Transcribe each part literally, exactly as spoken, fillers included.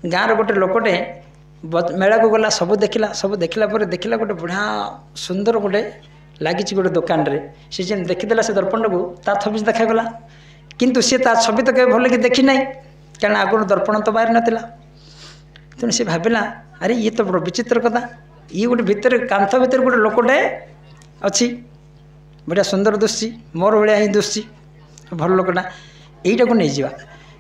ଗାଁର ଗୋଟେ ଲୋକଟେ ମେଳାକୁ ଗଲା, ସବୁ ଦେଖିଲା, ସବୁ ଦେଖିଲା ପରେ ଦେଖିଲା ଗୋଟେ ବଢ଼ିଆ ସୁନ୍ଦର ଗୋଟେ ଲାଗିଛି ଗୋଟେ ଦୋକାନରେ। ସେ ଯେମିତି ଦେଖିଦେଲା ସେ ଦର୍ପଣଟାକୁ, ତା ଛବି ଦେଖାଗଲା, କିନ୍ତୁ ସିଏ ତା ଛବି ତ କେବେ ଭଲକି ଦେଖିନାହିଁ, କାରଣ ଆଗରୁ ଦର୍ପଣ ତ ବାହାରି ନଥିଲା। ତେଣୁ ସେ ଭାବିଲା, ଆରେ ଇଏ ତ ବଡ଼ ବିଚିତ୍ର କଥା, ଇଏ ଗୋଟେ ଭିତରେ କାନ୍ଥ ଭିତରେ ଗୋଟେ ଲୋକଟେ ଅଛି, ବଢ଼ିଆ ସୁନ୍ଦର ଦୁଶୁଛି, ମୋର ଭଳିଆ ହିଁ ଦୁଶୁଛି, ଭଲ ଲୋକଟା, ଏଇଟାକୁ ନେଇଯିବା।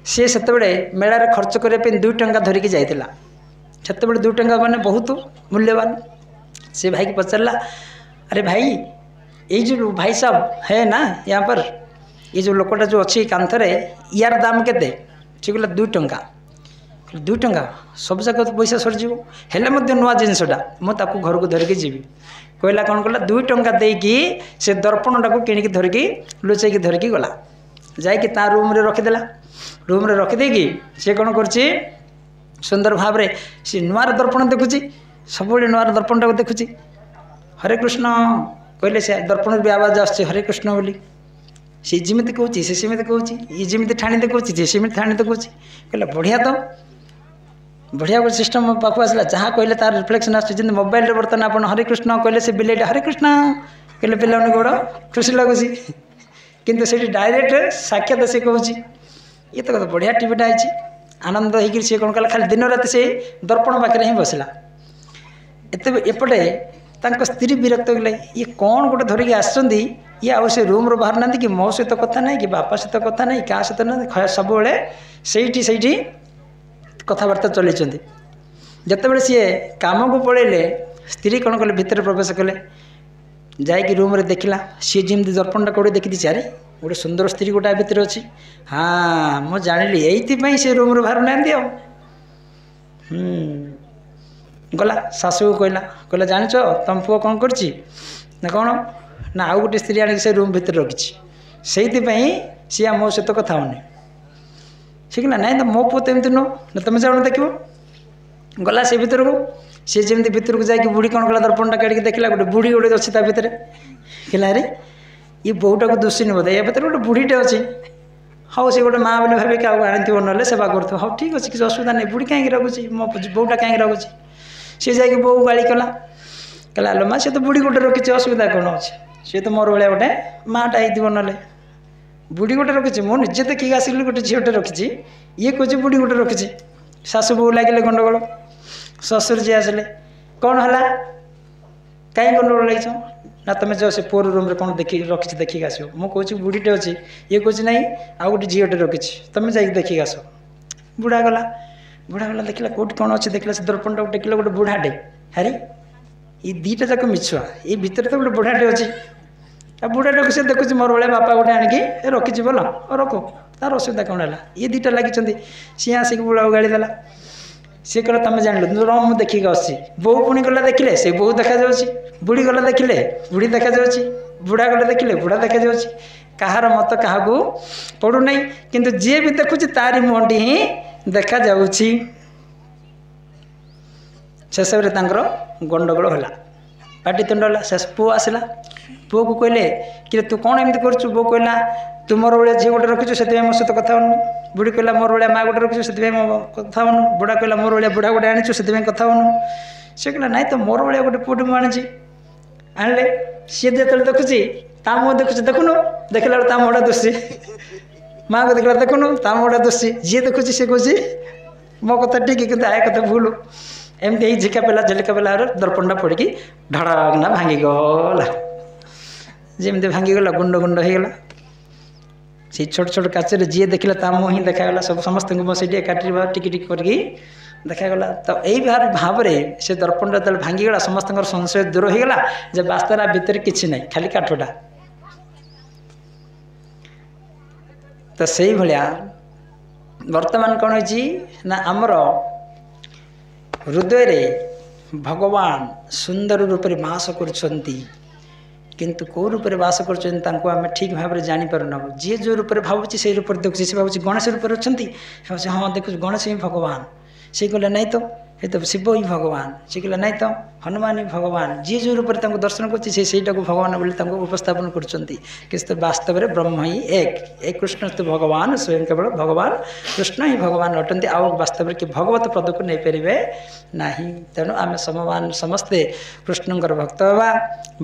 ସିଏ ସେତେବେଳେ ମେଳାରେ ଖର୍ଚ୍ଚ କରିବା ପାଇଁ ଦୁଇ ଟଙ୍କା ଧରିକି ଯାଇଥିଲା। ସେତେବେଳେ ଦୁଇ ଟଙ୍କା ମାନେ ବହୁତ ମୂଲ୍ୟବାନ। ସେ ଭାଇକି ପଚାରିଲା, ଆରେ ଭାଇ, ଏଇ ଯେଉଁ ଭାଇ ସାହେବ ହେ ନା यहाँ पर, ଏ ଯେଉଁ ଲୋକଟା ଯେଉଁ ଅଛି କାନ୍ଥରେ, ୟାର ଦାମ କେତେ? ସେ କହିଲା ଦୁଇ ଟଙ୍କା। ଦୁଇ ଟଙ୍କା, ସବୁ ଯାକ ପଇସା ସରିଯିବ, ହେଲେ ମଧ୍ୟ ନୂଆ ଜିନିଷଟା ମୁଁ ତାକୁ ଘରକୁ ଧରିକି ଯିବି। କହିଲା କ'ଣ କଲା, ଦୁଇ ଟଙ୍କା ଦେଇକି ସେ ଦର୍ପଣଟାକୁ କିଣିକି ଧରିକି ଲୁଚେଇକି ଧରିକି ଗଲା, ଯାଇକି ତା ରୁମ୍ରେ ରଖିଦେଲା। ରୁମ୍ରେ ରଖିଦେଇକି ସେ କ'ଣ କରୁଛି, ସୁନ୍ଦର ଭାବରେ ସେ ନୂଆର ଦର୍ପଣ ଦେଖୁଛି, ସବୁବେଳେ ନୂଆର ଦର୍ପଣଟାକୁ ଦେଖୁଛି। ହରେ କୃଷ୍ଣ କହିଲେ ସେ ଦର୍ପଣରୁ ବି ଆବାଜ ଆସୁଛି ହରେ କୃଷ୍ଣ ବୋଲି। ସେ ଯେମିତି କହୁଛି ସେ ସେମିତି କହୁଛି, ଇଏ ଯେମିତି ଠାଣି ଦେଖାଉଛି ସେ ସେମିତି ଠାଣି ଦେଖାଉଛି। କହିଲା ବଢ଼ିଆ ତ, ବଢ଼ିଆ ଗୋଟେ ସିଷ୍ଟମ୍ ମୋ ପାଖକୁ ଆସିଲା, ଯାହା କହିଲେ ତାର ରିଫ୍ଲେକ୍ସନ୍ ଆସୁଛି। ଯେମିତି ମୋବାଇଲରେ ବର୍ତ୍ତମାନ ଆପଣ ହରେ କୃଷ୍ଣ କହିଲେ ସେ ବିଲେଇଟା ହରେ କୃଷ୍ଣ କହିଲେ ପିଲାମାନଙ୍କୁ ବଡ଼ ଖୁସି ଲାଗୁଛି, କିନ୍ତୁ ସେଇଠି ଡାଇରେକ୍ଟ ସାକ୍ଷାତ ସେ କହୁଛି। ଇଏ ତ ବଢ଼ିଆ ଟିଭିଟା ହେଇଛି। ଆନନ୍ଦ ହେଇକିରି ସିଏ କ'ଣ କଲା, ଖାଲି ଦିନ ରାତି ସେ ଦର୍ପଣ ପାଖରେ ହିଁ ବସିଲା। ଏତେ ଏପଟେ ତାଙ୍କ ସ୍ତ୍ରୀ ବିରକ୍ତ ହେଇଗଲେ, ଇଏ କ'ଣ ଗୋଟେ ଧରିକି ଆସିଛନ୍ତି, ଇଏ ଆଉ ସେ ରୁମ୍ରୁ ବାହାରୁନାହାନ୍ତି, କି ମୋ ସହିତ କଥା ନାହିଁ, କି ବାପା ସହିତ କଥା ନାହିଁ, କାହା ସହିତ ନାହିଁ, ସବୁବେଳେ ସେଇଠି ସେଇଠି କଥାବାର୍ତ୍ତା ଚଲେଇଛନ୍ତି। ଯେତେବେଳେ ସିଏ କାମକୁ ପଳେଇଲେ, ସ୍ତ୍ରୀ କ'ଣ କଲେ, ଭିତରେ ପ୍ରବେଶ କଲେ, ଯାଇକି ରୁମ୍ରେ ଦେଖିଲା, ସିଏ ଯେମିତି ଦର୍ପଣଟା କେଉଁଠି ଦେଖିଦେଇଛି, ଆରେ ଗୋଟେ ସୁନ୍ଦର ସ୍ତ୍ରୀ ଗୋଟେ ଭିତରେ ଅଛି, ହଁ ମୁଁ ଜାଣିଲି ଏଇଥିପାଇଁ ସେ ରୁମ୍ରୁ ବାହାରୁନାହାନ୍ତି ଆଉ। ହୁଁ ଗଲା ଶାଶୁକୁ କହିଲା, କହିଲା ଜାଣିଛ ତୁମ ପୁଅ କ'ଣ କରିଛି? ନା କ'ଣ? ନା ଆଉ ଗୋଟେ ସ୍ତ୍ରୀ ଆଣିକି ସେ ରୁମ୍ ଭିତରେ ରଖିଛି, ସେଇଥିପାଇଁ ସିଏ ମୋ ସହିତ କଥା ହେଉନି। ସେ କହିଲା ନାଇଁ ତ ମୋ ପୁଅ ତ ଏମିତି ନୁହଁ, ନା ତୁମେ ଯାଉନ ଦେଖିବ। ଗଲା ସେ ଭିତରକୁ, ସିଏ ଯେମିତି ଭିତରକୁ ଯାଇକି ବୁଢ଼ୀ କ'ଣ କଲା, ଦର୍ପଣଟା କାଢ଼ିକି ଦେଖିଲା ଗୋଟେ ବୁଢ଼ୀ ଗୋଟେ ଅଛି ତା ଭିତରେ। କହିଲା ଆରେ ଇଏ ବୋଉଟାକୁ ଦୋଷିନି ବୋଧେ, ଏ ଭିତରେ ଗୋଟେ ବୁଢ଼ୀଟେ ଅଛି, ହଉ ସେ ଗୋଟେ ମା ବୋଲି ଭାବିକି କାହାକୁ ଆଣିଥିବ, ନହେଲେ ସେବା କରୁଥିବ, ହଉ ଠିକ୍ ଅଛି କିଛି ଅସୁବିଧା ନାହିଁ, ବୁଢ଼ୀ କାହିଁକି ରଖୁଛି, ମୋ ବୋଉଟା କାହିଁକି ରଖୁଛି। ସିଏ ଯାଇକି ବୋଉ ଗାଳି କଲା, କହିଲା ଆଲୋ ମା, ସେ ତ ବୁଢ଼ୀ ଗୋଟେ ରଖିଛି, ଅସୁବିଧା କ'ଣ ଅଛି, ସିଏ ତ ମୋର ଭଳିଆ ଗୋଟେ ମାଆଟା ହେଇଥିବ, ନହେଲେ ବୁଢ଼ୀ ଗୋଟେ ରଖିଛି, ମୁଁ ନିଜେ ଦେଖିକି ଆସିଲି ଗୋଟେ ଝିଅଟେ ରଖିଛି, ଇଏ କହୁଛି ବୁଢ଼ୀ ଗୋଟେ ରଖିଛି। ଶାଶୁ ବୋଉ ଲାଗିଲେ ଗଣ୍ଡଗୋଳ। ଶ୍ୱଶୁର ଯିଏ ଆସିଲେ, କ'ଣ ହେଲା, କାହିଁ ଗଣ୍ଡଗୋଳ ଲାଗିଛ? ନା ତୁମେ ଯାଅ ସେ ପୁଅର ରୁମ୍ରେ କ'ଣ ଦେଖି ରଖିଛି ଦେଖିକି ଆସିବ। ମୁଁ କହୁଛି ବୁଢ଼ୀଟେ ଅଛି, ଇଏ କହୁଛି ନାଇଁ ଆଉ ଗୋଟେ ଝିଅଟେ ରଖିଛି, ତୁମେ ଯାଇକି ଦେଖିକି ଆସ। ବୁଢ଼ା ଗଲା, ବୁଢ଼ା ଗଲା ଦେଖିଲା କେଉଁଠି କ'ଣ ଅଛି, ଦେଖିଲା ସେ ଦର୍ପଣଟାକୁ ଟେକିଲା ଗୋଟେ ବୁଢ଼ାଟେ, ଆରେ ଏଇ ଦୁଇଟା ଯାକ ମିଛୁଆ, ଏଇ ଭିତରେ ତ ଗୋଟେ ବୁଢ଼ାଟେ ଅଛି, ଆଉ ବୁଢ଼ାଟାକୁ ସେ ଦେଖୁଛି ମୋର ଭଳିଆ ବାପା ଗୋଟେ ଆଣିକି ରଖିଛି, ଭଲ ରଖ, ତାର ଅସୁବିଧା କ'ଣ ହେଲା। ଇଏ ଦୁଇଟା ଲାଗିଛନ୍ତି, ସିଏ ଆସିକି ବୁଢ଼ାକୁ ଗାଳି ଦେଲା। ସିଏ କହିଲା ତୁମେ ଜାଣିଲ, ରହ ମୁଁ ଦେଖିକି ଆସୁଛି। ବୋଉ ପୁଣି ଗଲା ଦେଖିଲେ ସେ ବୋଉ ଦେଖାଯାଉଛି, ବୁଢ଼ୀ ଗଲା ଦେଖିଲେ ବୁଢ଼ୀ ଦେଖାଯାଉଛି, ବୁଢ଼ା ଗଲେ ଦେଖିଲେ ବୁଢ଼ା ଦେଖାଯାଉଛି। କାହାର ମତ କାହାକୁ ପଡ଼ୁନାହିଁ, କିନ୍ତୁ ଯିଏ ବି ଦେଖୁଛି ତାରି ମୁହଁଟି ହିଁ ଦେଖାଯାଉଛି। ଶେଷରେ ତାଙ୍କର ଗଣ୍ଡଗୋଳ ହେଲା, ପାଟିତୁଣ୍ଡ ହେଲା। ଶେଷ ପୁଅ ଆସିଲା, ପୁଅକୁ କହିଲେ କି ତୁ କ'ଣ ଏମିତି କରୁଛୁ? ବୋଉ କହିଲା ତୁ ମୋର ଭଳିଆ ଝିଅ ଗୋଟେ ରଖିଛୁ, ସେଥିପାଇଁ ମୋ ସହିତ କଥା ହେଉନୁ। ବୁଢ଼ୀ କହିଲା ମୋର ଭଳିଆ ମା ଗୋଟେ ରଖିଛୁ, ସେଥିପାଇଁ ମୋ କଥା ହେଉନୁ। ବୁଢ଼ା କହିଲା ମୋର ଭଳିଆ ବୁଢ଼ା ଗୋଟେ ଆଣିଛୁ, ସେଥିପାଇଁ କଥା ହେଉନୁ। ସେ କହିଲା ନାଇଁ ତ ମୋର ଭଳିଆ ଗୋଟେ ପୁଅଟେ ମୁଁ ଆଣିଛି। ଆଣିଲେ ସିଏ ଯେତେବେଳେ ଦେଖୁଛି ତା ମୁହଁ ଦେଖୁଛି, ଦେଖୁନୁ, ଦେଖିଲା ବେଳକୁ ତା ମୁହଁଟା ଦୁଶୁଛି। ମାଆକୁ ଦେଖିଲା ଦେଖୁନୁ ତା ମୁହଁଟା ଦୁଶୁଛି। ଯିଏ ଦେଖୁଛି ସେ କହୁଛି ମୋ କଥା ଠିକ୍, କିନ୍ତୁ ଆୟ କଥା ଭୁଲ। ଏମିତି ହେଇ ଝିକା ପେଲା ଝିଲିକା ପେଲା ଦର୍ପଣଟା ପଡ଼ିକି ଧଡ଼କିନା ଭାଙ୍ଗିଗଲା। ଯେମିତି ଭାଙ୍ଗିଗଲା ଗୁଣ୍ଡ ଗୁଣ୍ଡ ହେଇଗଲା। ସେଇ ଛୋଟ ଛୋଟ କାଚରେ ଯିଏ ଦେଖିଲା ତା ମୁହଁ ହିଁ ଦେଖାଗଲା। ସବୁ ସମସ୍ତଙ୍କୁ ମୋ ସେଇଠି ଏକାଠି ଟିକେ ଟିକେ କରିକି ଦେଖାଗଲା। ତ ଏଇ ଭାବରେ ସେ ଦର୍ପଣଟା ଯେତେବେଳେ ଭାଙ୍ଗିଗଲା, ସମସ୍ତଙ୍କର ସଂଶୟ ଦୂର ହେଇଗଲା ଯେ ବାସ୍ତବରେ ଭିତରେ କିଛି ନାହିଁ, ଖାଲି କାଠଟା। ତ ସେଇଭଳିଆ ବର୍ତ୍ତମାନ କ'ଣ ହେଇଛି ନା, ଆମର ହୃଦୟରେ ଭଗବାନ ସୁନ୍ଦର ରୂପରେ ବାସ କରୁଛନ୍ତି, କିନ୍ତୁ କେଉଁ ରୂପରେ ବାସ କରୁଛନ୍ତି ତାଙ୍କୁ ଆମେ ଠିକ୍ ଭାବରେ ଜାଣିପାରୁନାହୁଁ। ଯିଏ ଯେଉଁ ରୂପରେ ଭାବୁଛି ସେଇ ରୂପରେ ଦେଖୁଛି। ସେ ଭାବୁଛି ଗଣେଶ ରୂପରେ ଅଛନ୍ତି, ସେ ଭାବୁଛି ହଁ ଦେଖୁଛି ଗଣେଶ ହିଁ ଭଗବାନ। ସେ କହିଲେ ନାଇଁ ତ ଏ ତ ଶିବ ହିଁ ଭଗବାନ। ସେ କହିଲା ନାଇଁ ତ ହନୁମାନ ହିଁ ଭଗବାନ। ଯିଏ ଯେଉଁ ରୂପରେ ତାଙ୍କୁ ଦର୍ଶନ କରୁଛି ସେ ସେଇଟାକୁ ଭଗବାନ ବୋଲି ତାଙ୍କୁ ଉପସ୍ଥାପନ କରୁଛନ୍ତି। କିନ୍ତୁ ବାସ୍ତବରେ ବ୍ରହ୍ମ ହିଁ ଏକ, ଏ କୃଷ୍ଣ ତ ଭଗବାନ ସ୍ୱୟଂ, କେବଳ ଭଗବାନ କୃଷ୍ଣ ହିଁ ଭଗବାନ ଅଟନ୍ତି, ଆଉ ବାସ୍ତବରେ କି ଭଗବତ ପଦକୁ ନେଇପାରିବେ ନାହିଁ। ତେଣୁ ଆମେ ସମମାନ ସମସ୍ତେ କୃଷ୍ଣଙ୍କର ଭକ୍ତ ହେବା,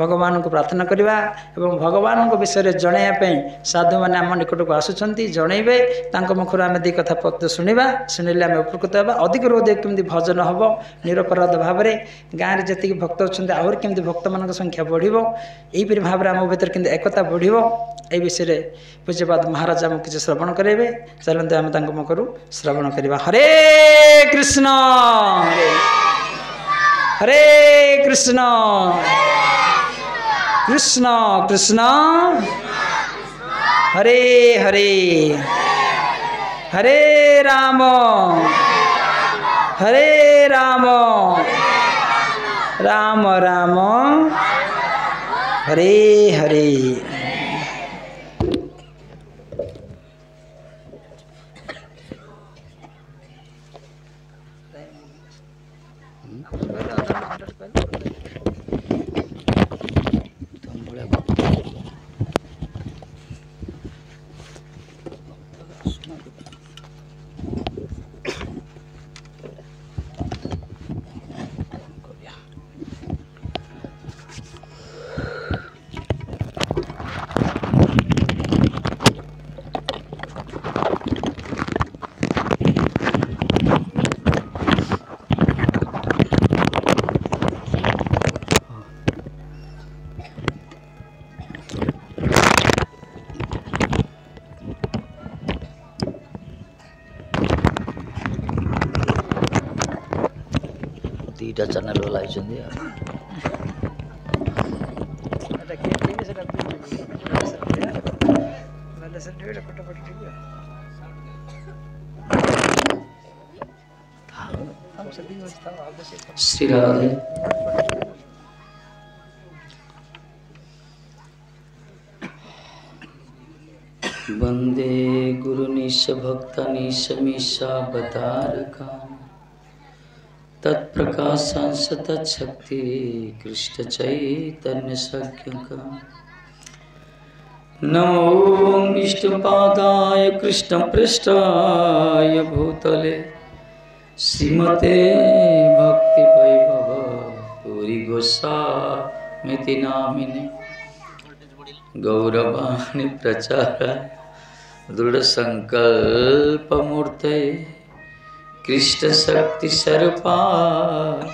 ଭଗବାନଙ୍କୁ ପ୍ରାର୍ଥନା କରିବା ଏବଂ ଭଗବାନଙ୍କ ବିଷୟରେ ଜଣାଇବା ପାଇଁ ସାଧୁମାନେ ଆମ ନିକଟକୁ ଆସୁଛନ୍ତି, ଜଣାଇବେ, ତାଙ୍କ ମୁଖରୁ ଆମେ ଦୁଇ କଥା ପଦ ଶୁଣିବା, ଶୁଣିଲେ ଆମେ ଉପକୃତ ହେବା। ଅଧିକରୁ ଅଧିକ କେମିତି ଭଜନ ହେବ ନିରପରାଧ ଭାବରେ, ଗାଁରେ ଯେତିକି ଭକ୍ତ ଅଛନ୍ତି ଆହୁରି କେମିତି ଭକ୍ତମାନଙ୍କ ସଂଖ୍ୟା ବଢ଼ିବ, ଏହିପରି ଭାବରେ ଆମ ଭିତରେ କେମିତି ଏକତା ବଢ଼ିବ, ଏ ବିଷୟରେ ପୂଜ୍ୟପାଦ ମହାରାଜ ଆମକୁ କିଛି ଶ୍ରବଣ କରାଇବେ। ଚାଲନ୍ତୁ ଆମେ ତାଙ୍କ ମୁଖରୁ ଶ୍ରବଣ କରିବା। ହରେ କୃଷ୍ଣ ହରେ କୃଷ୍ଣ କୃଷ୍ଣ କୃଷ୍ଣ ହରେ ହରେ, ହରେ ରାମ ହରେ ରାମ ରାମ ରାମ ହରେ ହରେ। ଦୁଇଟା ଚ୍ୟାନେଲ୍ ବାଲା ହେଇଛନ୍ତି ଆଉ। ଶ୍ରୀ ରାଧେ। ବନ୍ଦେ ଗୁରୁନିଶ ଭକ୍ତନିଶ ମିଶାବତାରକା तत्प्रकाशांश तत्शक्ति कृष्ण चैतन्य सख्यका। नमो विष्णुपादाय कृष्ण पृष्ठाय भूतले श्रीमते भक्ति वैभव पुरी गोस्वामिति नामिने गौरवाणी प्रचाराय दृढ़ संकल्प मूर्तये कृष्ण शक्ति स्वरूपाय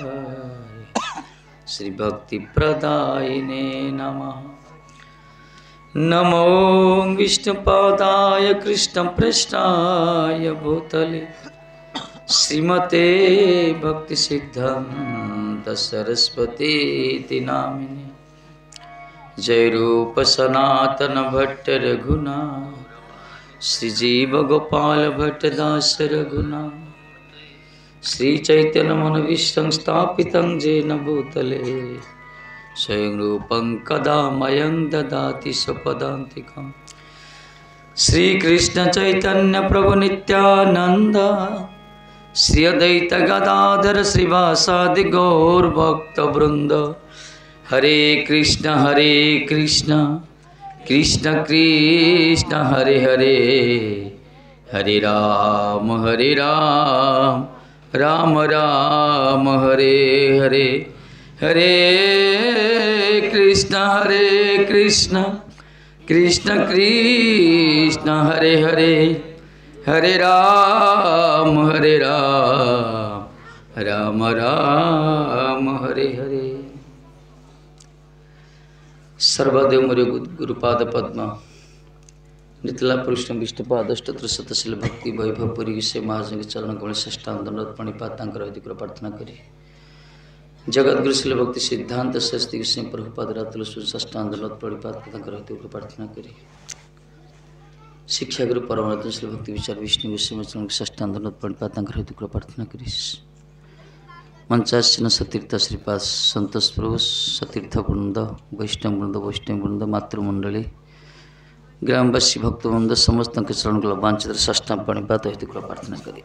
श्री भक्ति प्रदायिने नमः। नमो विष्णुपादाय कृष्ण पृष्ठाय भूतले श्रीमते भक्ति सिद्धांत सरस्वती नामिने। जय रूप सनातन भट्ट रघुनाथ श्री जीव गोपाल भट्ट दास रघुनाथ श्री चैतन्य मनविष्टं स्थापितं येन भूतले स्वयं रूपं कदा मयं ददाति स्वपदान्तिकं। श्री कृष्ण चैतन्य प्रभु नित्यानंद श्री अद्वैत गदाधर श्रीवासादि गौर भक्त वृंद। हरे कृष्ण हरे कृष्ण कृष्ण कृष्ण हरे हरे, हरे राम हरे राम राम राम हरे हरे, हरे कृष्ण हरे कृष्ण कृष्ण कृष्ण हरे हरे, हरे राम हरे राम राम राम हरे हरे। सर्वदेव मोरे गुरुपाद पद्म नितला कृष्ण विष्णुपाद अष्टोत्तर शतशील भक्ति वैभव पुरी से महाजन के चरण कमल षष्ठांत प्रणिपात तांकर प्रार्थना करी। जगत गुरु शिल भक्ति सिद्धांत सरस्वती गोस्वामी प्रभुपाद रातुल षष्ठांत प्रणिपात तांकर प्रार्थना करी। शिक्षा गुरु परमात्मा शिल भक्ति विचार विष्णु गोस्वामी चरण षष्ठांत प्रणिपात तांकर प्रार्थना करी। मंचासीन सतीर्थ श्रीपाद संतोष प्रभु सतीर्थ वृंद वैष्णव वृंद वैष्णव वृंद मातृमंडली ग्रामवासी भक्तवृंद समस्त चरण वांछित षष्ठांत प्रणिपात हेतु प्रार्थना करी।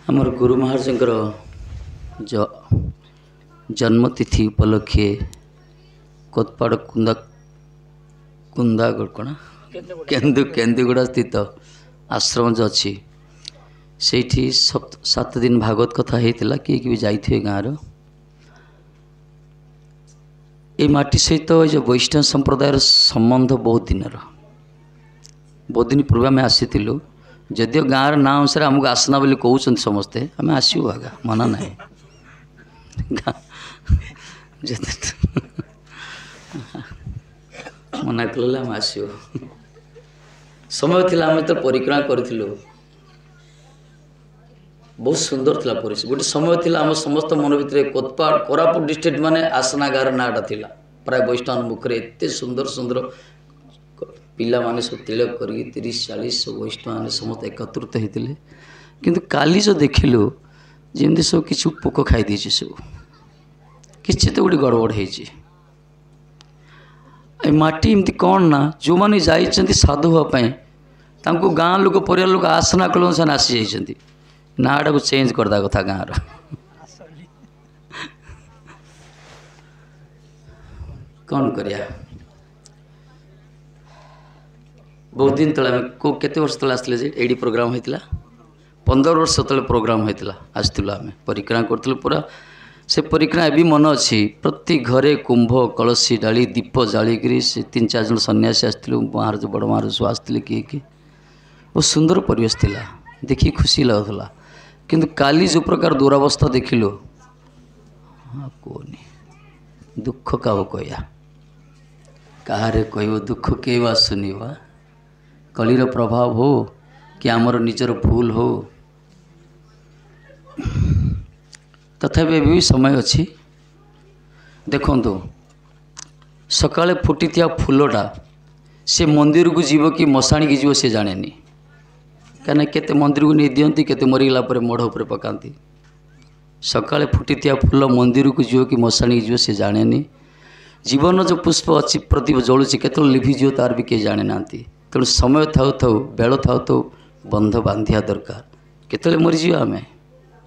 ଆମର ଗୁରୁ ମହାରାଜଙ୍କର ଜନ୍ମତିଥି ଉପଲକ୍ଷେ କୋତପାଡ଼ କୁନ୍ଦା କୁନ୍ଦାଗଡ଼ କ'ଣ କେନ୍ଦୁ କେନ୍ଦୁଗୁଡ଼ା ସ୍ଥିତ ଆଶ୍ରମ ଯେଉଁ ଅଛି ସେଇଠି ସାତ ଦିନ ଭାଗବତ କଥା ହେଇଥିଲା। କିଏ କିଏ ବି ଯାଇଥିବେ ଗାଁର। ଏଇ ମାଟି ସହିତ ଏ ଯେଉଁ ବୈଷ୍ଣବ ସମ୍ପ୍ରଦାୟର ସମ୍ବନ୍ଧ ବହୁତ ଦିନର, ବହୁତ ଦିନ ପୂର୍ବେ ଆମେ ଆସିଥିଲୁ। ଯଦିଓ ଗାଁର ନାଁ ଅନୁସାରେ ଆମକୁ ଆସନା ବୋଲି କହୁଛନ୍ତି ସମସ୍ତେ, ଆମେ ଆସିବୁ ଆଜ୍ଞା, ମନା ନାହିଁ। ମନା କଲେ ଆମେ ଆସିବୁ। ସମୟ ଥିଲା ଆମେ ଯେତେବେଳେ ପରିକ୍ରମା କରିଥିଲୁ, ବହୁତ ସୁନ୍ଦର ଥିଲା ପରିବେଶ। ଗୋଟେ ସମୟ ଥିଲା ଆମ ସମସ୍ତ ମନ ଭିତରେ କୋତପାଡ଼ କୋରାପୁଟ ଡିଷ୍ଟ୍ରିକ୍ଟ ମାନେ ଆସନା ଗାଁର ନାଁଟା ଥିଲା ପ୍ରାୟ ବୈଷ୍ଣବ ମୁଖରେ। ଏତେ ସୁନ୍ଦର ସୁନ୍ଦର ପିଲାମାନେ ସବୁ ତିଳକ କରିକି ତିରିଶ ଚାଳିଶ ସବୁ ବୈଷ୍ଣବମାନେ ସମସ୍ତେ ଏକତ୍ରିତ ହେଇଥିଲେ। କିନ୍ତୁ କାଲି ଯେଉଁ ଦେଖିଲୁ ଯେମିତି ସବୁ କିଛି ପୋକ ଖାଇ ଦେଇଛି, ସବୁ କିଛି ତ ଗୋଟେ ଗଡ଼ବଡ଼ ହେଇଛି। ଏ ମାଟି ଏମିତି କ'ଣ ନା ଯେଉଁମାନେ ଯାଇଛନ୍ତି ସାଧୁ ହେବା ପାଇଁ ତାଙ୍କୁ ଗାଁ ଲୋକ ପରିବାର ଲୋକ ଆସନା କଲେ ସେମାନେ ଆସିଯାଇଛନ୍ତି। ନାଁଟାକୁ ଚେଞ୍ଜ କରିଦେବା କଥା ଗାଁର। କ'ଣ କରିବା? ବହୁତ ଦିନ ତଳେ ଆମେ କେଉଁ କେତେ ବର୍ଷ ତଳେ ଆସିଥିଲେ ଯେ ଏଇଠି ପ୍ରୋଗ୍ରାମ୍ ହେଇଥିଲା, ପନ୍ଦର ବର୍ଷ ତଳେ ପ୍ରୋଗ୍ରାମ୍ ହେଇଥିଲା, ଆସିଥିଲୁ ଆମେ ପରିକ୍ରମା କରୁଥିଲୁ ପୁରା। ସେ ପରିକ୍ରମା ଏବେ ମନେ ଅଛି। ପ୍ରତି ଘରେ କୁମ୍ଭ କଳସୀ ଡାଳି ଦୀପ ଜାଳିକିରି ସେ ତିନି ଚାରି ଜଣ ସନ୍ନ୍ୟାସୀ ଆସିଥିଲୁ, ମହାରାଜ ବଡ଼ ମହାରାଜ ସବୁ ଆସିଥିଲେ, କିଏ କିଏ। ବହୁତ ସୁନ୍ଦର ପରିବେଶ ଥିଲା, ଦେଖିକି ଖୁସି ଲାଗୁଥିଲା। କିନ୍ତୁ କାଲି ଯେଉଁ ପ୍ରକାର ଦୁରାବସ୍ଥା ଦେଖିଲୁ, କୁହନି, ଦୁଃଖ କାହାକୁ କହିବା, କାହାରେ କହିବ ଦୁଃଖ କେହି ବା ଶୁଣିବ। କଳିର ପ୍ରଭାବ ହଉ କି ଆମର ନିଜର ଭୁଲ ହଉ, ତଥାପି ଏବେ ବି ସମୟ ଅଛି। ଦେଖନ୍ତୁ, ସକାଳେ ଫୁଟିଥିବା ଫୁଲଟା ସେ ମନ୍ଦିରକୁ ଯିବ କି ମଶାଣିକି ଯିବ ସେ ଜାଣେନି। କାହିଁକିନା କେତେ ମନ୍ଦିରକୁ ନେଇ ଦିଅନ୍ତି, କେତେ ମରିଗଲା ପରେ ମଢ଼ ଉପରେ ପକାନ୍ତି। ସକାଳେ ଫୁଟିଥିବା ଫୁଲ ମନ୍ଦିରକୁ ଯିବ କି ମଶାଣିକି ଯିବ ସେ ଜାଣେନି। ଜୀବନ ଯେଉଁ ପୁଷ୍ପ ଅଛି ପ୍ରଦୀପ ଜଳୁଛି, କେତେବେଳେ ଲିଭିଯିବ ତାର ବି କେହି ଜାଣିନାହାନ୍ତି। ତେଣୁ ସମୟ ଥାଉ ଥାଉ, ବେଳ ଥାଉ ଥାଉ ବନ୍ଧ ବାନ୍ଧିବା ଦରକାର। କେତେବେଳେ ମରିଯିବା ଆମେ,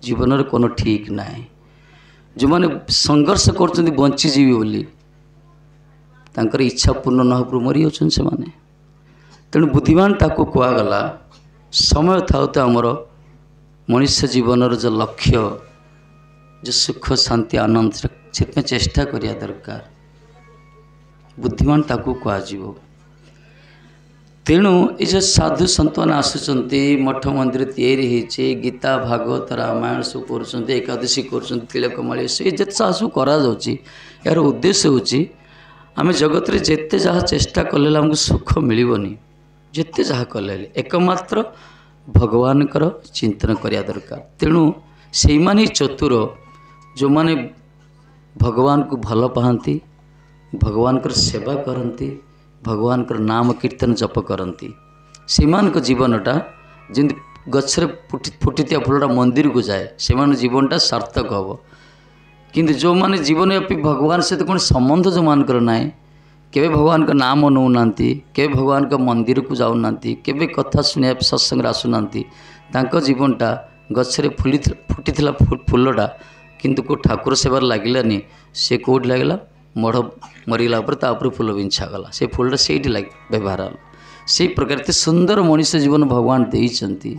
ଜୀବନରେ কোনো ଠିକ୍ ନାହିଁ। ଯେଉଁମାନେ ସଂଘର୍ଷ କରୁଛନ୍ତି ବଞ୍ଚିଯିବେ ବୋଲି, ତାଙ୍କର ଇଚ୍ଛା ପୂର୍ଣ୍ଣ ନ ହେବାରୁ ମରିଯାଉଛନ୍ତି ସେମାନେ। ତେଣୁ ବୁଦ୍ଧିମାନ ତାକୁ କୁହାଗଲା, ସମୟ ଥାଉ ଥାଉ ଆମର ମଣିଷ ଜୀବନର ଯେଉଁ ଲକ୍ଷ୍ୟ, ଯେଉଁ ସୁଖ ଶାନ୍ତି ଆନନ୍ଦ, ସେଥିପାଇଁ ଚେଷ୍ଟା କରିବା ଦରକାର। ବୁଦ୍ଧିମାନ ତାକୁ କୁହାଯିବ। ତେଣୁ ଏ ଯେଉଁ ସାଧୁ ସନ୍ଥମାନେ ଆସୁଛନ୍ତି, ମଠ ମନ୍ଦିର ତିଆରି ହେଇଛି, ଗୀତା ଭାଗବତ ରାମାୟଣ ସବୁ କରୁଛନ୍ତି, ଏକାଦଶୀ କରୁଛନ୍ତି, ତିଳକମାଳି ଏ ଯେତେ ସବୁ କରାଯାଉଛି, ଏହାର ଉଦ୍ଦେଶ୍ୟ ହେଉଛି ଆମେ ଜଗତରେ ଯେତେ ଯାହା ଚେଷ୍ଟା କଲେ ଆମକୁ ସୁଖ ମିଳିବନି, ଯେତେ ଯାହା କଲେ ହେଲେ ଏକମାତ୍ର ଭଗବାନଙ୍କର ଚିନ୍ତନ କରିବା ଦରକାର। ତେଣୁ ସେଇମାନେ ଚତୁର ଯେଉଁମାନେ ଭଗବାନଙ୍କୁ ଭଲ ପାଆନ୍ତି, ଭଗବାନଙ୍କର ସେବା କରନ୍ତି, ଭଗବାନଙ୍କର ନାମ କୀର୍ତ୍ତନ ଜପ କରନ୍ତି। ସେମାନଙ୍କ ଜୀବନଟା ଯେମିତି ଗଛରେ ଫୁଟି ଫୁଟିଥିବା ଫୁଲଟା ମନ୍ଦିରକୁ ଯାଏ, ସେମାନଙ୍କ ଜୀବନଟା ସାର୍ଥକ ହେବ। କିନ୍ତୁ ଯେଉଁମାନେ ଜୀବନବ୍ୟାପୀ ଭଗବାନ ସହିତ କୌଣସି ସମ୍ବନ୍ଧ ଯେଉଁମାନଙ୍କର ନାହିଁ, କେବେ ଭଗବାନଙ୍କ ନାମ ନେଉନାହାନ୍ତି, କେବେ ଭଗବାନଙ୍କ ମନ୍ଦିରକୁ ଯାଉନାହାନ୍ତି, କେବେ କଥା ଶୁଣିବା ସତ୍ସଙ୍ଗରେ ଆସୁନାହାନ୍ତି, ତାଙ୍କ ଜୀବନଟା ଗଛରେ ଫୁଲି ଫୁଟିଥିଲା ଫୁଲଟା କିନ୍ତୁ କେଉଁ ଠାକୁର ସେବାରେ ଲାଗିଲାନି, ସେ କେଉଁଠି ଲାଗିଲା? ମଢ଼ ମରିଗଲା ପରେ ତା ଉପରେ ଫୁଲ ବିଞ୍ଛା ଗଲା, ସେ ଫୁଲଟା ସେଇଠି ଲାଗି ବ୍ୟବହାର ହେଲା। ସେଇ ପ୍ରକାର ଏତେ ସୁନ୍ଦର ମଣିଷ ଜୀବନ ଭଗବାନ ଦେଇଛନ୍ତି,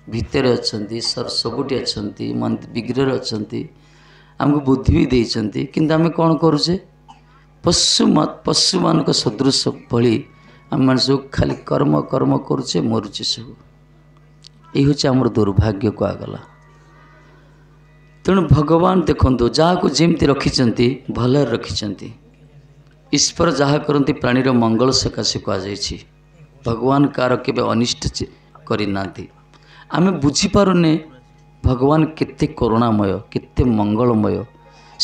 ଭିତରେ ଅଛନ୍ତି, ସବୁଠି ଅଛନ୍ତି, ବିଗ୍ରହରେ ଅଛନ୍ତି, ଆମକୁ ବୁଦ୍ଧି ବି ଦେଇଛନ୍ତି। କିନ୍ତୁ ଆମେ କ'ଣ କରୁଛେ? ପଶୁ ପଶୁମାନଙ୍କ ସଦୃଶ ଭଳି ଆମେମାନେ ସବୁ ଖାଲି କର୍ମ କର୍ମ କରୁଛେ, ମରୁଛେ ସବୁ। ଏଇ ହେଉଛି ଆମର ଦୁର୍ଭାଗ୍ୟ କୁହାଗଲା। ତେଣୁ ଭଗବାନ ଦେଖନ୍ତୁ ଯାହାକୁ ଯେମିତି ରଖିଛନ୍ତି ଭଲରେ ରଖିଛନ୍ତି। ଈଶ୍ୱର ଯାହା କରନ୍ତି ପ୍ରାଣୀର ମଙ୍ଗଳ ସକାଶେ କୁହାଯାଇଛି। ଭଗବାନ କାହାର କେବେ ଅନିଷ୍ଟ କରିନାହାନ୍ତି। ଆମେ ବୁଝିପାରୁନେ ଭଗବାନ କେତେ କରୁଣାମୟ, କେତେ ମଙ୍ଗଳମୟ,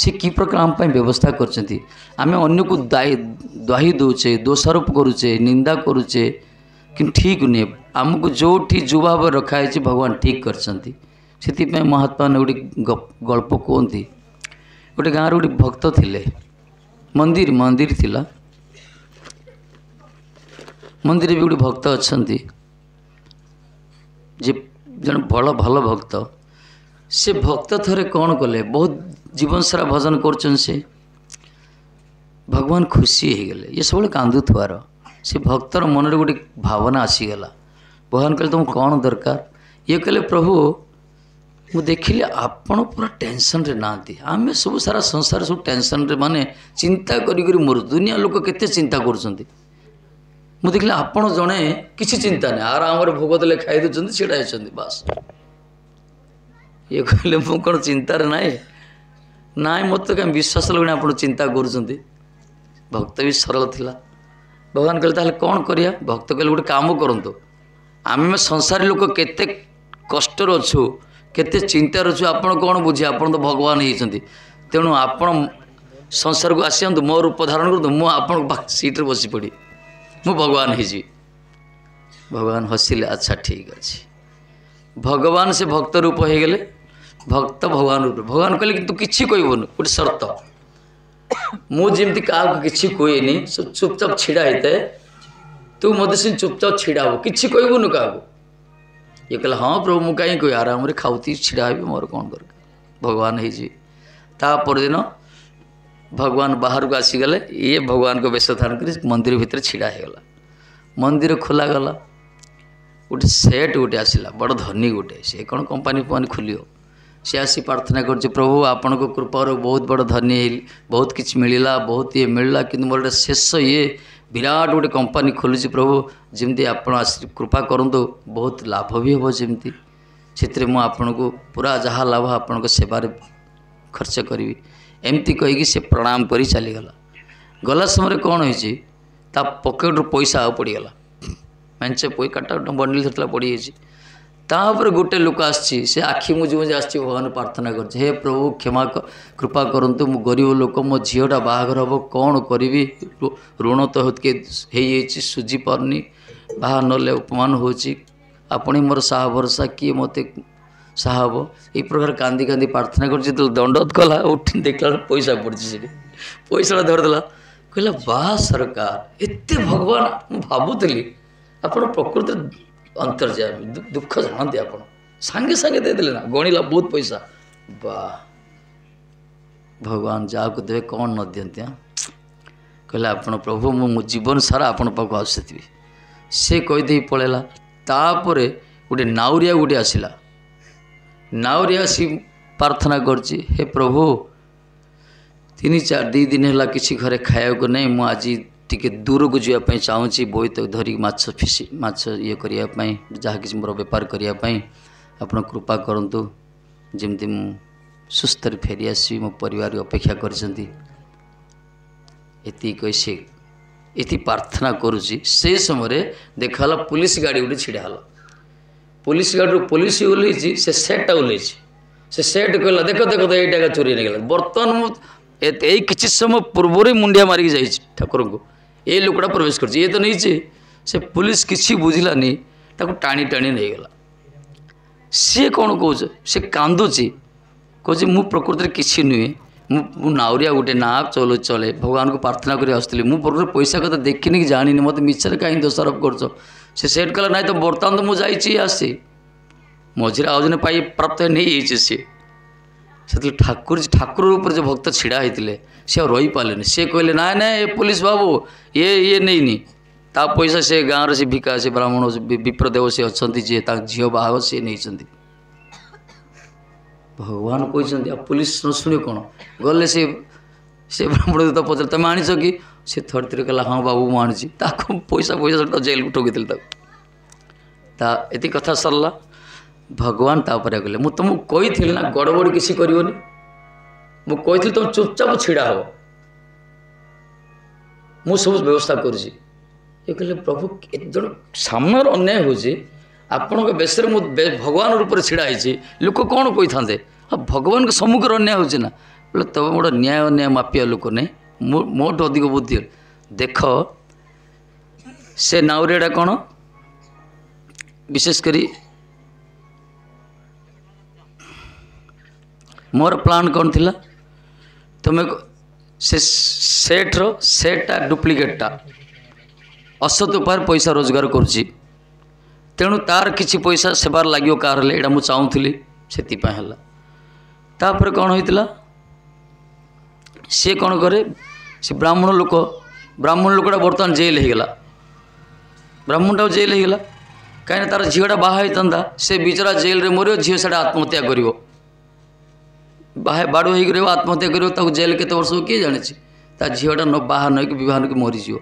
ସେ କି ପ୍ରକାର ଆମ ପାଇଁ ବ୍ୟବସ୍ଥା କରିଛନ୍ତି। ଆମେ ଅନ୍ୟକୁ ଦ୍ୱାହି ଦେଉଛେ, ଦୋଷାରୋପ କରୁଛେ, ନିନ୍ଦା କରୁଛେ, କିନ୍ତୁ ଠିକ୍ ନୁହେଁ। ଆମକୁ ଯେଉଁଠି ଯେଉଁ ଭାବରେ ରଖାହେଇଛି ଭଗବାନ ଠିକ୍ କରିଛନ୍ତି। ସେଥିପାଇଁ ମହାତ୍ମା ଗୋଟେ ଗଳ୍ପ କୁହନ୍ତି। ଗୋଟେ ଗାଁରେ ଗୋଟେ ଭକ୍ତ ଥିଲେ, ମନ୍ଦିର ମନ୍ଦିର ଥିଲା, ମନ୍ଦିରରେ ବି ଗୋଟେ ଭକ୍ତ ଅଛନ୍ତି, ଯେ ଜଣେ ବଡ଼ ଭଲ ଭକ୍ତ। ସେ ଭକ୍ତ ଥରେ କ'ଣ କଲେ, ବହୁତ ଜୀବନ ସାରା ଭଜନ କରୁଛନ୍ତି, ସେ ଭଗବାନ ଖୁସି ହେଇଗଲେ। ଇଏ ସବୁବେଳେ କାନ୍ଦୁଥିବାର, ସେ ଭକ୍ତର ମନରେ ଗୋଟେ ଭାବନା ଆସିଗଲା। ଭଗବାନ କହିଲେ ତୁମକୁ କ'ଣ ଦରକାର? ଇଏ କହିଲେ ପ୍ରଭୁ ମୁଁ ଦେଖିଲି ଆପଣ ପୁରା ଟେନସନ୍ରେ ନାହାନ୍ତି, ଆମେ ସବୁ ସାରା ସଂସାର ସବୁ ଟେନସନ୍ରେ, ମାନେ ଚିନ୍ତା କରି କରି ମରୁ, ଦୁନିଆ ଲୋକ କେତେ ଚିନ୍ତା କରୁଛନ୍ତି। ମୁଁ ଦେଖିଲି ଆପଣ ଜଣେ କିଛି ଚିନ୍ତା ନାହିଁ, ଆରାମରେ ଭୋଗ ଦେଲେ ଖାଇ ଦେଉଛନ୍ତି, ଛିଡ଼ା ହେଇଛନ୍ତି ବାସ୍। ଇଏ କହିଲେ ମୁଁ କ'ଣ ଚିନ୍ତାରେ ନାହିଁ? ନାଇଁ, ମୋତେ କାହିଁ ବିଶ୍ୱାସ ଲାଗୁନି ଆପଣ ଚିନ୍ତା କରୁଛନ୍ତି। ଭକ୍ତ ବି ସରଳ ଥିଲା। ଭଗବାନ କହିଲେ ତାହେଲେ କ'ଣ କରିବା? ଭକ୍ତ କହିଲେ ଗୋଟେ କାମ କରନ୍ତୁ, ଆମେ ସଂସାରୀ ଲୋକ କେତେ କଷ୍ଟରେ ଅଛୁ, କେତେ ଚିନ୍ତାରେ ଅଛୁ, ଆପଣ କ'ଣ ବୁଝିବେ? ଆପଣ ତ ଭଗବାନ ହେଇଛନ୍ତି, ତେଣୁ ଆପଣ ସଂସାରକୁ ଆସିଯାଆନ୍ତୁ, ମୋ ରୂପ ଧାରଣ କରନ୍ତୁ, ମୁଁ ଆପଣଙ୍କ ପାଖ ସିଟ୍ରେ ବସି ପଡ଼ି, ମୁଁ ଭଗବାନ ହେଇଯିବି। ଭଗବାନ ହସିଲେ, ଆଚ୍ଛା ଠିକ୍ ଅଛି। ଭଗବାନ ସେ ଭକ୍ତ ରୂପ ହେଇଗଲେ, ଭକ୍ତ ଭଗବାନ ରୂପ। ଭଗବାନ କହିଲେ କିନ୍ତୁ କିଛି କହିବୁନି, ଗୋଟେ ସର୍ତ୍ତ, ମୁଁ ଯେମିତି କାହାକୁ କିଛି କୁହେନି, ଚୁପଚାପ ଛିଡ଼ା ହେଇଥାଏ, ତୁ ମୋତେ ସେ ଚୁପଚାପ ଛିଡ଼ା ହବୁ, କିଛି କହିବୁନି କାହାକୁ। ଇଏ କହିଲା ହଁ ପ୍ରଭୁ ମୁଁ କାହିଁ କହିବି, ଆରାମରେ ଖାଉଥିବି ଛିଡ଼ା ହେବି, ମୋର କ'ଣ ଦରକାର, ଭଗବାନ ହେଇଯିବି। ତା ପରଦିନ ଭଗବାନ ବାହାରକୁ ଆସିଗଲେ, ଇଏ ଭଗବାନଙ୍କ ବେଶ ଧାରଣ କରି ମନ୍ଦିର ଭିତରେ ଛିଡ଼ା ହେଇଗଲା। ମନ୍ଦିର ଖୋଲାଗଲା, ଗୋଟେ ସେଟ୍ ଗୋଟେ ଆସିଲା, ବଡ଼ ଧନୀ ଗୋଟେ, ସେ କ'ଣ କମ୍ପାନୀ ଫମ୍ପାନୀ ଖୋଲିବ। ସେ ଆସି ପ୍ରାର୍ଥନା କରୁଛି, ପ୍ରଭୁ ଆପଣଙ୍କ କୃପାରୁ ବହୁତ ବଡ଼ ଧନୀ ହେଲି, ବହୁତ କିଛି ମିଳିଲା, ବହୁତ ଇଏ ମିଳିଲା, କିନ୍ତୁ ମୋର ଗୋଟେ ଶେଷ ଇଏ ବିରାଟ ଗୋଟେ କମ୍ପାନୀ ଖୋଲୁଛି ପ୍ରଭୁ, ଯେମିତି ଆପଣ ଆସି କୃପା କରନ୍ତୁ, ବହୁତ ଲାଭ ବି ହେବ, ଯେମିତି ସେଥିରେ ମୁଁ ଆପଣଙ୍କୁ ପୁରା ଯାହା ଲାଭ ଆପଣଙ୍କ ସେବାରେ ଖର୍ଚ୍ଚ କରିବି। ଏମିତି କହିକି ସେ ପ୍ରଣାମ କରି ଚାଲିଗଲା। ଗଲା ସମୟରେ କ'ଣ ହେଇଛି, ତା ପକେଟରୁ ପଇସା ଆଉ ପଡ଼ିଗଲା, ମେଞ୍ଚେ ପଇ କାଟା ବଣ୍ଡିଲ ଧରିଥିଲା ପଡ଼ିଯାଇଛି। ତାପରେ ଗୋଟେ ଲୋକ ଆସିଛି, ସେ ଆଖି ବୁଜି ବୁଜି ଆସିଛି, ଭଗବାନ ପ୍ରାର୍ଥନା କରୁଛି, ହେ ପ୍ରଭୁ କ୍ଷମା କୃପା କରନ୍ତୁ, ମୁଁ ଗରିବ ଲୋକ, ମୋ ଝିଅଟା ବାହାଘର ହେବ, କ'ଣ କରିବି, ଋଣ ତ ହେଇଯାଇଛି, ସୁଝି ପାରୁନି, ବାହା ନହେଲେ ଅପମାନ ହେଉଛି, ଆପଣ ହିଁ ମୋର ସାହା ଭରସା, କିଏ ମୋତେ ସାହା ହେବ। ଏଇ ପ୍ରକାର କାନ୍ଦି କାନ୍ଦି ପ୍ରାର୍ଥନା କରୁଛି। ଯେତେବେଳେ ଦଣ୍ଡବତ କଲା, ଉଠି ଦେଖିଲା ବେଳକୁ ପଇସା ପଡ଼ିଛି ସେଠି, ପଇସାଟା ଧରିଦେଲା। କହିଲା ବା ସରକାର, ଏତେ ଭଗବାନ, ମୁଁ ଭାବୁଥିଲି ଆପଣ ପ୍ରକୃତରେ ଅନ୍ତର୍ଯାମୀ, ଦୁଃଖ ଜାଣନ୍ତି ଆପଣ, ସାଙ୍ଗେ ସାଙ୍ଗେ ଦେଇଦେଲେ ନା, ଗଣିଲା ବହୁତ ପଇସା। ବା ଭଗବାନ ଯାହାକୁ ଦେବେ କ'ଣ ନ ଦିଅନ୍ତି। ହଁ କହିଲେ ଆପଣ ପ୍ରଭୁ ମୁଁ ମୋ ଜୀବନ ସାରା ଆପଣଙ୍କ ପାଖକୁ ଆସୁଥିବି। ସେ କହିଦେଇ ପଳେଇଲା। ତାପରେ ଗୋଟେ ନାଉରିଆ ଗୋଟେ ଆସିଲା, ନାଉରିଆ ଆସି ପ୍ରାର୍ଥନା କରୁଛି, ହେ ପ୍ରଭୁ ତିନି ଚାରି ଦୁଇ ଦିନ ହେଲା କିଛି ଘରେ ଖାଇବାକୁ ନାହିଁ, ମୁଁ ଆଜି ଟିକେ ଦୂରକୁ ଯିବା ପାଇଁ ଚାହୁଁଛି, ବୋଇତ ଧରିକି ମାଛ ଫିସି ମାଛ ଇଏ କରିବା ପାଇଁ, ଯାହା କିଛି ମୋର ବେପାର କରିବା ପାଇଁ, ଆପଣ କୃପା କରନ୍ତୁ, ଯେମିତି ମୁଁ ସୁସ୍ଥରେ ଫେରି ଆସିବି, ମୋ ପରିବାର ଅପେକ୍ଷା କରିଛନ୍ତି। ଏତିକି କହି ସେ ଏତିକି ପ୍ରାର୍ଥନା କରୁଛି। ସେ ସମୟରେ ଦେଖାଗଲା ପୋଲିସ ଗାଡ଼ି ଗୋଟେ ଛିଡ଼ା ହେଲା। ପୋଲିସ ଗାଡ଼ିରୁ ପୋଲିସ ଓହ୍ଲେଇଛି, ସେ ସେଟ୍ଟା ଓହ୍ଲେଇଛି। ସେ ସେଟ୍ କହିଲା ଦେଖ ଦେଖ ତ ଏଇଟା ଚୋରି ନେଇଗଲା। ବର୍ତ୍ତମାନ ମୁଁ ଏଇ କିଛି ସମୟ ପୂର୍ବରୁ ମୁଣ୍ଡିଆ ମାରିକି ଯାଇଛି ଠାକୁରଙ୍କୁ, ଏ ଲୋକଟା ପ୍ରବେଶ କରିଛି, ଇଏ ତ ନେଇଛି। ସେ ପୋଲିସ କିଛି ବୁଝିଲାନି, ତାକୁ ଟାଣି ଟାଣି ନେଇଗଲା। ସିଏ କ'ଣ କହୁଛି, ସେ କାନ୍ଦୁଛି, କହୁଛି ମୁଁ ପ୍ରକୃତରେ କିଛି ନୁହେଁ, ମୁଁ ମୁଁ ନାଉରିଆ ଗୋଟେ ନା ଚଲେ ଚଳେ, ଭଗବାନଙ୍କୁ ପ୍ରାର୍ଥନା କରି ଆସୁଥିଲି, ମୁଁ ପ୍ରକୃତରେ ପଇସା କଥା ଦେଖିନି କି ଜାଣିନି, ମୋତେ ମିଛରେ କାହିଁକି ଦୋଷାରୋପ କରୁଛ। ସେ ସେଟ୍ କହିଲା ନାଇଁ ତ ବର୍ତ୍ତମାନ ତ ମୁଁ ଯାଇଛି ଆସିଛି, ମଝିରେ ଆଉ ଜଣେ ପାଇ ପ୍ରାପ୍ତ ନେଇଯାଇଛି ସିଏ। ସେତେବେଳେ ଠାକୁର ଠାକୁର ଉପରେ ଯେଉଁ ଭକ୍ତ ଛିଡ଼ା ହେଇଥିଲେ ସେ ଆଉ ରହିପାରିଲେନି। ସେ କହିଲେ ନାଇଁ ନାଇଁ ଏ ପୋଲିସ ବାବୁ ଇଏ ଇଏ ନେଇନି, ତା ପଇସା ସେ ଗାଁର ସେ ଭିକା ସେ ବ୍ରାହ୍ମଣ ବିପ୍ରଦେବ ସେ ଅଛନ୍ତି, ଯିଏ ତାଙ୍କ ଝିଅ ବାହାଘର ସିଏ ନେଇଛନ୍ତି। ଭଗବାନ କହିଛନ୍ତି ଆଉ ପୋଲିସ ନ ଶୁଣିବ କ'ଣ। ଗଲେ ସେ ସେ ବ୍ରାହ୍ମଣ ତ ପଚାରିଲେ ତମେ ଆଣିଛ କି? ସେ ଥରେ ଥରେ କହିଲା ହଁ ବାବୁ ମୁଁ ଆଣିଛି। ତାକୁ ପଇସା ପଇସା ଜେଲକୁ ଠକିଥିଲେ ତାକୁ। ତା ଏତିକି କଥା ସରିଲା। ଭଗବାନ ତାପରେ କହିଲେ ମୁଁ ତୁମକୁ କହିଥିଲି ନା ଗଡ଼ବଡ଼ କିଛି କରିବନି, ମୁଁ କହିଥିଲି ତୁମେ ଚୁପଚାପ ଛିଡ଼ା ହେବ, ମୁଁ ସବୁ ବ୍ୟବସ୍ଥା କରୁଛି। ଇଏ କହିଲେ ପ୍ରଭୁ ଜଣେ ସାମ୍ନାର ଅନ୍ୟାୟ ହେଉଛି, ଆପଣଙ୍କ ବେଶରେ ମୁଁ ଭଗବାନ ରୂପରେ ଛିଡ଼ା ହେଇଛି, ଲୋକ କ'ଣ କହିଥାନ୍ତେ, ଆଉ ଭଗବାନଙ୍କ ସମ୍ମୁଖରେ ଅନ୍ୟାୟ ହେଉଛି ନା। ବୋଲେ ତମେ ଗୋଟେ ନ୍ୟାୟ ଅନ୍ୟାୟ ମାପିବା ଲୋକ ନାହିଁ, ମୋଠୁ ଅଧିକ ବୁଦ୍ଧି। ଦେଖ ସେ ନାଉରିଆଟା କ'ଣ, ବିଶେଷ କରି ମୋର ପ୍ଲାନ୍ କ'ଣ ଥିଲା, ତୁମେ ସେ ସେଟ୍ର ସେଟ୍ଟା ଡୁପ୍ଲିକେଟ୍ଟା ଅସତ ଉପାୟରେ ପଇସା ରୋଜଗାର କରୁଛି, ତେଣୁ ତାର କିଛି ପଇସା ସେବାରେ ଲାଗିବ କାହାର ହେଲେ, ଏଇଟା ମୁଁ ଚାହୁଁଥିଲି, ସେଥିପାଇଁ ହେଲା। ତାପରେ କ'ଣ ହେଇଥିଲା, ସିଏ କ'ଣ କରେ, ସେ ବ୍ରାହ୍ମଣ ଲୋକ, ବ୍ରାହ୍ମଣ ଲୋକଟା ବର୍ତ୍ତମାନ ଜେଲ୍ ହେଇଗଲା, ବ୍ରାହ୍ମଣଟା ଜେଲ୍ ହେଇଗଲା କାହିଁକିନା ତାର ଝିଅଟା ବାହା ହେଇଥାନ୍ତା, ସେ ବିଚରା ଜେଲ୍ରେ ମରିବ, ଝିଅ ସେଇଟା ଆତ୍ମହତ୍ୟା କରିବ, ବାହା ବାଡ଼ୁ ହେଇକି ରହିବ, ଆତ୍ମହତ୍ୟା କରିବ, ତାକୁ ଜେଲ୍ କେତେ ବର୍ଷ କିଏ ଜାଣିଛି, ତା ଝିଅଟା ନ ବାହା ନ ହେଇକି ବିବାହ ହେଇକି ମରିଯିବ।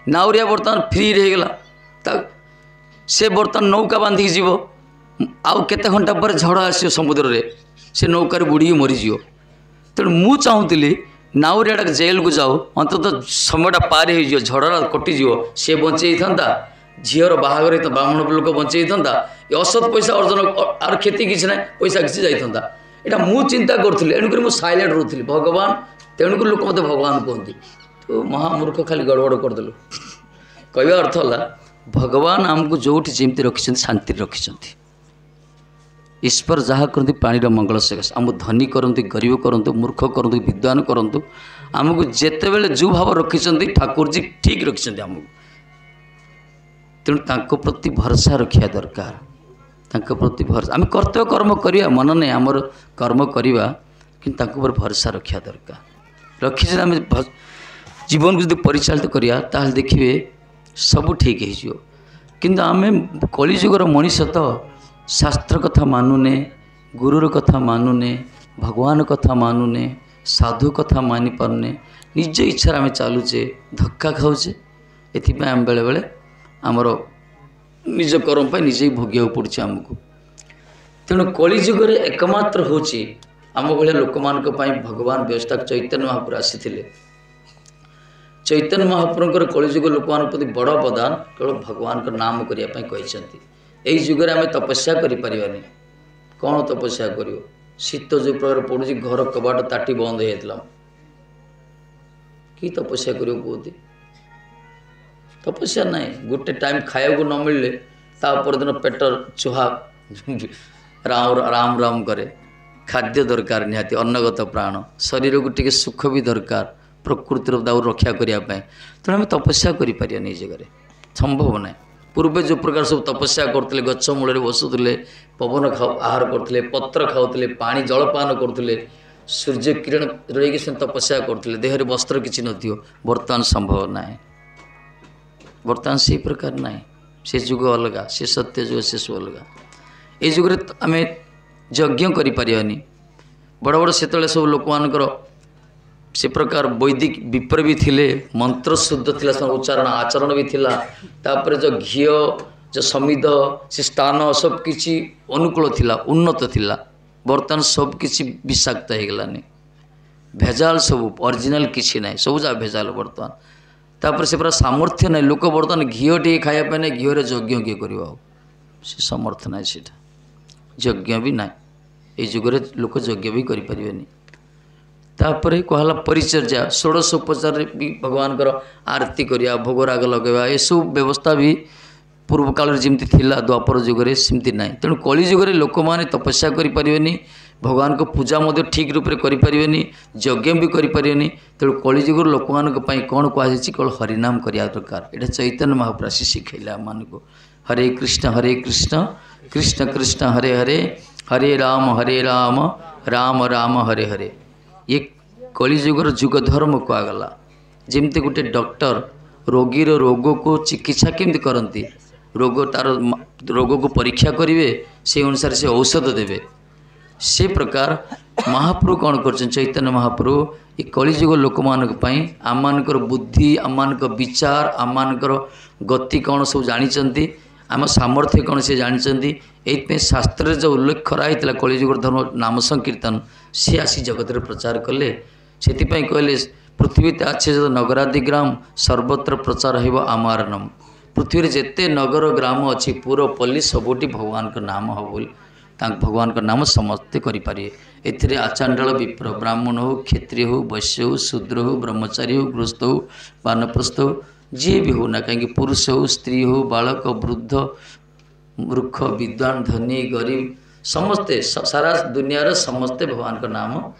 ନାଉରିଆ ବର୍ତ୍ତମାନ ଫ୍ରିରେ ହେଇଗଲା, ତା ସେ ବର୍ତ୍ତମାନ ନୌକା ବାନ୍ଧିକି ଯିବ, ଆଉ କେତେ ଘଣ୍ଟା ପରେ ଝଡ଼ ଆସିବ ସମୁଦ୍ରରେ, ସେ ନୌକାରେ ବୁଡ଼ିକି ମରିଯିବ। ତେଣୁ ମୁଁ ଚାହୁଁଥିଲି ନାଉରିଆଟା ଜେଲ୍କୁ ଯାଉ, ଅନ୍ତତଃ ସମୟଟା ପାର ହେଇଯିବ, ଝଡ଼ଟା କଟିଯିବ, ସିଏ ବଞ୍ଚେଇଥାନ୍ତା, ଝିଅର ବାହାଘର ହେଇଥାନ୍ତା, ବ୍ରାହ୍ମଣ ଲୋକ ବଞ୍ଚେଇଥାନ୍ତା, ଏ ଅସତ ପଇସା ଅର୍ଜନ, ଆର କ୍ଷତି କିଛି ନାହିଁ, ପଇସା କିଛି ଯାଇଥାନ୍ତା। ଏଇଟା ମୁଁ ଚିନ୍ତା କରୁଥିଲି, ଏଣୁକରି ମୁଁ ସାଇଲେଣ୍ଟ ରହୁଥିଲି। ଭଗବାନ, ତେଣୁକରି ଲୋକ ମୋତେ ଭଗବାନ କୁହନ୍ତି, ତୁ ମହାମୂର୍ଖ ଖାଲି ଗଡ଼ବଡ଼ କରିଦେଲୁ। କହିବା ଅର୍ଥ ହେଲା ଭଗବାନ ଆମକୁ ଯେଉଁଠି ଯେମିତି ରଖିଛନ୍ତି ଶାନ୍ତିରେ ରଖିଛନ୍ତି। ଈଶ୍ୱର ଯାହା କରନ୍ତି ପ୍ରାଣୀର ମଙ୍ଗଳ ସକାଶେ, ଆମକୁ ଧନୀ କରନ୍ତି, ଗରିବ କରନ୍ତୁ, ମୂର୍ଖ କରନ୍ତୁ, ବିଦ୍ୱାନ କରନ୍ତୁ, ଆମକୁ ଯେତେବେଳେ ଯେଉଁ ଭାବ ରଖିଛନ୍ତି ଠାକୁରଜୀ ଠିକ୍ ରଖିଛନ୍ତି ଆମକୁ। ତେଣୁ ତାଙ୍କ ପ୍ରତି ଭରସା ରଖିବା ଦରକାର, ତାଙ୍କ ପ୍ରତି ଭରସା। ଆମେ କର୍ତ୍ତବ୍ୟ କର୍ମ କରିବା ମନ ନାହିଁ, ଆମର କର୍ମ କରିବା, କିନ୍ତୁ ତାଙ୍କ ଉପରେ ଭରସା ରଖିବା ଦରକାର। ରଖିଛି ଆମେ ଜୀବନକୁ ଯଦି ପରିଚାଳିତ କରିବା ତାହେଲେ ଦେଖିବେ ସବୁ ଠିକ୍ ହେଇଯିବ। କିନ୍ତୁ ଆମେ କଳିଯୁଗର ମଣିଷ ତ ଶାସ୍ତ୍ର କଥା ମାନୁନେ, ଗୁରୁର କଥା ମାନୁନେ, ଭଗବାନ କଥା ମାନୁନେ, ସାଧୁ କଥା ମାନିପାରୁନେ, ନିଜ ଇଚ୍ଛାରେ ଆମେ ଚାଲୁଛେ, ଧକ୍କା ଖାଉଛେ। ଏଥିପାଇଁ ଆମେ ବେଳେବେଳେ ଆମର ନିଜ କର୍ମ ପାଇଁ ନିଜେ ଭୋଗିବାକୁ ପଡ଼ୁଛି ଆମକୁ। ତେଣୁ କଳିଯୁଗରେ ଏକମାତ୍ର ହେଉଛି ଆମ ଭଳିଆ ଲୋକମାନଙ୍କ ପାଇଁ ଭଗବାନ ବ୍ୟବସ୍ଥା ଚୈତନ୍ୟ ମହାପ୍ରଭୁ ଆସିଥିଲେ। ଚୈତନ୍ୟ ମହାପ୍ରଭୁଙ୍କର କଳିଯୁଗ ଲୋକମାନଙ୍କ ପ୍ରତି ବଡ଼ ଅବଦାନ କେବଳ ଭଗବାନଙ୍କ ନାମ କରିବା ପାଇଁ କହିଛନ୍ତି। ଏଇ ଯୁଗରେ ଆମେ ତପସ୍ୟା କରିପାରିବାନି। କ'ଣ ତପସ୍ୟା କରିବ? ଶୀତ ଯେଉଁ ପ୍ରକାର ପଡ଼ୁଛି, ଘର କବାଟ ତାଟି ବନ୍ଦ ହେଇଯାଇଥିଲା, କି ତପସ୍ୟା କରିବ କୁହନ୍ତି? ତପସ୍ୟା ନାହିଁ। ଗୋଟେ ଟାଇମ୍ ଖାଇବାକୁ ନ ମିଳିଲେ ତା ପରଦିନ ପେଟ ଚୁହା ରାମ ରାମ ରାମ କରେ। ଖାଦ୍ୟ ଦରକାର ନିହାତି, ଅନ୍ନଗତ ପ୍ରାଣ, ଶରୀରକୁ ଟିକେ ସୁଖ ବି ଦରକାର ପ୍ରକୃତିର ଦାଉ ରକ୍ଷା କରିବା ପାଇଁ। ତେଣୁ ଆମେ ତପସ୍ୟା କରିପାରିବାନି ଏଇ ଜାଗାରେ, ସମ୍ଭବ ନାହିଁ। ପୂର୍ବେ ଯେଉଁ ପ୍ରକାର ସବୁ ତପସ୍ୟା କରୁଥିଲେ, ଗଛ ମୂଳରେ ବସୁଥିଲେ, ପବନ ଖାଉ ଆହାର କରୁଥିଲେ, ପତ୍ର ଖାଉଥିଲେ, ପାଣି ଜଳପାନ କରୁଥିଲେ, ସୂର୍ଯ୍ୟ କିରଣ ରହିକି ସେ ତପସ୍ୟା କରୁଥିଲେ, ଦେହରେ ବସ୍ତ୍ର କିଛି ନଥିବ। ବର୍ତ୍ତମାନ ସମ୍ଭବ ନାହିଁ, ବର୍ତ୍ତମାନ ସେଇ ପ୍ରକାର ନାହିଁ। ସେ ଯୁଗ ଅଲଗା, ସେ ସତ୍ୟ ଯୁଗ, ସେ ସବୁ ଅଲଗା। ଏଇ ଯୁଗରେ ଆମେ ଯଜ୍ଞ କରିପାରିବାନି। ବଡ଼ ବଡ଼ ସେତେବେଳେ ସବୁ ଲୋକମାନଙ୍କର ସେ ପ୍ରକାର ବୈଦିକ ବିପ୍ର ବି ଥିଲେ, ମନ୍ତ୍ର ଶୁଦ୍ଧ ଥିଲା, ଉଚ୍ଚାରଣ ଆଚରଣ ବି ଥିଲା। ତାପରେ ଯେଉଁ ଘିଅ, ଯେଉଁ ସମିଧ, ସେ ସ୍ଥାନ ସବୁ କିଛି ଅନୁକୂଳ ଥିଲା, ଉନ୍ନତ ଥିଲା। ବର୍ତ୍ତମାନ ସବୁ କିଛି ବିଷାକ୍ତ ହେଇଗଲାନି, ଭେଜାଲ ସବୁ, ଅରିଜିନାଲ କିଛି ନାହିଁ, ସବୁ ଯାକ ଭେଜାଲ ବର୍ତ୍ତମାନ। ତାପରେ ସେ ପୁରା ସାମର୍ଥ୍ୟ ନାହିଁ ଲୋକ ବର୍ତ୍ତମାନ ଘିଅ ଟିକେ ଖାଇବା ପାଇଁ ନାହିଁ, ଘିଅରେ ଯଜ୍ଞ କିଏ କରିବ? ଆଉ ସେ ସମର୍ଥ ନାହିଁ, ସେଇଟା ଯଜ୍ଞ ବି ନାହିଁ। ଏଇ ଯୁଗରେ ଲୋକ ଯଜ୍ଞ ବି କରିପାରିବେନି। ତାପରେ କୁହାହେଲା ପରିଚର୍ଯା, ଷୋଡ଼ଶ ଉପଚାରରେ ବି ଭଗବାନଙ୍କର ଆରତୀ କରିବା, ଭୋଗରାଗ ଲଗାଇବା, ଏସବୁ ବ୍ୟବସ୍ଥା ବି ପୂର୍ବ କାଳରେ ଯେମିତି ଥିଲା ଦ୍ୱାପର ଯୁଗରେ ସେମିତି ନାହିଁ। ତେଣୁ କଳି ଯୁଗରେ ଲୋକମାନେ ତପସ୍ୟା କରିପାରିବେନି, ଭଗବାନଙ୍କ ପୂଜା ମଧ୍ୟ ଠିକ୍ ରୂପରେ କରିପାରିବେନି, ଯଜ୍ଞ ବି କରିପାରିବେନି। ତେଣୁ କଳିଯୁଗର ଲୋକମାନଙ୍କ ପାଇଁ କ'ଣ କୁହାଯାଇଛି? କେବଳ ହରିନାମ କରିବା ଦରକାର। ଏଇଟା ଚୈତନ୍ୟ ମହାପ୍ରଭୁ ଆସି ଶିଖେଇଲେ ଆମମାନଙ୍କୁ। ହରେ କୃଷ୍ଣ ହରେ କୃଷ୍ଣ କୃଷ୍ଣ କୃଷ୍ଣ ହରେ ହରେ, ହରେ ରାମ ହରେ ରାମ ରାମ ରାମ ହରେ ହରେ। ଇଏ କଳିଯୁଗର ଯୁଗ ଧର୍ମ କୁହାଗଲା। ଯେମିତି ଗୋଟେ ଡକ୍ଟର ରୋଗୀର ରୋଗକୁ ଚିକିତ୍ସା କେମିତି କରନ୍ତି, ରୋଗ ତାର ରୋଗକୁ ପରୀକ୍ଷା କରିବେ, ସେଇ ଅନୁସାରେ ସେ ଔଷଧ ଦେବେ। ସେ ପ୍ରକାର ମହାପ୍ରଭୁ କ'ଣ କରୁଛନ୍ତି ଚୈତନ୍ୟ ମହାପ୍ରଭୁ ଏ କଳିଯୁଗ ଲୋକମାନଙ୍କ ପାଇଁ ଆମମାନଙ୍କର ବୁଦ୍ଧି, ଆମମାନଙ୍କ ବିଚାର, ଆମମାନଙ୍କର ଗତି କ'ଣ ସବୁ ଜାଣିଛନ୍ତି, ଆମ ସାମର୍ଥ୍ୟ କ'ଣ ସେ ଜାଣିଛନ୍ତି। ଏଇଥିପାଇଁ ଶାସ୍ତ୍ରରେ ଯେଉଁ ଉଲ୍ଲେଖ କରାହେଇଥିଲା କଳିଯୁଗର ଧର୍ମ ନାମ ସଂକୀର୍ତ୍ତନ, ସିଏ ଆସି ଜଗତରେ ପ୍ରଚାର କଲେ। ସେଥିପାଇଁ କହିଲେ ପୃଥିବୀতে আছে ଯତ ନଗରାଦି ଗ୍ରାମ ସର୍ବତ୍ର ପ୍ରଚାର ହେବ ଆମର ନାମ। ପୃଥିବୀରେ ଯେତେ ନଗର ଗ୍ରାମ ଅଛି, ପୁର ପଲ୍ଲୀ ସବୁଠି ଭଗବାନଙ୍କ ନାମ ହେବ ବୋଲି ତାଙ୍କ ଭଗବାନଙ୍କ ନାମ ସମସ୍ତେ କରିପାରିବେ। ଏଥିରେ ଆଚାଣ୍ଡାଳ ବିପ୍ର, ବ୍ରାହ୍ମଣ ହେଉ, କ୍ଷତ୍ରିୟ ହେଉ, ବୈଶ୍ୟ ହେଉ, ଶୂଦ୍ର ହେଉ, ବ୍ରହ୍ମଚାରୀ ହେଉ, ଗୃହସ୍ଥ ହେଉ, ବାନପ୍ରସ୍ଥ ହେଉ, ଯିଏ ବି ହେଉ ନା କାହିଁକି, ପୁରୁଷ ହେଉ, ସ୍ତ୍ରୀ ହେଉ, ବାଳକ, ବୃଦ୍ଧ, ମୂର୍ଖ, ବିଦ୍ୱାନ, ଧନୀ, ଗରିବ, ସମସ୍ତେ ସାରା ଦୁନିଆର ସମସ୍ତେ ଭଗବାନଙ୍କ ନାମ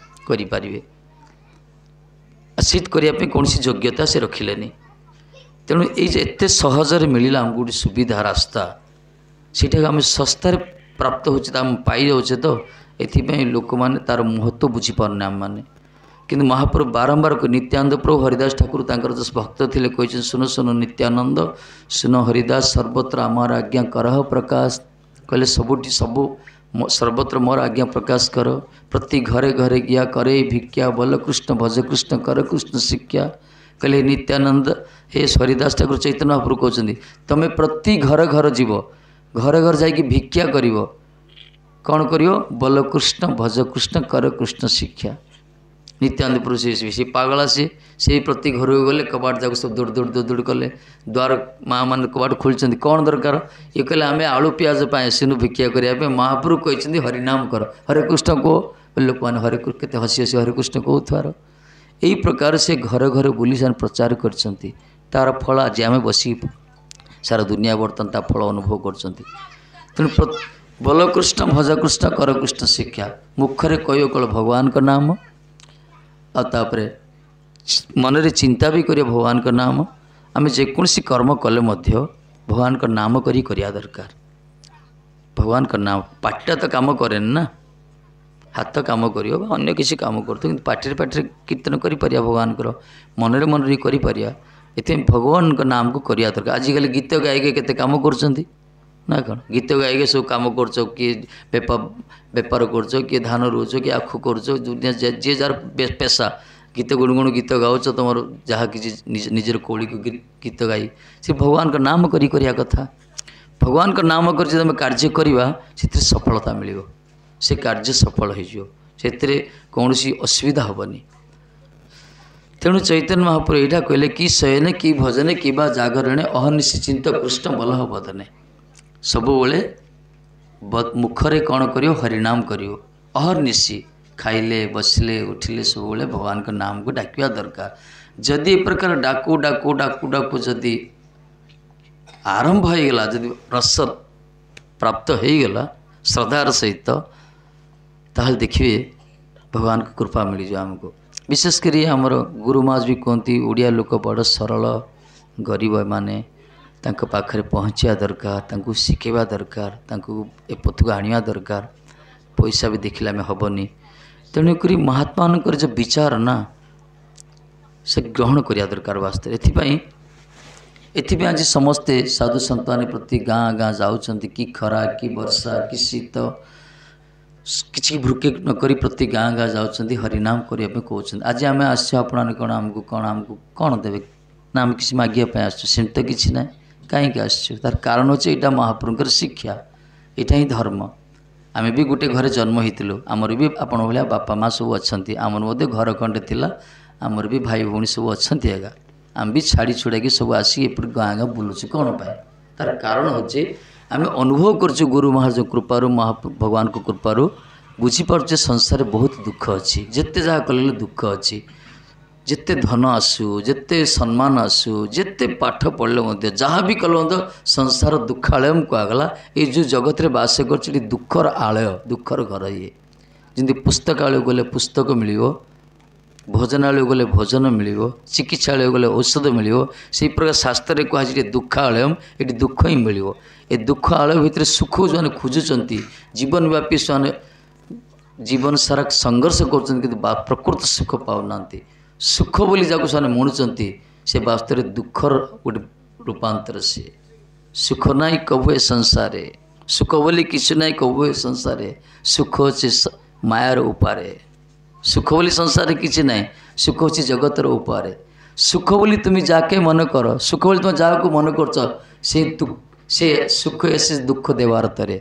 କରିପାରିବେ। ସିଦ୍ଧ କରିବା ପାଇଁ କୌଣସି ଯୋଗ୍ୟତା ସେ ରଖିଲେନି। ତେଣୁ ଏଇ ଯେ ଏତେ ସହଜରେ ମିଳିଲା ଆମକୁ ଗୋଟେ ସୁବିଧା ରାସ୍ତା, ସେଇଟାକୁ ଆମେ ଶସ୍ତାରେ ପ୍ରାପ୍ତ ହେଉଛି, ତ ଆମେ ପାଇଯାଉଛେ, ତ ଏଥିପାଇଁ ଲୋକମାନେ ତା'ର ମହତ୍ତ୍ୱ ବୁଝିପାରୁନେ ଆମେମାନେ। କିନ୍ତୁ ମହାପ୍ରଭୁ ବାରମ୍ବାର ନିତ୍ୟାନନ୍ଦ ପ୍ରଭୁ ହରିଦାସ ଠାକୁର ତାଙ୍କର ଯେଉଁ ଭକ୍ତ ଥିଲେ କହିଛନ୍ତି, ଶୁଣ ଶୁଣ ନିତ୍ୟାନନ୍ଦ, ଶୁଣ ହରିଦାସ, ସର୍ବତ୍ର ଆମର ଆଜ୍ଞା କରହ ପ୍ରକାଶ। କହିଲେ ସବୁଠି ସବୁ ସର୍ବତ୍ର ମୋର ଆଜ୍ଞା ପ୍ରକାଶ କର। ପ୍ରତି ଘରେ ଘରେ ଗିଆ କରେ ଭିକ୍ଷା, ବଲ କୃଷ୍ଣ ଭଜ କୃଷ୍ଣ କର କୃଷ୍ଣ ଶିକ୍ଷା। କହିଲେ ନିତ୍ୟାନନ୍ଦ, ହେ ହରିଦାସ ଠାକୁର ଚୈତନ୍ୟ ମହାପ୍ରଭୁ କହୁଛନ୍ତି, ତୁମେ ପ୍ରତି ଘର ଘର ଯିବ, ଘରେ ଘରେ ଯାଇକି ଭିକ୍ଷା କରିବ। କ'ଣ କରିବ? ବଲ କୃଷ୍ଣ ଭଜ କୃଷ୍ଣ କର କୃଷ୍ଣ ଶିକ୍ଷା। ନିତ୍ୟାନନ୍ଦ ପ୍ରଭୁ ସେ ସେ ପାଗଳା, ସିଏ ସେଇ ପ୍ରତି ଘରକୁ ଗଲେ କବାଟ ଯାକ ସବୁ ଦୌଡ଼ି ଦୌଡ଼ି ଦୌଡ଼ି ଦୌଡ଼ି କଲେ। ଦ୍ୱାର ମା' ମାନେ କବାଟ ଖୋଲିଛନ୍ତି, କ'ଣ ଦରକାର? ଇଏ କହିଲେ ଆମେ ଆଳୁ ପିଆଜ ପାଇଁ ଆସିନୁ ଭିକ୍ଷା କରିବା ପାଇଁ, ମହାପ୍ରଭୁ କହିଛନ୍ତି ହରିନାମ କର, ହରେ କୃଷ୍ଣ କୁହ। ଲୋକମାନେ ହରେ କେତେ ହସି ହସି ହରେ କୃଷ୍ଣ କହୁଥିବାର। ଏଇ ପ୍ରକାର ସେ ଘରେ ଘରେ ବୁଲି ସେମାନେ ପ୍ରଚାର କରିଛନ୍ତି। ତା'ର ଫଳ ଆଜି ଆମେ ବସିକି ସାରା ଦୁନିଆ ବର୍ତ୍ତମାନ ତା ଫଳ ଅନୁଭବ କରୁଛନ୍ତି। ତେଣୁ ବଲକୃଷ୍ଣ ଭଜକୃଷ୍ଣ କରକୃଷ୍ଣ ଶିକ୍ଷା, ମୁଖରେ କହିବ କେବଳ ଭଗବାନଙ୍କ ନାମ, ଆଉ ତାପରେ ମନରେ ଚିନ୍ତା ବି କରିବ ଭଗବାନଙ୍କ ନାମ। ଆମେ ଯେକୌଣସି କର୍ମ କଲେ ମଧ୍ୟ ଭଗବାନଙ୍କ ନାମ କରି କରିବା ଦରକାର। ଭଗବାନଙ୍କ ନାମ, ପାଟିଟା ତ କାମ କରେନି ନା, ହାତ କାମ କରିବ ବା ଅନ୍ୟ କିଛି କାମ କରୁଥିବ, କିନ୍ତୁ ପାଟିରେ ପାଟିରେ କୀର୍ତ୍ତନ କରିପାରିବା ଭଗବାନଙ୍କର, ମନରେ ମନରେ କରିପାରିବା। ଏଥିପାଇଁ ଭଗବାନଙ୍କ ନାମକୁ କରିବା ଦରକାର। ଆଜିକାଲି ଗୀତ ଗାଇକି କେତେ କାମ କରୁଛନ୍ତି ନା କ'ଣ? ଗୀତ ଗାଇକି ସବୁ କାମ କରୁଛ, କିଏ ବେପାର କରୁଛ, କିଏ ଧାନ ରୋଉଛ, କିଏ ଆଖୁ କରୁଛ, ଯିଏ ଯାହାର ପେସା। ଗୀତ ଗୁଣୁଗୁଣୁ ଗୀତ ଗାଉଛ, ତୁମର ଯାହା କିଛି ନିଜର କୌଳିକ ଗୀତ ଗାଇ ସେ ଭଗବାନଙ୍କ ନାମ କରି କରିବା କଥା। ଭଗବାନଙ୍କ ନାମ କରି ଯଦି ଆମେ କାର୍ଯ୍ୟ କରିବା, ସେଥିରେ ସଫଳତା ମିଳିବ, ସେ କାର୍ଯ୍ୟ ସଫଳ ହେଇଯିବ, ସେଥିରେ କୌଣସି ଅସୁବିଧା ହେବନି। ତେଣୁ ଚୈତନ୍ୟ ମହାପ୍ରଭୁ ଏଇଟା କହିଲେ କି ଶୟନେ କି ଭଜନେ କିବା ଜାଗରଣେ ଅହର୍ନିଶି ଚିନ୍ତ କୃଷ୍ଣ ବଲ୍ଲଭ ବଦନେ। ସବୁବେଳେ ମୁଖରେ କ'ଣ କରିବ? ହରିନାମ କରିବ। ଅହର୍ନିଶି, ଖାଇଲେ ବସିଲେ ଉଠିଲେ ସବୁବେଳେ ଭଗବାନଙ୍କ ନାମକୁ ଡାକିବା ଦରକାର। ଯଦି ଏ ପ୍ରକାର ଡାକୁ ଡାକୁ ଡାକୁ ଡାକୁ ଯଦି ଆରମ୍ଭ ହେଇଗଲା, ଯଦି ରସ ପ୍ରାପ୍ତ ହେଇଗଲା ଶ୍ରଦ୍ଧାର ସହିତ, ତାହେଲେ ଦେଖିବେ ଭଗବାନଙ୍କ କୃପା ମିଳିଯିବ ଆମକୁ। ବିଶେଷ କରି ଆମର ଗୁରୁମାଜ ବି କୁହନ୍ତି, ଓଡ଼ିଆ ଲୋକ ବଡ଼ ସରଳ, ଗରିବ, ଏମାନେ ତାଙ୍କ ପାଖରେ ପହଞ୍ଚିବା ଦରକାର, ତାଙ୍କୁ ଶିଖେଇବା ଦରକାର, ତାଙ୍କୁ ଏ ପଥକୁ ଆଣିବା ଦରକାର। ପଇସା ବି ଦେଖିଲେ ଆମେ ହେବନି। ତେଣୁକରି ମହାତ୍ମାମାନଙ୍କର ଯେଉଁ ବିଚାର ନା, ସେ ଗ୍ରହଣ କରିବା ଦରକାର ବାସ୍ତବରେ। ଏଥିପାଇଁ ଏଥିପାଇଁ ଆଜି ସମସ୍ତେ ସାଧୁ ସନ୍ତାନ ପ୍ରତି ଗାଁ ଗାଁ ଯାଉଛନ୍ତି, କି ଖରା କି ବର୍ଷା କି ଶୀତ କିଛି ଭୃକେ ନ କରି ପ୍ରତି ଗାଁ ଗାଁ ଯାଉଛନ୍ତି, ହରିନାମ କରିବା ପାଇଁ କହୁଛନ୍ତି। ଆଜି ଆମେ ଆସିଛୁ, ଆପଣମାନେ କ'ଣ ଆମକୁ କ'ଣ ଆମକୁ କ'ଣ ଦେବେ ନା ଆମେ କିଛି ମାଗିବା ପାଇଁ ଆସିଛୁ? ସେମିତି ତ କିଛି ନାହିଁ। କାହିଁକି ଆସିଛୁ? ତାର କାରଣ ହେଉଛି ଏଇଟା ମହାପ୍ରଭୁଙ୍କର ଶିକ୍ଷା, ଏଇଟା ହିଁ ଧର୍ମ। ଆମେ ବି ଗୋଟେ ଘରେ ଜନ୍ମ ହେଇଥିଲୁ, ଆମର ବି ଆପଣ ଭଳିଆ ବାପା ମା' ସବୁ ଅଛନ୍ତି, ଆମର ମଧ୍ୟ ଘର ଖଣ୍ଡେ ଥିଲା, ଆମର ବି ଭାଇ ଭଉଣୀ ସବୁ ଅଛନ୍ତି ଆଜ୍ଞା। ଆମେ ବି ଛାଡ଼ି ଛୁଡ଼ାକି ସବୁ ଆସିକି ଏପଟେ ଗାଁ ଗାଁ ବୁଲୁଛୁ କ'ଣ ପାଇଁ? ତାର କାରଣ ହେଉଛି ଆମେ ଅନୁଭବ କରୁଛୁ ଗୁରୁ ମହାରାଜଙ୍କ କୃପାରୁ, ମହା ଭଗବାନଙ୍କ କୃପାରୁ ବୁଝିପାରୁଛେ ସଂସାରରେ ବହୁତ ଦୁଃଖ ଅଛି, ଯେତେ ଯାହା କଲେ ଦୁଃଖ ଅଛି। ଯେତେ ଧନ ଆସୁ, ଯେତେ ସମ୍ମାନ ଆସୁ, ଯେତେ ପାଠ ପଢ଼ିଲେ ମଧ୍ୟ, ଯାହା ବି କଲେ ମଧ୍ୟ ସଂସାର ଦୁଃଖାଳୟ କୁହାଗଲା। ଏଇ ଯେଉଁ ଜଗତରେ ବାସ କରୁଛି ଏଠି ଦୁଃଖର ଆଳୟ, ଦୁଃଖର ଘର ଇଏ। ଯେମିତି ପୁସ୍ତକାଳୟ ଗଲେ ପୁସ୍ତକ ମିଳିବ, ଭୋଜନାଳୟ ଗଲେ ଭୋଜନ ମିଳିବ, ଚିକିତ୍ସାଳୟ ଗଲେ ଔଷଧ ମିଳିବ, ସେଇ ପ୍ରକାର ଶାସ୍ତ୍ରରେ କୁହାଯାଇଛି ଦୁଃଖାଳୟମ୍, ଏଠି ଦୁଃଖ ହିଁ ମିଳିବ। ଏ ଦୁଃଖ ଆଳୟ ଭିତରେ ସୁଖ ଯେଉଁମାନେ ଖୋଜୁଛନ୍ତି, ଜୀବନବ୍ୟାପୀ ସେମାନେ ଜୀବନ ସାରା ସଂଘର୍ଷ କରୁଛନ୍ତି, କିନ୍ତୁ ପ୍ରକୃତ ସୁଖ ପାଉନାହାନ୍ତି। ସୁଖ ବୋଲି ଯାହାକୁ ସେମାନେ ମଣୁଛନ୍ତି, ସେ ବାସ୍ତବରେ ଦୁଃଖର ଗୋଟେ ରୂପାନ୍ତର। ସିଏ ସୁଖ ନାହିଁ କଭୁ ଏ ସଂସାରେ, ସୁଖ ବୋଲି କିଛି ନାହିଁ କଭୁ ଏ ସଂସାରେ, ସୁଖ ଅଛି ମାୟାର ଉପାରେ। ସୁଖ ବୋଲି ସଂସାରରେ କିଛି ନାହିଁ, ସୁଖ ଅଛି ଜଗତର ଉପାରେ। ସୁଖ ବୋଲି ତୁମେ ଯାହାକେ ମନେ କର, ସୁଖ ବୋଲି ତୁମେ ଯାହାକୁ ମନେ କରୁଛ, ସେ ସେ ସୁଖ ଏସେ ଦୁଃଖ ଦେବାର ତରେ।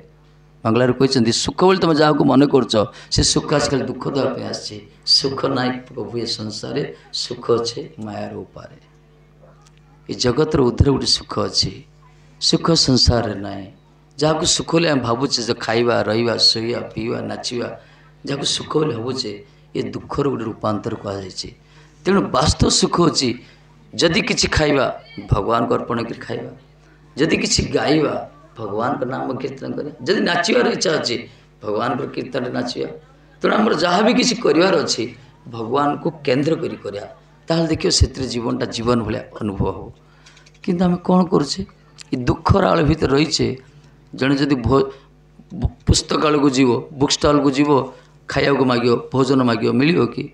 ବାଂଲାରେ କହିଛନ୍ତି ସୁଖ ବୋଲି ତୁମେ ଯାହାକୁ ମନେ କରୁଛ, ସେ ସୁଖ ଆଜିକାଲି ଦୁଃଖ ଦେବା ପାଇଁ ଆସିଛି। ସୁଖ ନାହିଁ ପ୍ରଭୁ ଏ ସଂସାରେ, ସୁଖ ଅଛି ମାୟାର ଉପାରେ। ଏ ଜଗତର ଉଦ୍ଧରେ ଗୋଟେ ସୁଖ ଅଛି, ସୁଖ ସଂସାରରେ ନାହିଁ। ଯାହାକୁ ସୁଖ ବୋଲି ଆମେ ଭାବୁଛେ, ଯେ ଖାଇବା, ରହିବା, ଶୋଇବା, ପିଇବା, ନାଚିବା, ଯାହାକୁ ସୁଖ ବୋଲି ଭାବୁଛେ, ଏ ଦୁଃଖର ଗୋଟେ ରୂପାନ୍ତର କୁହାଯାଇଛି। ତେଣୁ ବାସ୍ତବ ସୁଖ ହେଉଛି ଯଦି କିଛି ଖାଇବା ଭଗବାନଙ୍କୁ ଅର୍ପଣ କରି ଖାଇବା, ଯଦି କିଛି ଗାଇବା ଭଗବାନଙ୍କ ନାମ କୀର୍ତ୍ତନ କରିବା, ଯଦି ନାଚିବାର ଇଚ୍ଛା ଅଛି ଭଗବାନଙ୍କର କୀର୍ତ୍ତନରେ ନାଚିବା। ତେଣୁ ଆମର ଯାହା ବି କିଛି କରିବାର ଅଛି ଭଗବାନଙ୍କୁ କେନ୍ଦ୍ର କରି କରିବା, ତାହେଲେ ଦେଖିବ ସେଥିରେ ଜୀବନଟା ଜୀବନ ଭଳିଆ ଅନୁଭବ ହେବ। କିନ୍ତୁ ଆମେ କ'ଣ କରୁଛେ? ଏ ଦୁଃଖର ଆଳ ଭିତରେ ରହିଛେ। ଜଣେ ଯଦି ଭୋ ପୁସ୍ତକାଳୟକୁ ଯିବ, ବୁକ୍ ଷ୍ଟଲ୍କୁ ଯିବ, ଖାଇବାକୁ ମାଗିବ, ଭୋଜନ ମାଗିବ, ମିଳିବ କି?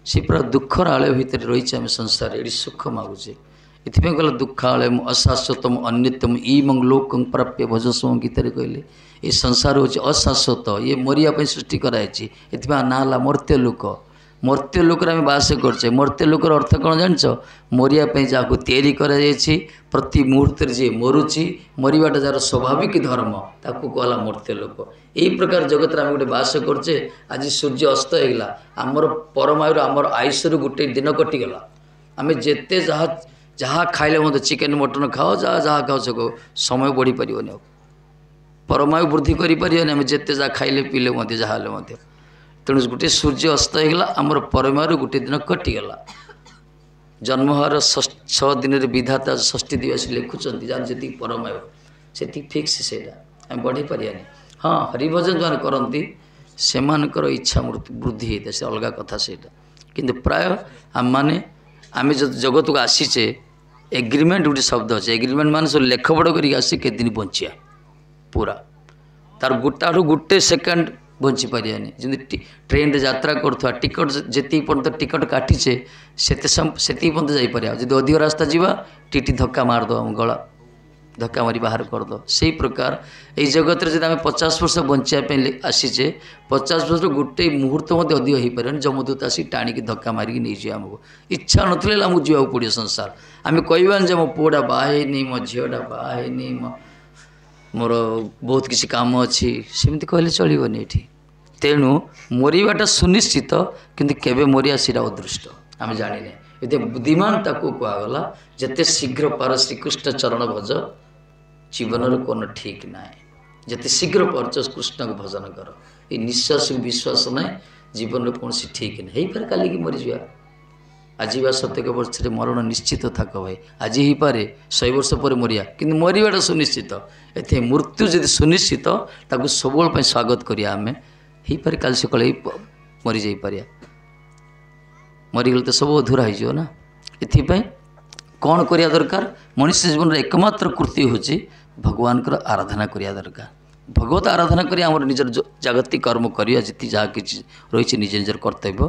ସେ ପୁରା ଦୁଃଖର ଆଳୟ ଭିତରେ ରହିଛି ଆମେ ସଂସାରରେ, ଏଠି ସୁଖ ମାଗୁଛେ। ଏଥିପାଇଁ କହିଲା ଦୁଃଖାଳୟ ଅଶାଶ୍ୱତମ ଅନ୍ୟତମ ଇମଂ ଲୋକଂ ପ୍ରାପ୍ୟ ଭଜସମ। ଗୀତାରେ କହିଲେ ଏ ସଂସାର ହେଉଛି ଅଶାଶ୍ୱତ, ଇଏ ମରିବା ପାଇଁ ସୃଷ୍ଟି କରାଯାଇଛି। ଏଥିପାଇଁ ନାଁ ହେଲା ମର୍ତ୍ତ୍ୟ ଲୋକ। ମର୍ତ୍ତ୍ୟ ଲୋକରେ ଆମେ ବାସ କରୁଛେ। ମର୍ତ୍ତ୍ୟ ଲୋକର ଅର୍ଥ କ'ଣ ଜାଣିଛ? ମରିବା ପାଇଁ ଯାହାକୁ ତିଆରି କରାଯାଇଛି, ପ୍ରତି ମୁହୂର୍ତ୍ତରେ ଯିଏ ମରୁଛି, ମରିବାଟା ଯାହାର ସ୍ୱାଭାବିକ ଧର୍ମ, ତାକୁ କୁହାଗଲା ମର୍ତ୍ତ୍ୟ ଲୋକ। ଏଇ ପ୍ରକାର ଜଗତରେ ଆମେ ଗୋଟେ ବାସ କରୁଛେ। ଆଜି ସୂର୍ଯ୍ୟ ଅସ୍ତ ହେଇଗଲା, ଆମର ପରମାୟୁର ଆମର ଆୟୁଷରୁ ଗୋଟେ ଦିନ କଟିଗଲା। ଆମେ ଯେତେ ଯାହା ଯାହା ଖାଇଲେ ମଧ୍ୟ, ଚିକେନ୍ ମଟନ୍ ଖାଅ, ଯାହା ଯାହା ଖାଅ ସେ ସମୟ ବଢ଼ିପାରିବନି, ଆଉ ପରମାୟୁ ବୃଦ୍ଧି କରିପାରିବନି ଆମେ ଯେତେ ଯାହା ଖାଇଲେ ପିଇଲେ ମଧ୍ୟ, ଯାହା ହେଲେ ମଧ୍ୟ। ତେଣୁ ଗୋଟିଏ ସୂର୍ଯ୍ୟ ଅସ୍ତ ହେଇଗଲା, ଆମର ପରମାୟୁରୁ ଗୋଟିଏ ଦିନ କଟିଗଲା। ଜନ୍ମ ହେବାର ଛଅ ଦିନରେ ବିଧାତା ଷଷ୍ଠୀ ଦିବସ ଲେଖୁଛନ୍ତି, ଯାହାର ଯେତିକି ପରମାୟୁ ସେତିକି ଫିକ୍ସ, ସେଇଟା ଆମେ ବଢ଼େଇ ପାରିବାନି। ହଁ, ହରିଭଜନ ଯେଉଁମାନେ କରନ୍ତି ସେମାନଙ୍କର ଇଚ୍ଛା ମୃତ୍ୟୁ ବୃଦ୍ଧି ହେଇଥାଏ, ସେ ଅଲଗା କଥା ସେଇଟା। କିନ୍ତୁ ପ୍ରାୟ ଆମମାନେ ଆମେ ଯଦି ଜଗତକୁ ଆସିଛେ, ଏଗ୍ରିମେଣ୍ଟ ଗୋଟେ ଶବ୍ଦ ଅଛି, ଏଗ୍ରିମେଣ୍ଟ ମାନେ ସବୁ ଲେଖପଢ଼ କରିକି ଆସି କେତେ ଦିନ ବଞ୍ଚିବା ପୁରା, ତାର ଗୋଟାଠୁ ଗୋଟେ ସେକେଣ୍ଡ ବଞ୍ଚିପାରିବାନି। ଯେମିତି ଟ୍ରେନରେ ଯାତ୍ରା କରୁଥିବା, ଟିକଟ ଯେତିକି ପର୍ଯ୍ୟନ୍ତ ଟିକଟ କାଟିଛେ ସେତେ ସେତିକି ପର୍ଯ୍ୟନ୍ତ ଯାଇପାରିବା। ଯଦି ଅଧିକ ରାସ୍ତା ଯିବା, ଟିଟି ଧକ୍କା ମାରିଦେବ, ଆମ ଗଳା ଧକ୍କା ମାରି ବାହାର କରିଦେବ। ସେଇ ପ୍ରକାର ଏଇ ଜଗତରେ ଯଦି ଆମେ ପଚାଶ ବର୍ଷ ବଞ୍ଚିବା ପାଇଁ ଆସିଛେ, ପଚାଶ ବର୍ଷ ଗୋଟେ ମୁହୂର୍ତ୍ତ ମଧ୍ୟ ଅଧିକ ହେଇପାରିବନି। ଯମଦୂତ ଆସିକି ଟାଣିକି ଧକ୍କା ମାରିକି ନେଇଯିବ ଆମକୁ। ଇଚ୍ଛା ନଥିଲେ ହେଲେ ଆମକୁ ଯିବାକୁ ପଡ଼ିବ ସଂସାର। ଆମେ କହିବାନି ଯେ ମୋ ପୁଅଟା ବାହା ହେଇନି, ମୋ ଝିଅଟା ବାହା ହେଇନି, ମୋ ମୋର ବହୁତ କିଛି କାମ ଅଛି, ସେମିତି କହିଲେ ଚଳିବନି ଏଠି। ତେଣୁ ମରିବାଟା ସୁନିଶ୍ଚିତ, କିନ୍ତୁ କେବେ ମରିବା ସେଇଟା ଅଦୃଷ୍ଟ, ଆମେ ଜାଣିନେ। ଏତେ ବୁଦ୍ଧିମାନ ତାକୁ କୁହାଗଲା ଯେତେ ଶୀଘ୍ର ପାର ଶ୍ରୀକୃଷ୍ଣ ଚରଣ ଭଜ। ଜୀବନର କ'ଣ ଠିକ୍ ନାହିଁ, ଯେତେ ଶୀଘ୍ର ପାରୁଛ କୃଷ୍ଣକୁ ଭଜନ କର। ଏଇ ନିଶ୍ୱାସକୁ ବିଶ୍ୱାସ ନାହିଁ, ଜୀବନର କୌଣସି ଠିକ୍ ନାହିଁ। ହେଇପାରେ କାଲିକି ମରିଯିବା, ଆଜି ବା ଶତକ ବର୍ଷରେ ମରଣ ନିଶ୍ଚିତ ଥାକ ଭାଇ। ଆଜି ହେଇପାରେ ଶହେ ବର୍ଷ ପରେ ମରିବା, କିନ୍ତୁ ମରିବାଟା ସୁନିଶ୍ଚିତ। ଏଥିପାଇଁ ମୃତ୍ୟୁ ଯଦି ସୁନିଶ୍ଚିତ, ତାକୁ ସବୁବେଳେ ପାଇଁ ସ୍ୱାଗତ କରିବା ଆମେ। ହେଇପାରେ କାଲି ସକାଳେ ମରିଯାଇପାରିବା, ମରିଗଲେ ତ ସବୁ ଅଧୁରା ହେଇଯିବ ନା। ଏଥିପାଇଁ କ'ଣ କରିବା ଦରକାର? ମଣିଷ ଜୀବନର ଏକମାତ୍ର କୃତି ହେଉଛି ଭଗବାନଙ୍କର ଆରାଧନା କରିବା ଦରକାର। ଭଗବତ ଆରାଧନା କରି ଆମର ନିଜର ଜାଗତିକ କର୍ମ କରିବା, ଯେତିକି ଯାହା କିଛି ରହିଛି ନିଜ ନିଜର କର୍ତ୍ତବ୍ୟ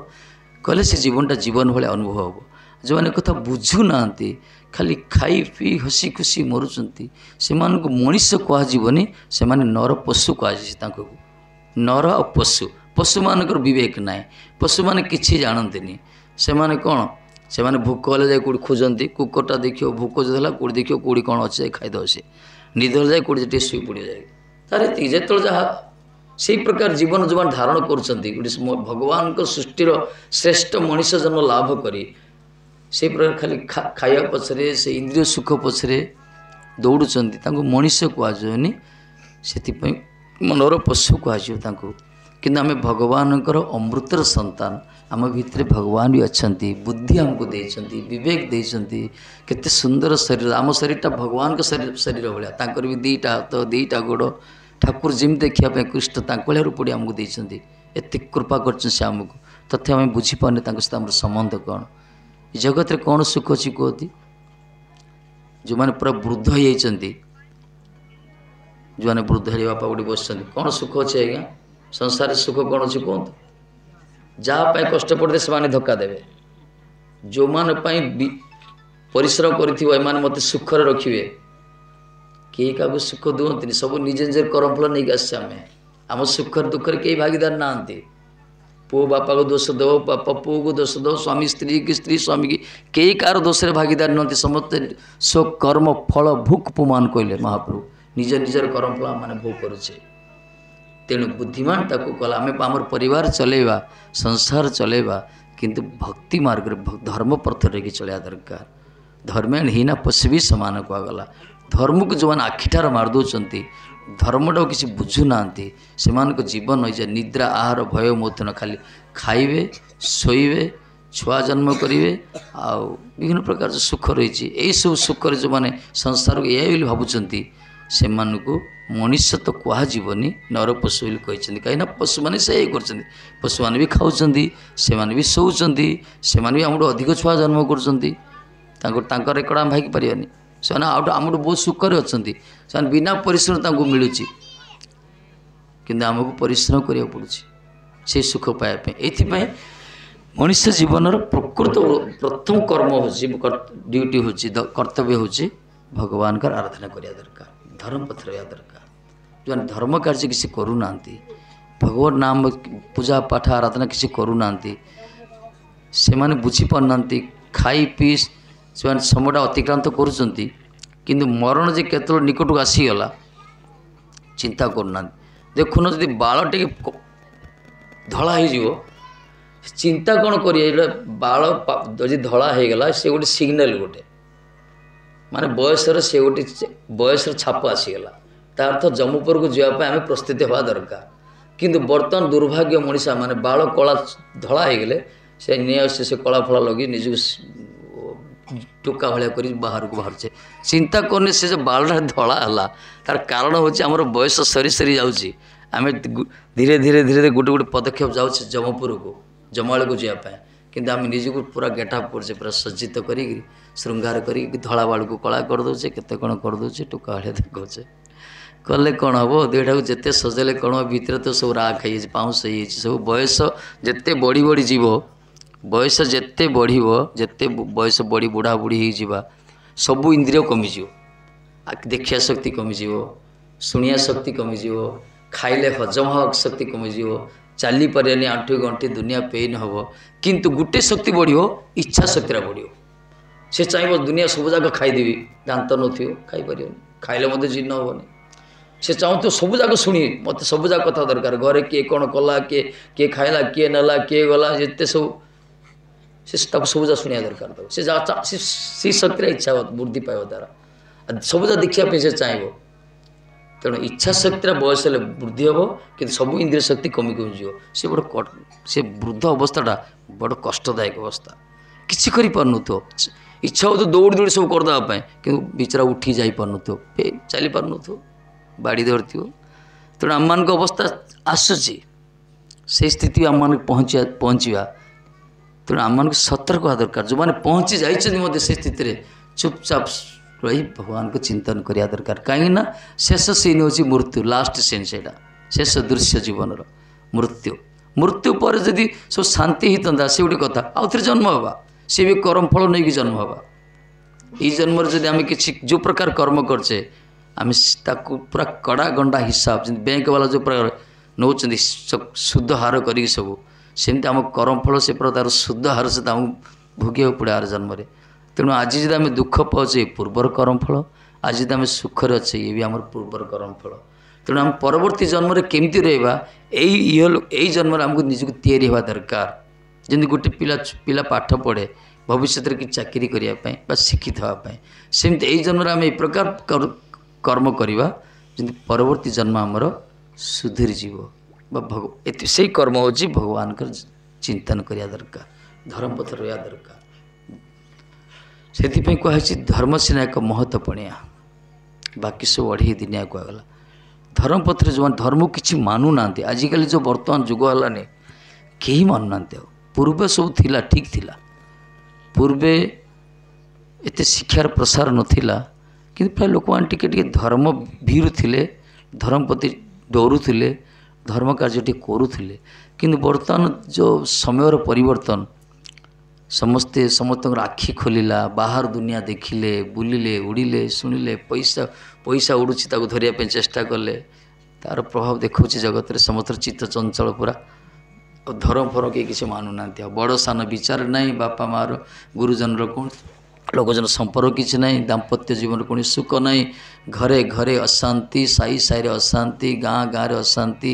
କଲେ ସେ ଜୀବନଟା ଜୀବନ ଭଳିଆ ଅନୁଭବ ହେବ। ଯେଉଁମାନେ କଥା ବୁଝୁନାହାନ୍ତି, ଖାଲି ଖାଇ ପିଇ ହସି ଖୁସି ମରୁଛନ୍ତି, ସେମାନଙ୍କୁ ମଣିଷ କୁହାଯିବନି, ସେମାନେ ନର ପଶୁ କୁହାଯାଇଛି ତାଙ୍କୁ। ନର ଆଉ ପଶୁ, ପଶୁମାନଙ୍କର ବିବେକ ନାହିଁ, ପଶୁମାନେ କିଛି ଜାଣନ୍ତିନି। ସେମାନେ କ'ଣ, ସେମାନେ ଭୋକ ହେଲେ ଯାଇ କେଉଁଠି ଖୋଜନ୍ତି। କୁକୁରଟା ଦେଖିବ ଭୋକ ଯଦି ହେଲା କେଉଁଠି ଦେଖିବ କେଉଁଠି କ'ଣ ଅଛି ଯାଇ ଖାଇଦେବ। ସେ ନିଦ ହେଲେ ଯାଇ କେଉଁଠି ଟିକେ ଶୋଇ ପଡ଼ିବ ଯାଇ, ତାର ଏତିକି ଯେତେବେଳେ ଯାହା। ସେଇ ପ୍ରକାର ଜୀବନ ଯେଉଁମାନେ ଧାରଣ କରୁଛନ୍ତି, ଗୋଟେ ଭଗବାନଙ୍କ ସୃଷ୍ଟିର ଶ୍ରେଷ୍ଠ ମଣିଷ ଜନ୍ମ ଲାଭ କରି ସେଇ ପ୍ରକାର ଖାଲି ଖାଇବା ପଛରେ, ସେ ଇନ୍ଦ୍ରିୟ ସୁଖ ପଛରେ ଦୌଡ଼ୁଛନ୍ତି, ତାଙ୍କୁ ମଣିଷ କୁହାଯିବନି, ସେଥିପାଇଁ ମନର ପଶୁ କୁହାଯିବ ତାଙ୍କୁ। କିନ୍ତୁ ଆମେ ଭଗବାନଙ୍କର ଅମୃତର ସନ୍ତାନ, ଆମ ଭିତରେ ଭଗବାନ ବି ଅଛନ୍ତି, ବୁଦ୍ଧି ଆମକୁ ଦେଇଛନ୍ତି, ବିବେକ ଦେଇଛନ୍ତି। କେତେ ସୁନ୍ଦର ଶରୀର, ଆମ ଶରୀରଟା ଭଗବାନଙ୍କ ଶରୀର ଶରୀର ଭଳିଆ। ତାଙ୍କର ବି ଦୁଇଟା ହାତ, ଦୁଇଟା ଗୋଡ଼। ଠାକୁର ଯେମିତି ଦେଖିବା ପାଇଁ କୃଷ୍ଣ ତାଙ୍କ ଭଳିଆ ରୂପଟି ଆମକୁ ଦେଇଛନ୍ତି। ଏତେ କୃପା କରିଛନ୍ତି ସେ ଆମକୁ, ତଥାପି ଆମେ ବୁଝିପାରୁନେ ତାଙ୍କ ସହିତ ଆମର ସମ୍ବନ୍ଧ କ'ଣ। ଏ ଜଗତରେ କ'ଣ ସୁଖ ଅଛି କୁହନ୍ତି? ଯେଉଁମାନେ ପୁରା ବୃଦ୍ଧ ହେଇଯାଇଛନ୍ତି, ଯେଉଁମାନେ ବୃଦ୍ଧ ହେଇ ବାପା ଗୋଟେ ବସିଛନ୍ତି, କ'ଣ ସୁଖ ଅଛି ଆଜ୍ଞା? ସଂସାରରେ ସୁଖ କ'ଣ ଅଛି କୁହନ୍ତୁ? ଯାହା ପାଇଁ କଷ୍ଟ ପଡ଼ିଲେ ସେମାନେ ଧୋକା ଦେବେ। ଯେଉଁମାନଙ୍କ ପାଇଁ ପରିଶ୍ରମ କରିଥିବ ଏମାନେ ମୋତେ ସୁଖରେ ରଖିବେ, କେହି କାହାକୁ ସୁଖ ଦିଅନ୍ତିନି। ସବୁ ନିଜ ନିଜର କର୍ମଫଳ ନେଇକି ଆସିଛେ ଆମେ। ଆମ ସୁଖରେ ଦୁଃଖରେ କେହି ଭାଗିଦାର ନାହାନ୍ତି। ପୁଅ ବାପାକୁ ଦୋଷ ଦେବ, ବାପା ପୁଅକୁ ଦୋଷ ଦେବ, ସ୍ୱାମୀ ସ୍ତ୍ରୀ କି ସ୍ତ୍ରୀ ସ୍ୱାମୀ କି, କେହି କାହାର ଦୋଷରେ ଭାଗିଦାର ନୁହନ୍ତି। ସମସ୍ତେ ସ୍ୱକର୍ମ ଫଳ ଭୋଗ ପୁମାନ କହିଲେ ମହାପ୍ରଭୁ। ନିଜ ନିଜର କର୍ମଫଳ ଆମମାନେ ଭୋଗ କରୁଛେ। ତେଣୁ ବୁଦ୍ଧିମାନ ତାକୁ କଲା ଆମେ ଆମର ପରିବାର ଚଲେଇବା, ସଂସାର ଚଲେଇବା, କିନ୍ତୁ ଭକ୍ତି ମାର୍ଗରେ, ଧର୍ମ ପଥରେ ରହିକି ଚଳିବା ଦରକାର। ଧର୍ମେଣ ହୀନା ପଶୁ ବି ସମାନ କୁହାଗଲା। ଧର୍ମକୁ ଯେଉଁମାନେ ଆଖିଠାର ମାରିଦେଉଛନ୍ତି, ଧର୍ମଟାକୁ କିଛି ବୁଝୁନାହାନ୍ତି, ସେମାନଙ୍କ ଜୀବନ ହୋଇଯାଏ ନିଦ୍ରା ଆହାର ଭୟ ମୈଥୁନ। ଖାଲି ଖାଇବେ, ଶୋଇବେ, ଛୁଆ ଜନ୍ମ କରିବେ, ଆଉ ବିଭିନ୍ନ ପ୍ରକାର ସୁଖ ରହିଛି। ଏଇସବୁ ସୁଖରେ ଯେଉଁମାନେ ସଂସାରକୁ ଏଇଆ ବୋଲି ଭାବୁଛନ୍ତି, ସେମାନଙ୍କୁ ମଣିଷ ତ କୁହାଯିବନି, ନର ପଶୁ ବୋଲି କହିଛନ୍ତି। କାହିଁକିନା ପଶୁମାନେ ସେଇଆ କରୁଛନ୍ତି। ପଶୁମାନେ ବି ଖାଉଛନ୍ତି, ସେମାନେ ବି ଶୋଉଛନ୍ତି, ସେମାନେ ବି ଆମଠୁ ଅଧିକ ଛୁଆ ଜନ୍ମ କରୁଛନ୍ତି। ତାଙ୍କ ତାଙ୍କ ରେକର୍ଡ଼ ଆମେ ଭାଗି ପାରିବାନି। ସେମାନେ ଆଉ ଆମଠୁ ବହୁତ ସୁଖରେ ଅଛନ୍ତି, ସେମାନେ ବିନା ପରିଶ୍ରମ ତାଙ୍କୁ ମିଳୁଛି। କିନ୍ତୁ ଆମକୁ ପରିଶ୍ରମ କରିବାକୁ ପଡ଼ୁଛି ସେଇ ସୁଖ ପାଇବା ପାଇଁ। ଏଇଥିପାଇଁ ମଣିଷ ଜୀବନର ପ୍ରକୃତ ପ୍ରଥମ କର୍ମ ହେଉଛି, ଡ୍ୟୁଟି ହେଉଛି, କର୍ତ୍ତବ୍ୟ ହେଉଛି ଭଗବାନଙ୍କର ଆରାଧନା କରିବା ଦରକାର, ଧର୍ମ ପଥରେ ରହିବା ଦରକାର। ଯେଉଁମାନେ ଧର୍ମ କାର୍ଯ୍ୟ କିଛି କରୁନାହାନ୍ତି, ଭଗବାନ ନାମ ପୂଜା ପାଠ ଆରାଧନା କିଛି କରୁନାହାନ୍ତି, ସେମାନେ ବୁଝିପାରୁନାହାନ୍ତି, ଖାଇ ପିଇ ସେମାନେ ସମୟଟା ଅତିକ୍ରାନ୍ତ କରୁଛନ୍ତି, କିନ୍ତୁ ମରଣ ଯେ କେତେବେଳେ ନିକଟକୁ ଆସିଗଲା ଚିନ୍ତା କରୁନାହାନ୍ତି। ଦେଖୁନ ଯଦି ବାଳ ଟିକେ ଧଳା ହେଇଯିବ ଚିନ୍ତା କ'ଣ କରିବେ? ଏଇଟା ବାଳ ଯଦି ଧଳା ହେଇଗଲା ସେ ଗୋଟେ ସିଗ୍ନାଲ, ଗୋଟେ ମାନେ ବୟସର ସେ ଗୋଟେ ବୟସର ଛାପ ଆସିଗଲା, ତା ଅର୍ଥ ଯମପୁରକୁ ଯିବା ପାଇଁ ଆମେ ପ୍ରସ୍ତୁତି ହେବା ଦରକାର। କିନ୍ତୁ ବର୍ତ୍ତମାନ ଦୁର୍ଭାଗ୍ୟ ମଣିଷ ମାନେ ବାଳ କଳା ଧଳା ହେଇଗଲେ ସେ ନେଇ ଆସୁଛି ସେ କଳା ଫଳା ଲଗେଇ ନିଜକୁ ଟୋକା ଭଳିଆ କରି ବାହାରକୁ ବାହାରୁଛେ। ଚିନ୍ତା କରୁନି ସେ ଯେଉଁ ବାଳଟା ଧଳା ହେଲା ତାର କାରଣ ହେଉଛି ଆମର ବୟସ ସରି ସରି ଯାଉଛି, ଆମେ ଧୀରେ ଧୀରେ ଧୀରେ ଧୀରେ ଗୋଟେ ଗୋଟେ ପଦକ୍ଷେପ ଯାଉଛେ ଯମପୁରକୁ, ଜମାଳକୁ ଯିବା ପାଇଁ, କିନ୍ତୁ ଆମେ ନିଜକୁ ପୁରା ଗେଟଅପ୍ କରୁଛେ, ପୁରା ସଜ୍ଜିତ କରିକି ଶୃଙ୍ଗାର କରିକି ଧଳା ବାଳକୁ କଳା କରିଦେଉଛେ, କେତେ କ'ଣ କରିଦେଉଛେ, ଟୋକା ଭଳିଆ ଦେଖାଉଛେ। କଲେ କ'ଣ ହେବ? ଦୁଇଟାକୁ ଯେତେ ସଜେଇଲେ କ'ଣ ହେବ, ଭିତରେ ତ ସବୁ ରାଗ ହେଇଯାଇଛି, ପାଉଁଶ ହେଇଯାଇଛି ସବୁ। ବୟସ ଯେତେ ବଢ଼ି ବଢ଼ି ଯିବ, ବୟସ ଯେତେ ବଢ଼ିବ, ଯେତେ ବୟସ ବଢ଼ି ବୁଢ଼ା ବୁଢ଼ୀ ହେଇଯିବା, ସବୁ ଇନ୍ଦ୍ରିୟ କମିଯିବ, ଦେଖିବା ଶକ୍ତି କମିଯିବ, ଶୁଣିବା ଶକ୍ତି କମିଯିବ, ଖାଇଲେ ହଜମ ହେବା ଶକ୍ତି କମିଯିବ, ଚାଲିପାରିବାନି, ଆଣ୍ଠୁ ଗଣ୍ଠି ଦୁନିଆ ପେନ୍ ହେବ। କିନ୍ତୁ ଗୋଟେ ଶକ୍ତି ବଢ଼ିବ, ଇଚ୍ଛା ଶକ୍ତିଟା ବଢ଼ିବ। ସେ ଚାହିଁବ ଦୁନିଆ ସବୁ ଯାକ ଖାଇଦେବି, ଦାନ୍ତ ନଥିବ ଖାଇପାରିବନି, ଖାଇଲେ ମଧ୍ୟ ଜୀର୍ଣ୍ଣ ହେବନି। ସେ ଚାହୁଁଥିବ ସବୁ ଯାକ ଶୁଣି, ମୋତେ ସବୁ ଯାକ କଥା ଦରକାର, ଘରେ କିଏ କ'ଣ କଲା, କିଏ କିଏ ଖାଇଲା, କିଏ ନେଲା, କିଏ ଗଲା, ଯେତେ ସବୁ ସେ ତାକୁ ସବୁ ଯାକ ଶୁଣିବା ଦରକାର। ତାକୁ ସେ ଯାହା ସେଇ ଶକ୍ତିରେ ଇଚ୍ଛା ବୃଦ୍ଧି ପାଇବ ତାର, ସବୁ ଯାକ ଦେଖିବା ପାଇଁ ସେ ଚାହିଁବ। ତେଣୁ ଇଚ୍ଛା ଶକ୍ତିର ବୟସ ହେଲେ ବୃଦ୍ଧି ହେବ, କିନ୍ତୁ ସବୁ ଇନ୍ଦ୍ରିୟ ଶକ୍ତି କମି କମିଯିବ। ସେ ବଡ଼ ସେ ବୃଦ୍ଧ ଅବସ୍ଥାଟା ବଡ଼ କଷ୍ଟଦାୟକ ଅବସ୍ଥା, କିଛି କରିପାରୁନଥିବ, ଇଚ୍ଛା ହେଉଥିବ ଦୌଡ଼ି ଦୌଡ଼ି ସବୁ କରିଦେବା ପାଇଁ, କିନ୍ତୁ ବିଚରା ଉଠି ଯାଇପାରୁନଥିବ, ଚାଲିପାରୁନଥିବ, ବାଡ଼ି ଧରିଥିବ। ତେଣୁ ଆମମାନଙ୍କ ଅବସ୍ଥା ଆସୁଛି, ସେଇ ସ୍ଥିତି ଆମମାନଙ୍କୁ ପହଞ୍ଚିବା ପହଞ୍ଚିବା। ତେଣୁ ଆମମାନଙ୍କୁ ସତର୍କ ହେବା ଦରକାର। ଯେଉଁମାନେ ପହଞ୍ଚି ଯାଇଛନ୍ତି ମଧ୍ୟ ସେ ସ୍ଥିତିରେ ଚୁପଚାପ ରହି ଭଗବାନଙ୍କୁ ଚିନ୍ତନ କରିବା ଦରକାର। କାହିଁକିନା ଶେଷ ସିନ୍ ହେଉଛି ମୃତ୍ୟୁ, ଲାଷ୍ଟ ସିନ୍ ସେଇଟା, ଶେଷ ଦୃଶ୍ୟ ଜୀବନର ମୃତ୍ୟୁ। ମୃତ୍ୟୁ ପରେ ଯଦି ସବୁ ଶାନ୍ତି ହେଇଥାନ୍ତା ସେ ଗୋଟେ କଥା, ଆଉ ଥରେ ଜନ୍ମ ହେବା, ସେ ବି କର୍ମଫଳ ନେଇକି ଜନ୍ମ ହେବା। ଏଇ ଜନ୍ମରେ ଯଦି ଆମେ କିଛି ଯେଉଁ ପ୍ରକାର କର୍ମ କରୁଛେ, ଆମେ ତାକୁ ପୁରା କଡ଼ା ଗଣ୍ଡା ହିସାବ, ଯେମିତି ବ୍ୟାଙ୍କ ବାଲା ଯେଉଁ ପ୍ରକାର ନେଉଛନ୍ତି ସୁଧ ହାର କରିକି ସବୁ, ସେମିତି ଆମ କର୍ମଫଳ ସେ ପୁରା ତା'ର ସୁଧ ହାର ସହିତ ଆମକୁ ଭୋଗିବାକୁ ପଡ଼େ ଆର ଜନ୍ମରେ। ତେଣୁ ଆଜି ଯଦି ଆମେ ଦୁଃଖ ପାଉଛେ ପୂର୍ବର କର୍ମଫଳ, ଆଜି ଯଦି ଆମେ ସୁଖରେ ଅଛେ ଇଏ ବି ଆମର ପୂର୍ବର କର୍ମଫଳ। ତେଣୁ ଆମେ ପରବର୍ତ୍ତୀ ଜନ୍ମରେ କେମିତି ରହିବା, ଏଇ ଇଏ ଏଇ ଜନ୍ମରେ ଆମକୁ ନିଜକୁ ତିଆରି ହେବା ଦରକାର। ଯେମିତି ଗୋଟେ ପିଲା ପିଲା ପାଠ ପଢ଼େ ଭବିଷ୍ୟତରେ କିଛି ଚାକିରି କରିବା ପାଇଁ ବା ଶିକ୍ଷିତ ହେବା ପାଇଁ, ସେମିତି ଏଇ ଜନ୍ମରେ ଆମେ ଏଇ ପ୍ରକାର କର୍ମ କରିବା ଯେମିତି ପରବର୍ତ୍ତୀ ଜନ୍ମ ଆମର ସୁଧୁରିଯିବ ବା ଭଗ ଏତି ସେଇ କର୍ମ ହେଉଛି ଭଗବାନଙ୍କର ଚିନ୍ତନ କରିବା ଦରକାର, ଧର୍ମ ପଥରେ ରହିବା ଦରକାର। ସେଥିପାଇଁ କୁହାହେଇଛି ଧର୍ମ ସିନା ଏକ ମହତ ପଣିଆ, ବାକି ସବୁ ଅଢ଼େଇ ଦିନିଆ କୁହାଗଲା। ଧର୍ମ ପଥରେ ଯେଉଁମାନେ ଧର୍ମକୁ କିଛି ମାନୁନାହାନ୍ତି, ଆଜିକାଲି ଯେଉଁ ବର୍ତ୍ତମାନ ଯୁଗ ହେଲାନି କେହି ମାନୁନାହାନ୍ତି। ଆଉ ପୂର୍ବେ ସବୁ ଥିଲା, ଠିକ୍ ଥିଲା, ପୂର୍ବେ ଏତେ ଶିକ୍ଷାର ପ୍ରସାର ନଥିଲା, କିନ୍ତୁ ପ୍ରାୟ ଲୋକମାନେ ଟିକେ ଟିକେ ଧର୍ମ ଭୀରୁ ଥିଲେ, ଧର୍ମ ପ୍ରତି ଡରୁଥିଲେ, ଧର୍ମ କାର୍ଯ୍ୟ ଟିକେ କରୁଥିଲେ। କିନ୍ତୁ ବର୍ତ୍ତମାନ ଯେଉଁ ସମୟର ପରିବର୍ତ୍ତନ, ସମସ୍ତେ ସମସ୍ତଙ୍କର ଆଖି ଖୋଲିଲା, ବାହାର ଦୁନିଆ ଦେଖିଲେ, ବୁଲିଲେ, ଉଡ଼ିଲେ, ଶୁଣିଲେ, ପଇସା ପଇସା ଉଡ଼ୁଛି ତାକୁ ଧରିବା ପାଇଁ ଚେଷ୍ଟା କଲେ, ତା'ର ପ୍ରଭାବ ଦେଖାଉଛି ଜଗତରେ। ସମସ୍ତଙ୍କର ଚିତ୍ତ ଚଞ୍ଚଳ ପୁରା, ଆଉ ଧର୍ମ ଫରମ କେହି କିଛି ମାନୁନାହାନ୍ତି। ଆଉ ବଡ଼ ସାନ ବିଚାର ନାହିଁ, ବାପା ମାଆର ଗୁରୁଜନର କୌଣସି ଲୋକଜନ ସମ୍ପର୍କ କିଛି ନାହିଁ, ଦାମ୍ପତ୍ୟ ଜୀବନରେ କୌଣସି ସୁଖ ନାହିଁ, ଘରେ ଘରେ ଅଶାନ୍ତି, ସାହି ସାହିରେ ଅଶାନ୍ତି, ଗାଁ ଗାଁରେ ଅଶାନ୍ତି,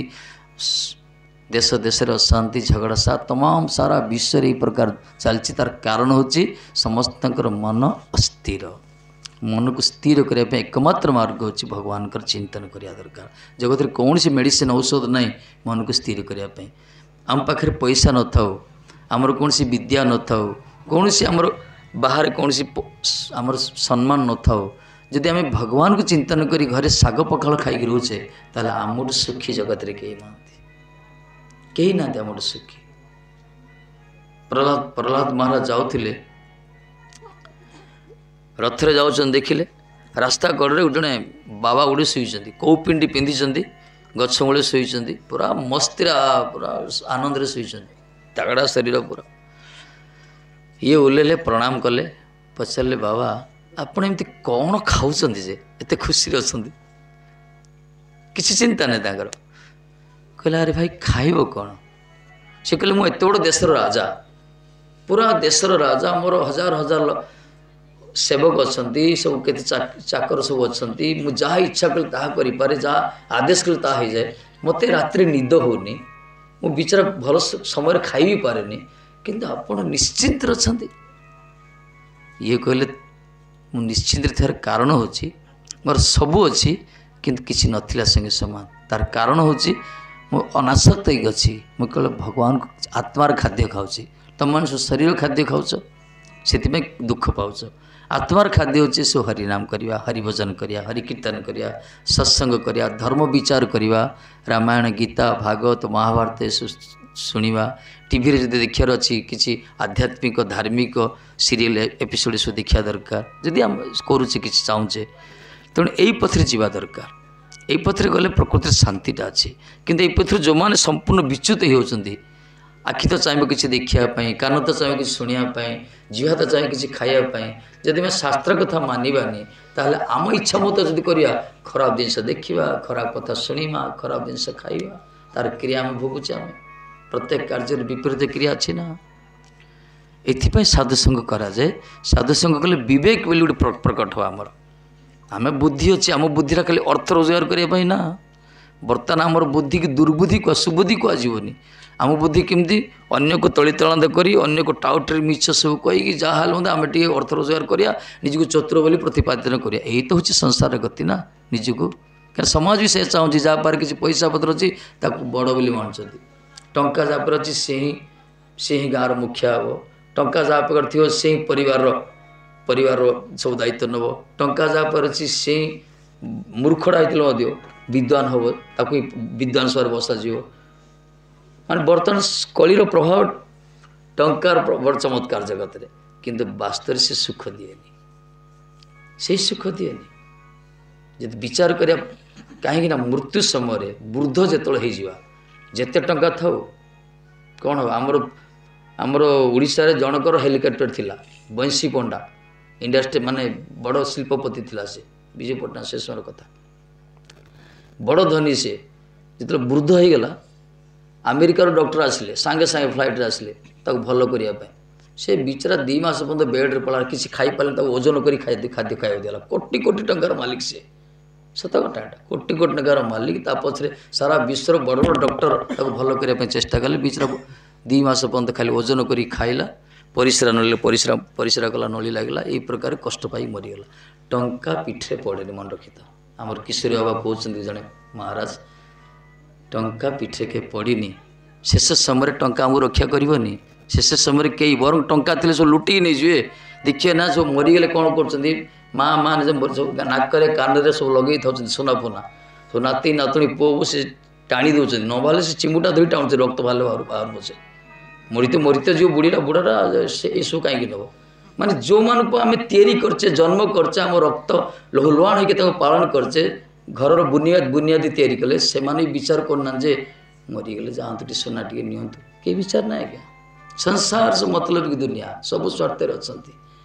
ଦେଶ ଦେଶରେ ଅଶାନ୍ତି, ଝଗଡ଼ା, ସା ତମାମ ସାରା ବିଶ୍ୱରେ ଏଇ ପ୍ରକାର ଚାଲିଛି। ତାର କାରଣ ହେଉଛି ସମସ୍ତଙ୍କର ମନ ଅସ୍ଥିର। ମନକୁ ସ୍ଥିର କରିବା ପାଇଁ ଏକମାତ୍ର ମାର୍ଗ ହେଉଛି ଭଗବାନଙ୍କର ଚିନ୍ତନ କରିବା ଦରକାର। ଜଗତରେ କୌଣସି ମେଡ଼ିସିନ ଔଷଧ ନାହିଁ ମନକୁ ସ୍ଥିର କରିବା ପାଇଁ। ଆମ ପାଖରେ ପଇସା ନଥାଉ, ଆମର କୌଣସି ବିଦ୍ୟା ନଥାଉ, କୌଣସି ଆମର ବାହାରେ କୌଣସି ଆମର ସମ୍ମାନ ନଥାଉ, ଯଦି ଆମେ ଭଗବାନଙ୍କୁ ଚିନ୍ତନ କରି ଘରେ ଶାଗ ପଖାଳ ଖାଇକି ରହୁଛେ, ତାହେଲେ ଆମଠୁ ସୁଖୀ ଜଗତରେ କେହି ନାହାନ୍ତି, କେହି ନାହାନ୍ତି ଆମଠୁ ସୁଖୀ। ପ୍ରହ୍ଲାଦ ପ୍ରହ୍ଲାଦ ମହାରାଜ ଯାଉଥିଲେ, ରଥରେ ଯାଉଛନ୍ତି, ଦେଖିଲେ ରାସ୍ତା କଡ଼ରେ ଜଣେ ବାବା ଗୋଟେ ଶୋଇଛନ୍ତି, କେଉଁ ପିଣ୍ଡି ପିନ୍ଧିଛନ୍ତି, ଗଛ ମୂଳେ ଶୋଇଛନ୍ତି, ପୁରା ମସ୍ତିରେ, ପୁରା ଆନନ୍ଦରେ ଶୋଇଛନ୍ତି, ତାଗଡ଼ା ଶରୀର ପୁରା। ଇଏ ଓହ୍ଲେଇଲେ, ପ୍ରଣାମ କଲେ, ପଚାରିଲେ, ବାବା ଆପଣ ଏମିତି କ'ଣ ଖାଉଛନ୍ତି ଯେ ଏତେ ଖୁସିରେ ଅଛନ୍ତି, କିଛି ଚିନ୍ତା ନାହିଁ ତାଙ୍କର। କହିଲେ, ଆରେ ଭାଇ ଖାଇବ କ'ଣ? ସେ କହିଲେ, ମୁଁ ଏତେ ବଡ଼ ଦେଶର ରାଜା, ପୁରା ଦେଶର ରାଜା, ମୋର ହଜାର ହଜାର ସେବକ ଅଛନ୍ତି, ସବୁ କେତେ ଚାକର ସବୁ ଅଛନ୍ତି, ମୁଁ ଯାହା ଇଚ୍ଛା କଲେ ତାହା କରିପାରେ, ଯାହା ଆଦେଶ କଲେ ତାହା ହେଇଯାଏ, ମୋତେ ରାତିରେ ନିଦ ହେଉନି, ମୁଁ ବିଚାରା ଭଲ ସମୟରେ ଖାଇ ବି ପାରେନି, କିନ୍ତୁ ଆପଣ ନିଶ୍ଚିନ୍ତରେ ଅଛନ୍ତି। ଇଏ କହିଲେ, ମୁଁ ନିଶ୍ଚିନ୍ତରେ ଥିବାର କାରଣ ହେଉଛି ମୋର ସବୁ ଅଛି କିନ୍ତୁ କିଛି ନଥିଲା ସଙ୍ଗେ ସମାନ। ତାର କାରଣ ହେଉଛି ମୁଁ ଅନାସକ୍ତ ହେଇକି ଅଛି, ମୁଁ କେବଳ ଭଗବାନଙ୍କ ଆତ୍ମାର ଖାଦ୍ୟ ଖାଉଛି। ତୁମେମାନେ ସବୁ ଶରୀର ଖାଦ୍ୟ ଖାଉଛ, ସେଥିପାଇଁ ଦୁଃଖ ପାଉଛ। ଆତ୍ମାର ଖାଦ୍ୟ ହେଉଛି ସବୁ ହରିନାମ କରିବା, ହରିଭଜନ କରିବା, ହରିକୀର୍ତ୍ତନ କରିବା, ସତ୍ସଙ୍ଗ କରିବା, ଧର୍ମ ବିଚାର କରିବା, ରାମାୟଣ, ଗୀତା, ଭାଗବତ, ମହାଭାରତ ଏସବୁ ଶୁଣିବା। ଟିଭିରେ ଯଦି ଦେଖିବାର ଅଛି କିଛି ଆଧ୍ୟାତ୍ମିକ ଧାର୍ମିକ ସିରିଏଲ୍ ଏପିସୋଡ଼ ସବୁ ଦେଖିବା ଦରକାର, ଯଦି ଆମେ କରୁଛେ କିଛି ଚାହୁଁଛେ। ତେଣୁ ଏଇ ପଥରେ ଯିବା ଦରକାର। ଏଇ ପଥରେ ଗଲେ ପ୍ରକୃତିରେ ଶାନ୍ତିଟା ଅଛି। କିନ୍ତୁ ଏଇ ପଥରୁ ଯେଉଁମାନେ ସମ୍ପୂର୍ଣ୍ଣ ବିଚ୍ୟୁତ ହେଉଛନ୍ତି, ଆଖି ତ ଚାହିଁବ କିଛି ଦେଖିବା ପାଇଁ, କାନ ତ ଚାହିଁବ କିଛି ଶୁଣିବା ପାଇଁ, ଜିଭ ତ ଚାହିଁବ କିଛି ଖାଇବା ପାଇଁ, ଯଦି ଆମେ ଶାସ୍ତ୍ର କଥା ମାନିବାନି ତାହେଲେ ଆମ ଇଚ୍ଛା ମତ ଯଦି କରିବା, ଖରାପ ଜିନିଷ ଦେଖିବା, ଖରାପ କଥା ଶୁଣିବା, ଖରାପ ଜିନିଷ ଖାଇବା, ତାର କ୍ରିୟା ଆମେ ଭୋଗୁଛେ। ଆମେ ପ୍ରତ୍ୟେକ କାର୍ଯ୍ୟରେ ବିପରୀତ କ୍ରିୟା ଅଛି ନା। ଏଥିପାଇଁ ସାଧୁସଙ୍ଗ କରାଯାଏ। ସାଧୁସଙ୍ଗ କଲେ ବିବେକ ବୋଲି ଗୋଟେ ପ୍ରକଟ ହେବ ଆମର। ଆମେ ବୁଦ୍ଧି ଅଛି, ଆମ ବୁଦ୍ଧିଟା ଖାଲି ଅର୍ଥ ରୋଜଗାର କରିବା ପାଇଁ ନା। ବର୍ତ୍ତମାନ ଆମର ବୁଦ୍ଧିକି ଦୁର୍ବୁଦ୍ଧି କୁହା, ସୁବୁଦ୍ଧି କୁହାଯିବନି। ଆମ ବୁଦ୍ଧି କେମିତି ଅନ୍ୟକୁ ତଳିତଳାନ୍ତ କରି, ଅନ୍ୟକୁ ଟାଉଟରେ ମିଛ ସବୁ କହିକି ଯାହା ହେଲେ ମଧ୍ୟ ଆମେ ଟିକେ ଅର୍ଥ ରୋଜଗାର କରିବା, ନିଜକୁ ଚତୁର ବୋଲି ପ୍ରତିପାଦନ କରିବା। ଏଇ ତ ହେଉଛି ସଂସାରର ଗତି ନା। ନିଜକୁ କାରଣ ସମାଜ ବି ସେ ଚାହୁଁଛି, ଯାହା ପାଖରେ କିଛି ପଇସା ପତ୍ର ଅଛି ତାକୁ ବଡ଼ ବୋଲି ମାନୁଛନ୍ତି। ଟଙ୍କା ଯାହା ପାଖରେ ଅଛି ସେ ହିଁ ସେ ହିଁ ଗାଁର ମୁଖିଆ ହେବ। ଟଙ୍କା ଯାହା ପାଖରେ ଥିବ ସେ ହିଁ ପରିବାରର ପରିବାରର ସବୁ ଦାୟିତ୍ୱ ନେବ। ଟଙ୍କା ଯାହା ପାଖରେ ଅଛି ସେ ହିଁ ମୂର୍ଖଟା ହେଇଥିଲେ ମଧ୍ୟ ବିଦ୍ୱାନ ହେବ, ତାକୁ ହିଁ ବିଦ୍ୱାନ ସଭାରେ ବସାଯିବ। ମାନେ ବର୍ତ୍ତମାନ କଳିର ପ୍ରଭାବ ଟଙ୍କାର ବଡ଼ ଚମତ୍କାର ଜଗତରେ, କିନ୍ତୁ ବାସ୍ତବରେ ସେ ସୁଖ ଦିଏନି, ସେଇ ସୁଖ ଦିଏନି। ଯଦି ବିଚାର କରିବା, କାହିଁକି ନା ମୃତ୍ୟୁ ସମୟରେ ବୃଦ୍ଧ ଯେତେବେଳେ ହେଇଯିବା, ଯେତେ ଟଙ୍କା ଥାଉ କ'ଣ ହେବ। ଆମର ଆମର ଓଡ଼ିଶାରେ ଜଣଙ୍କର ହେଲିକପ୍ଟର ଥିଲା, ବଇଁଶୀ ପଣ୍ଡା, ଇଣ୍ଡଷ୍ଟ୍ରି ମାନେ ବଡ଼ ଶିଳ୍ପପତି ଥିଲା ସେ, ବିଜୁ ପଟ୍ଟନାୟକ ସେ ସମୟର କଥା, ବଡ଼ ଧନୀ ସେ। ଯେତେବେଳେ ବୃଦ୍ଧ ହେଇଗଲା, ଆମେରିକାର ଡକ୍ଟର ଆସିଲେ, ସାଙ୍ଗେ ସାଙ୍ଗେ ଫ୍ଲାଇଟ୍ରେ ଆସିଲେ ତାକୁ ଭଲ କରିବା ପାଇଁ। ସେ ବିଚରା ଦୁଇ ମାସ ପର୍ଯ୍ୟନ୍ତ ବେଡ଼୍ରେ ପଡ଼ିଲା, କିଛି ଖାଇପାରିଲାନି, ତାକୁ ଓଜନ କରି ଖାଦ୍ୟ ଖାଦ୍ୟ ଖାଇବାକୁ ଦିଆଗଲା। କୋଟି କୋଟି ଟଙ୍କାର ମାଲିକ ସେ, ସତ କଥା ଏଇଟା, କୋଟି କୋଟି ଟଙ୍କାର ମାଲିକ। ତା ପଛରେ ସାରା ବିଶ୍ୱର ବଡ଼ ବଡ଼ ଡକ୍ଟର ତାକୁ ଭଲ କରିବା ପାଇଁ ଚେଷ୍ଟା କଲେ। ବିଚରା ଦୁଇ ମାସ ପର୍ଯ୍ୟନ୍ତ ଖାଲି ଓଜନ କରି ଖାଇଲା, ପରିସ୍ରା ନଳିଲେ ପରିସ୍ରା ପରିସ୍ରା କଲା, ନଳି ଲାଗିଲା, ଏଇ ପ୍ରକାର କଷ୍ଟ ପାଇ ମରିଗଲା। ଟଙ୍କା ପିଠିରେ ପଡ଼େନି, ମନେ ରଖିଥାଅ। ଆମର କିଶୋରୀ ବାବା କହୁଛନ୍ତି ଜଣେ ମହାରାଜ, ଟଙ୍କା ପିଠିରେ କେବେ ପଡ଼ିନି। ଶେଷ ସମୟରେ ଟଙ୍କା ଆମକୁ ରକ୍ଷା କରିବନି। ଶେଷ ସମୟରେ କେହି ବରଂ ଟଙ୍କା ଥିଲେ ସବୁ ଲୁଟିକି ନେଇଯିବେ। ଦେଖିବେ ନା ସବୁ ମରିଗଲେ କ'ଣ କରୁଛନ୍ତି, ମା ମା ସବୁ ନାକରେ କାନରେ ସବୁ ଲଗେଇ ଥାଉଛନ୍ତି ସୁନା ଫୁନା, ସବୁ ନାତି ନାତୁଣୀ ପୁଅ ବୋହୂ ସେ ଟାଣି ଦେଉଛନ୍ତି, ନ ବାହାରିଲେ ସେ ଚିମୁଟା ଧରି ଟାଣୁଛନ୍ତି, ରକ୍ତ ବାହାରିଲେ ବାହାରୁ ବାହାରୁ ପଛେ ମରିତ ମରିତ ଯିବ ବୁଢ଼ୀଟା ବୁଢ଼ାଟା, ସେ ଏସବୁ କାହିଁକି ନେବ। ମାନେ ଯେଉଁମାନଙ୍କୁ ଆମେ ତିଆରି କରିଛେ, ଜନ୍ମ କରିଛେ, ଆମ ରକ୍ତ ଲହୁଲୁହାଣ ହେଇକି ତାଙ୍କୁ ପାଳନ କରିଛେ, ଘରର ବୁନିଆଦ ବୁନିଆଦି ତିଆରି କଲେ, ସେମାନେ ବି ବିଚାର କରୁନାହାନ୍ତି ଯେ ମରିଗଲେ ଯାଆନ୍ତୁ ଟିକେ ସୁନା ଟିକେ ନିଅନ୍ତୁ। କେହି ବିଚାର ନାହିଁ ଆଜ୍ଞା। ସଂସାର ସବୁ ମତଲବ କି ଦୁନିଆ, ସବୁ ସ୍ୱାର୍ଥରେ ଅଛନ୍ତି।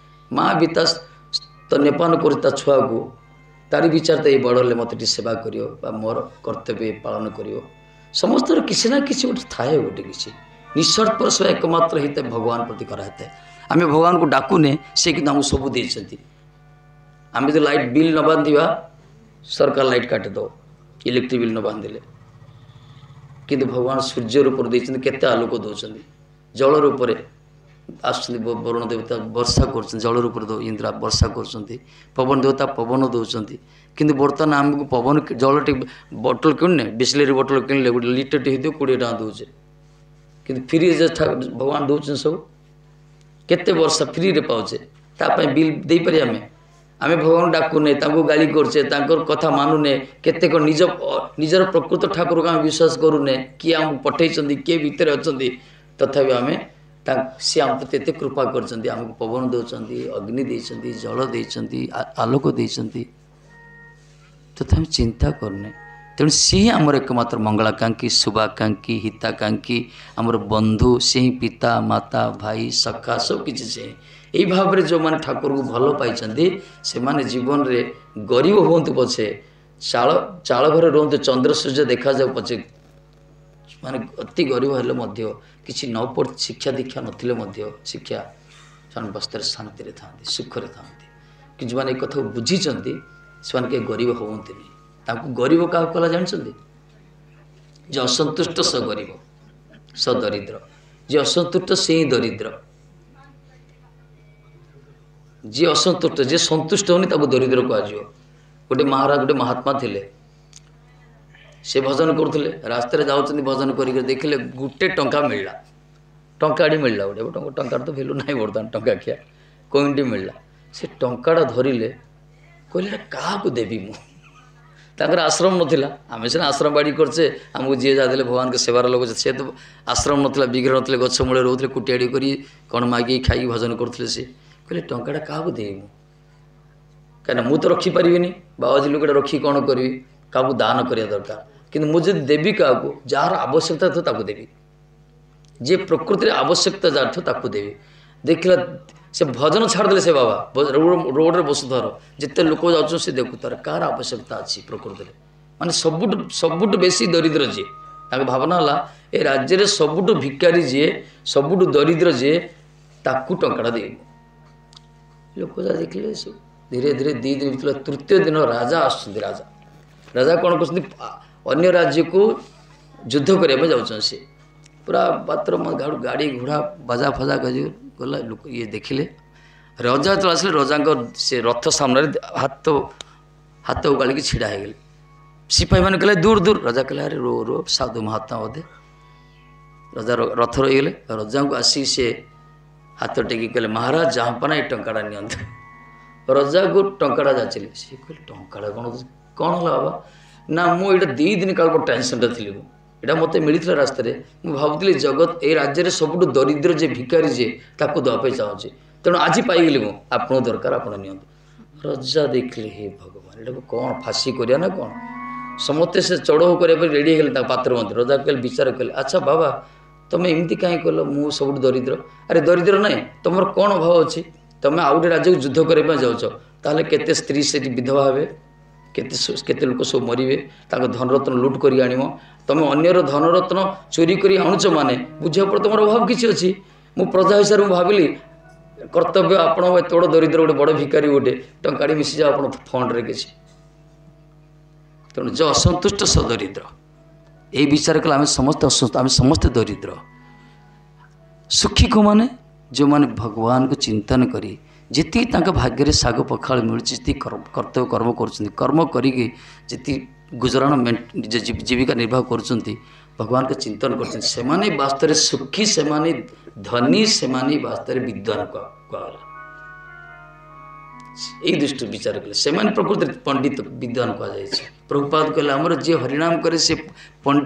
ମା ବି ତା ସ୍ତନ୍ୟପାନ କରୁଛି ତା ଛୁଆକୁ, ତାରି ବିଚାର ତ ଏଇ ବଡ଼ ହେଲେ ମୋତେ ଟିକେ ସେବା କରିବ ବା ମୋର କର୍ତ୍ତବ୍ୟ ପାଳନ କରିବ। ସମସ୍ତଙ୍କର କିଛି ନା କିଛି ଗୋଟେ ଥାଏ, ଗୋଟେ କିଛି ନିଃସ୍ୱାର୍ଥପର ସେବା ଏକମାତ୍ର ହେଇଥାଏ ଭଗବାନ ପ୍ରତି କରାହେଇଥାଏ। ଆମେ ଭଗବାନଙ୍କୁ ଡାକୁନେ, ସେ କିନ୍ତୁ ଆମକୁ ସବୁ ଦେଇଛନ୍ତି। ଆମେ ଯଦି ଲାଇଟ୍ ବିଲ୍ ନ ବାନ୍ଧିବା, ସରକାର ଲାଇଟ୍ କାଟିଦେବ, ଇଲେକ୍ଟ୍ରିକ୍ ବିଲ୍ ନ ବାନ୍ଧିଲେ। କିନ୍ତୁ ଭଗବାନ ସୂର୍ଯ୍ୟ ରୂପରେ ଦେଇଛନ୍ତି, କେତେ ଆଲୋକ ଦେଉଛନ୍ତି। ଜଳ ରୂପରେ ଆସୁଛନ୍ତି ବରୁଣ ଦେବତା, ବର୍ଷା କରୁଛନ୍ତି, ଜଳ ରୂପରେ ଇନ୍ଦ୍ର ବର୍ଷା କରୁଛନ୍ତି, ପବନ ଦେବତା ପବନ ଦେଉଛନ୍ତି। କିନ୍ତୁ ବର୍ତ୍ତମାନ ଆମକୁ ପବନ ଜଳ ଟିକେ ବୋଟଲ କିଣୁନେ, ବିସ୍ଲେରୀ ବୋଟଲ କିଣିଲେ ଗୋଟେ ଲିଟରଟେ ହେଇଥିବ କୋଡ଼ିଏ ଟଙ୍କା ଦେଉଛେ, କିନ୍ତୁ ଫ୍ରିରେ ଭଗବାନ ଦେଉଛନ୍ତି ସବୁ। କେତେ ବର୍ଷା ଫ୍ରିରେ ପାଉଛେ, ତା ପାଇଁ ବିଲ୍ ଦେଇପାରିବା ଆମେ? ଆମେ ଭଗବାନ ଡାକୁନେ, ତାଙ୍କୁ ଗାଳି କରୁଛେ, ତାଙ୍କର କଥା ମାନୁନେ, କେତେକ ନିଜ ନିଜର ପ୍ରକୃତ ଠାକୁରକୁ ଆମେ ବିଶ୍ୱାସ କରୁନେ, କିଏ ଆମକୁ ପଠେଇଛନ୍ତି, କିଏ ଭିତରେ ଅଛନ୍ତି, ତଥାପି ଆମେ ସିଏ ଆମ ପ୍ରତି ଏତେ କୃପା କରିଛନ୍ତି, ଆମକୁ ପବନ ଦେଉଛନ୍ତି, ଅଗ୍ନି ଦେଇଛନ୍ତି, ଜଳ ଦେଇଛନ୍ତି, ଆଲୋକ ଦେଇଛନ୍ତି, ତଥାପି ଚିନ୍ତା କରୁନେ। ତେଣୁ ସିଏ ଆମର ଏକମାତ୍ର ମଙ୍ଗଳାକାଂକ୍ଷୀ, ଶୁଭାକାଂକ୍ଷୀ, ହିତାକାଂକ୍ଷୀ, ଆମର ବନ୍ଧୁ। ସେ ହିଁ ପିତା, ମାତା, ଭାଇ, ସଖା, ସବୁ କିଛି ସେ। ଏଇ ଭାବରେ ଯେଉଁମାନେ ଠାକୁରଙ୍କୁ ଭଲ ପାଇଛନ୍ତି, ସେମାନେ ଜୀବନରେ ଗରିବ ହୁଅନ୍ତୁ ପଛେ, ଚାଳ ଚାଳ ଘରେ ରୁହନ୍ତୁ, ଚନ୍ଦ୍ର ସୂର୍ଯ୍ୟ ଦେଖାଯାଉ ପଛେ, ମାନେ ଅତି ଗରିବ ହେଲେ ମଧ୍ୟ, କିଛି ନ ପଢ଼, ଶିକ୍ଷା ଦୀକ୍ଷା ନଥିଲେ ମଧ୍ୟ ଶିକ୍ଷା, ସେମାନେ ବସ୍ତରେ ଶାନ୍ତିରେ ଥାଆନ୍ତି, ସୁଖରେ ଥାଆନ୍ତି। କିନ୍ତୁ ଯେଉଁମାନେ ଏ କଥାକୁ ବୁଝିଛନ୍ତି, ସେମାନେ କେହି ଗରିବ ହୁଅନ୍ତିନି। ତାଙ୍କୁ ଗରିବ କାହାକୁ କଲା ଜାଣିଛନ୍ତି? ଯେ ଅସନ୍ତୁଷ୍ଟ ସ ଗରିବ, ସ ଦରିଦ୍ର। ଯିଏ ଅସନ୍ତୁଷ୍ଟ ସେ ହିଁ ଦରିଦ୍ର। ଯିଏ ଅସନ୍ତୁଷ୍ଟ, ଯିଏ ସନ୍ତୁଷ୍ଟ ହେଉନି, ତାକୁ ଦରିଦ୍ର କୁହାଯିବ। ଗୋଟେ ମହାରାଜ, ଗୋଟେ ମହାତ୍ମା ଥିଲେ, ସେ ଭଜନ କରୁଥିଲେ। ରାସ୍ତାରେ ଯାଉଛନ୍ତି ଭଜନ କରିକି, ଦେଖିଲେ ଗୋଟେ ଟଙ୍କା ମିଳିଲା, ଟଙ୍କାଟି ମିଳିଲା ଗୋଟେ। ଟଙ୍କା, ଟଙ୍କାର ତ ଭ୍ୟାଲୁ ନାହିଁ ବର୍ତ୍ତମାନ, ଟଙ୍କା ଖିଆ କଏନ୍ଟି ମିଳିଲା। ସେ ଟଙ୍କାଟା ଧରିଲେ, କହିଲେ ଏଇଟା କାହାକୁ ଦେବି ମୁଁ? ତାଙ୍କର ଆଶ୍ରମ ନଥିଲା। ଆମେ ସିନା ଆଶ୍ରମ ବାଡ଼ି କରିଛେ, ଆମକୁ ଯିଏ ଯାହା ଦେଲେ ଭଗବାନଙ୍କ ସେବାର ଲୋକ। ସେ ତ ଆଶ୍ରମ ନଥିଲା, ବିଗ୍ରହ ନଥିଲେ, ଗଛ ମୂଳରେ ରହୁଥିଲେ, କୁଟିଆଡ଼ି କରି କ'ଣ ମାଗିକି ଖାଇକି ଭଜନ କରୁଥିଲେ। ସେ କହିଲେ ଟଙ୍କାଟା କାହାକୁ ଦେବି ମୁଁ? କାହିଁକିନା ମୁଁ ତ ରଖିପାରିବିନି, ବାବାଜୀ ଲୋକଟା ରଖିକି କ'ଣ କରିବି? କାହାକୁ ଦାନ କରିବା ଦରକାର। କିନ୍ତୁ ମୁଁ ଯଦି ଦେବି କାହାକୁ, ଯାହାର ଆବଶ୍ୟକତା ଥିବ ତାକୁ ଦେବି, ଯିଏ ପ୍ରକୃତିରେ ଆବଶ୍ୟକତା ଯାହାର ଥିବ ତାକୁ ଦେବି। ଦେଖିଲା ସେ ଭଜନ ଛାଡ଼ିଦେଲେ। ସେ ବାବା ରୋଡ଼ରେ ବସୁଥର, ଯେତେ ଲୋକ ଯାଉଛନ୍ତି ସେ ଦେଖୁଥାର କାହାର ଆବଶ୍ୟକତା ଅଛି ପ୍ରକୃତିରେ, ମାନେ ସବୁଠୁ ସବୁଠୁ ବେଶୀ ଦରିଦ୍ର ଯିଏ। ତାଙ୍କ ଭାବନା ହେଲା ଏ ରାଜ୍ୟରେ ସବୁଠୁ ଭିକାରୀ ଯିଏ, ସବୁଠୁ ଦରିଦ୍ର ଯିଏ, ତାକୁ ଟଙ୍କାଟା ଦେବି। ଲୋକ ଯାହା ଦେଖିଲେ ସବୁ ଧୀରେ ଧୀରେ ଦୁଇ ଦିନ ଭିତରେ ତୃତୀୟ ଦିନ ରାଜା ଆସୁଛନ୍ତି। ରାଜା ରାଜା କ'ଣ କରୁଛନ୍ତି? ଅନ୍ୟ ରାଜ୍ୟକୁ ଯୁଦ୍ଧ କରିବା ପାଇଁ ଯାଉଛନ୍ତି। ସେ ପୁରା ପାତ୍ର ଗାଡ଼ି ଘୋଡ଼ା ବାଜା ଫଜା କରି ଗଲା। ଲୋକ ଇଏ ଦେଖିଲେ। ରଜା ଯେତେବେଳେ ଆସିଲେ, ରଜାଙ୍କ ସେ ରଥ ସାମ୍ନାରେ ହାତ ହାତ ଉଗାଳିକି ଛିଡ଼ା ହେଇଗଲେ। ସିପାହୀମାନେ କହିଲେ ଦୂର ଦୂର। ରଜା କହିଲେ ଆରେ ରୋ ରୋ, ସାଧୁ ମହାତ୍ମା ବୋଧେ। ରଜା ରଥ ରହିଗଲେ। ରଜାଙ୍କୁ ଆସିକି ସେ ହାତ ଟେକି କହିଲେ, ମହାରାଜ ଜାହାପନା, ଏ ଟଙ୍କାଟା ନିଅନ୍ତୁ। ରଜାକୁ ଟଙ୍କାଟା ଯାଚିଲେ। ସିଏ କହିଲେ ଟଙ୍କାଟା କ'ଣ କ'ଣ ହେଲା ବାବା? ନା, ମୁଁ ଏଇଟା ଦୁଇ ଦିନ କାଳ ଟେନସନ୍ରେ ଥିଲି ମୁଁ। ଏଇଟା ମୋତେ ମିଳିଥିଲା ରାସ୍ତାରେ। ମୁଁ ଭାବୁଥିଲି ଜଗତ ଏଇ ରାଜ୍ୟରେ ସବୁଠୁ ଦରିଦ୍ର ଯିଏ, ଭିକାରୀ ଯିଏ, ତାକୁ ଦେବା ପାଇଁ ଚାହୁଁଛି। ତେଣୁ ଆଜି ପାଇଗଲି ମୁଁ, ଆପଣଙ୍କୁ ଦରକାର, ଆପଣ ନିଅନ୍ତୁ। ରଜା ଦେଖିଲେ, ହେ ଭଗବାନ, ଏଇଟାକୁ କ'ଣ ଫାଶୀ କରିବା ନା କ'ଣ? ସମସ୍ତେ ସେ ଚଢ଼ଉ କରିବା ପାଇଁ ରେଡ଼ି ହେଇଗଲେ ତାଙ୍କ ପାତ୍ର ମନ୍ତ୍ରୀ। ରଜା କହିଲେ, ବିଚାର କଲେ, ଆଚ୍ଛା ବାବା, ତୁମେ ଏମିତି କାହିଁ କଲ? ମୁଁ ସବୁଠୁ ଦରିଦ୍ର? ଆରେ ଦରିଦ୍ର ନାହିଁ, ତୁମର କ'ଣ ଅଭାବ ଅଛି? ତୁମେ ଆଉ ଗୋଟେ ରାଜ୍ୟକୁ ଯୁଦ୍ଧ କରିବା ପାଇଁ ଯାଉଛ, ତାହେଲେ କେତେ ସ୍ତ୍ରୀ ସେଠି ବିଧବା ହେବେ, କେତେ କେତେ ଲୋକ ସବୁ ମରିବେ, ତାଙ୍କ ଧନରତ୍ନ ଲୁଟ୍ କରି ଆଣିବ। ତୁମେ ଅନ୍ୟର ଧନରତ୍ନ ଚୋରି କରି ଆଣୁଛ ମାନେ ବୁଝିବାକୁ ପଡ଼ିବ ତୁମର ଅଭାବ କିଛି ଅଛି। ମୁଁ ପ୍ରଜା ହିସାବରେ ମୁଁ ଭାବିଲି କର୍ତ୍ତବ୍ୟ, ଆପଣ ଏତେ ବଡ଼ ଦରିଦ୍ର, ଗୋଟେ ବଡ଼ ଭିକାରୀ, ଗୋଟେ ଟଙ୍କାଟି ମିଶିଯାଅ ଆପଣ ଫଣ୍ଡରେ କିଛି। ତେଣୁ ଯେ ଅସନ୍ତୁଷ୍ଟ ସ ଦରିଦ୍ର। ଏଇ ବିଚାର କଲେ ଆମେ ସମସ୍ତେ ଅସନ୍ତୁଷ୍ଟ, ଆମେ ସମସ୍ତେ ଦରିଦ୍ର। ସୁଖୀ କେଉଁମାନେ? ଯେଉଁମାନେ ଭଗବାନଙ୍କୁ ଚିନ୍ତନ କରି ଯେତିକି ତାଙ୍କ ଭାଗ୍ୟରେ ଶାଗ ପଖାଳ ମିଳୁଛି, ଯେତିକି କର୍ତ୍ତବ୍ୟ କର୍ମ କରୁଛନ୍ତି, କର୍ମ କରିକି ଯେତିକି ଗୁଜରାଣ ନିଜ ଜୀବିକା ନିର୍ବାହ କରୁଛନ୍ତି, ଭଗବାନଙ୍କ ଚିନ୍ତନ କରୁଛନ୍ତି, ସେମାନେ ବାସ୍ତବରେ ସୁଖୀ, ସେମାନେ ଧନୀ, ସେମାନେ ବାସ୍ତବରେ ବିଦ୍ୱାନ କୁହାଗଲା। ଏଇ ଦୃଷ୍ଟିରୁ ବିଚାର କଲେ ସେମାନେ ପ୍ରକୃତରେ ପଣ୍ଡିତ, ବିଦ୍ୱାନ କୁହାଯାଇଛି। ପ୍ରଭୁପାଦ କହିଲେ ଆମର ଯିଏ ହରିନାମ କରେ ସେ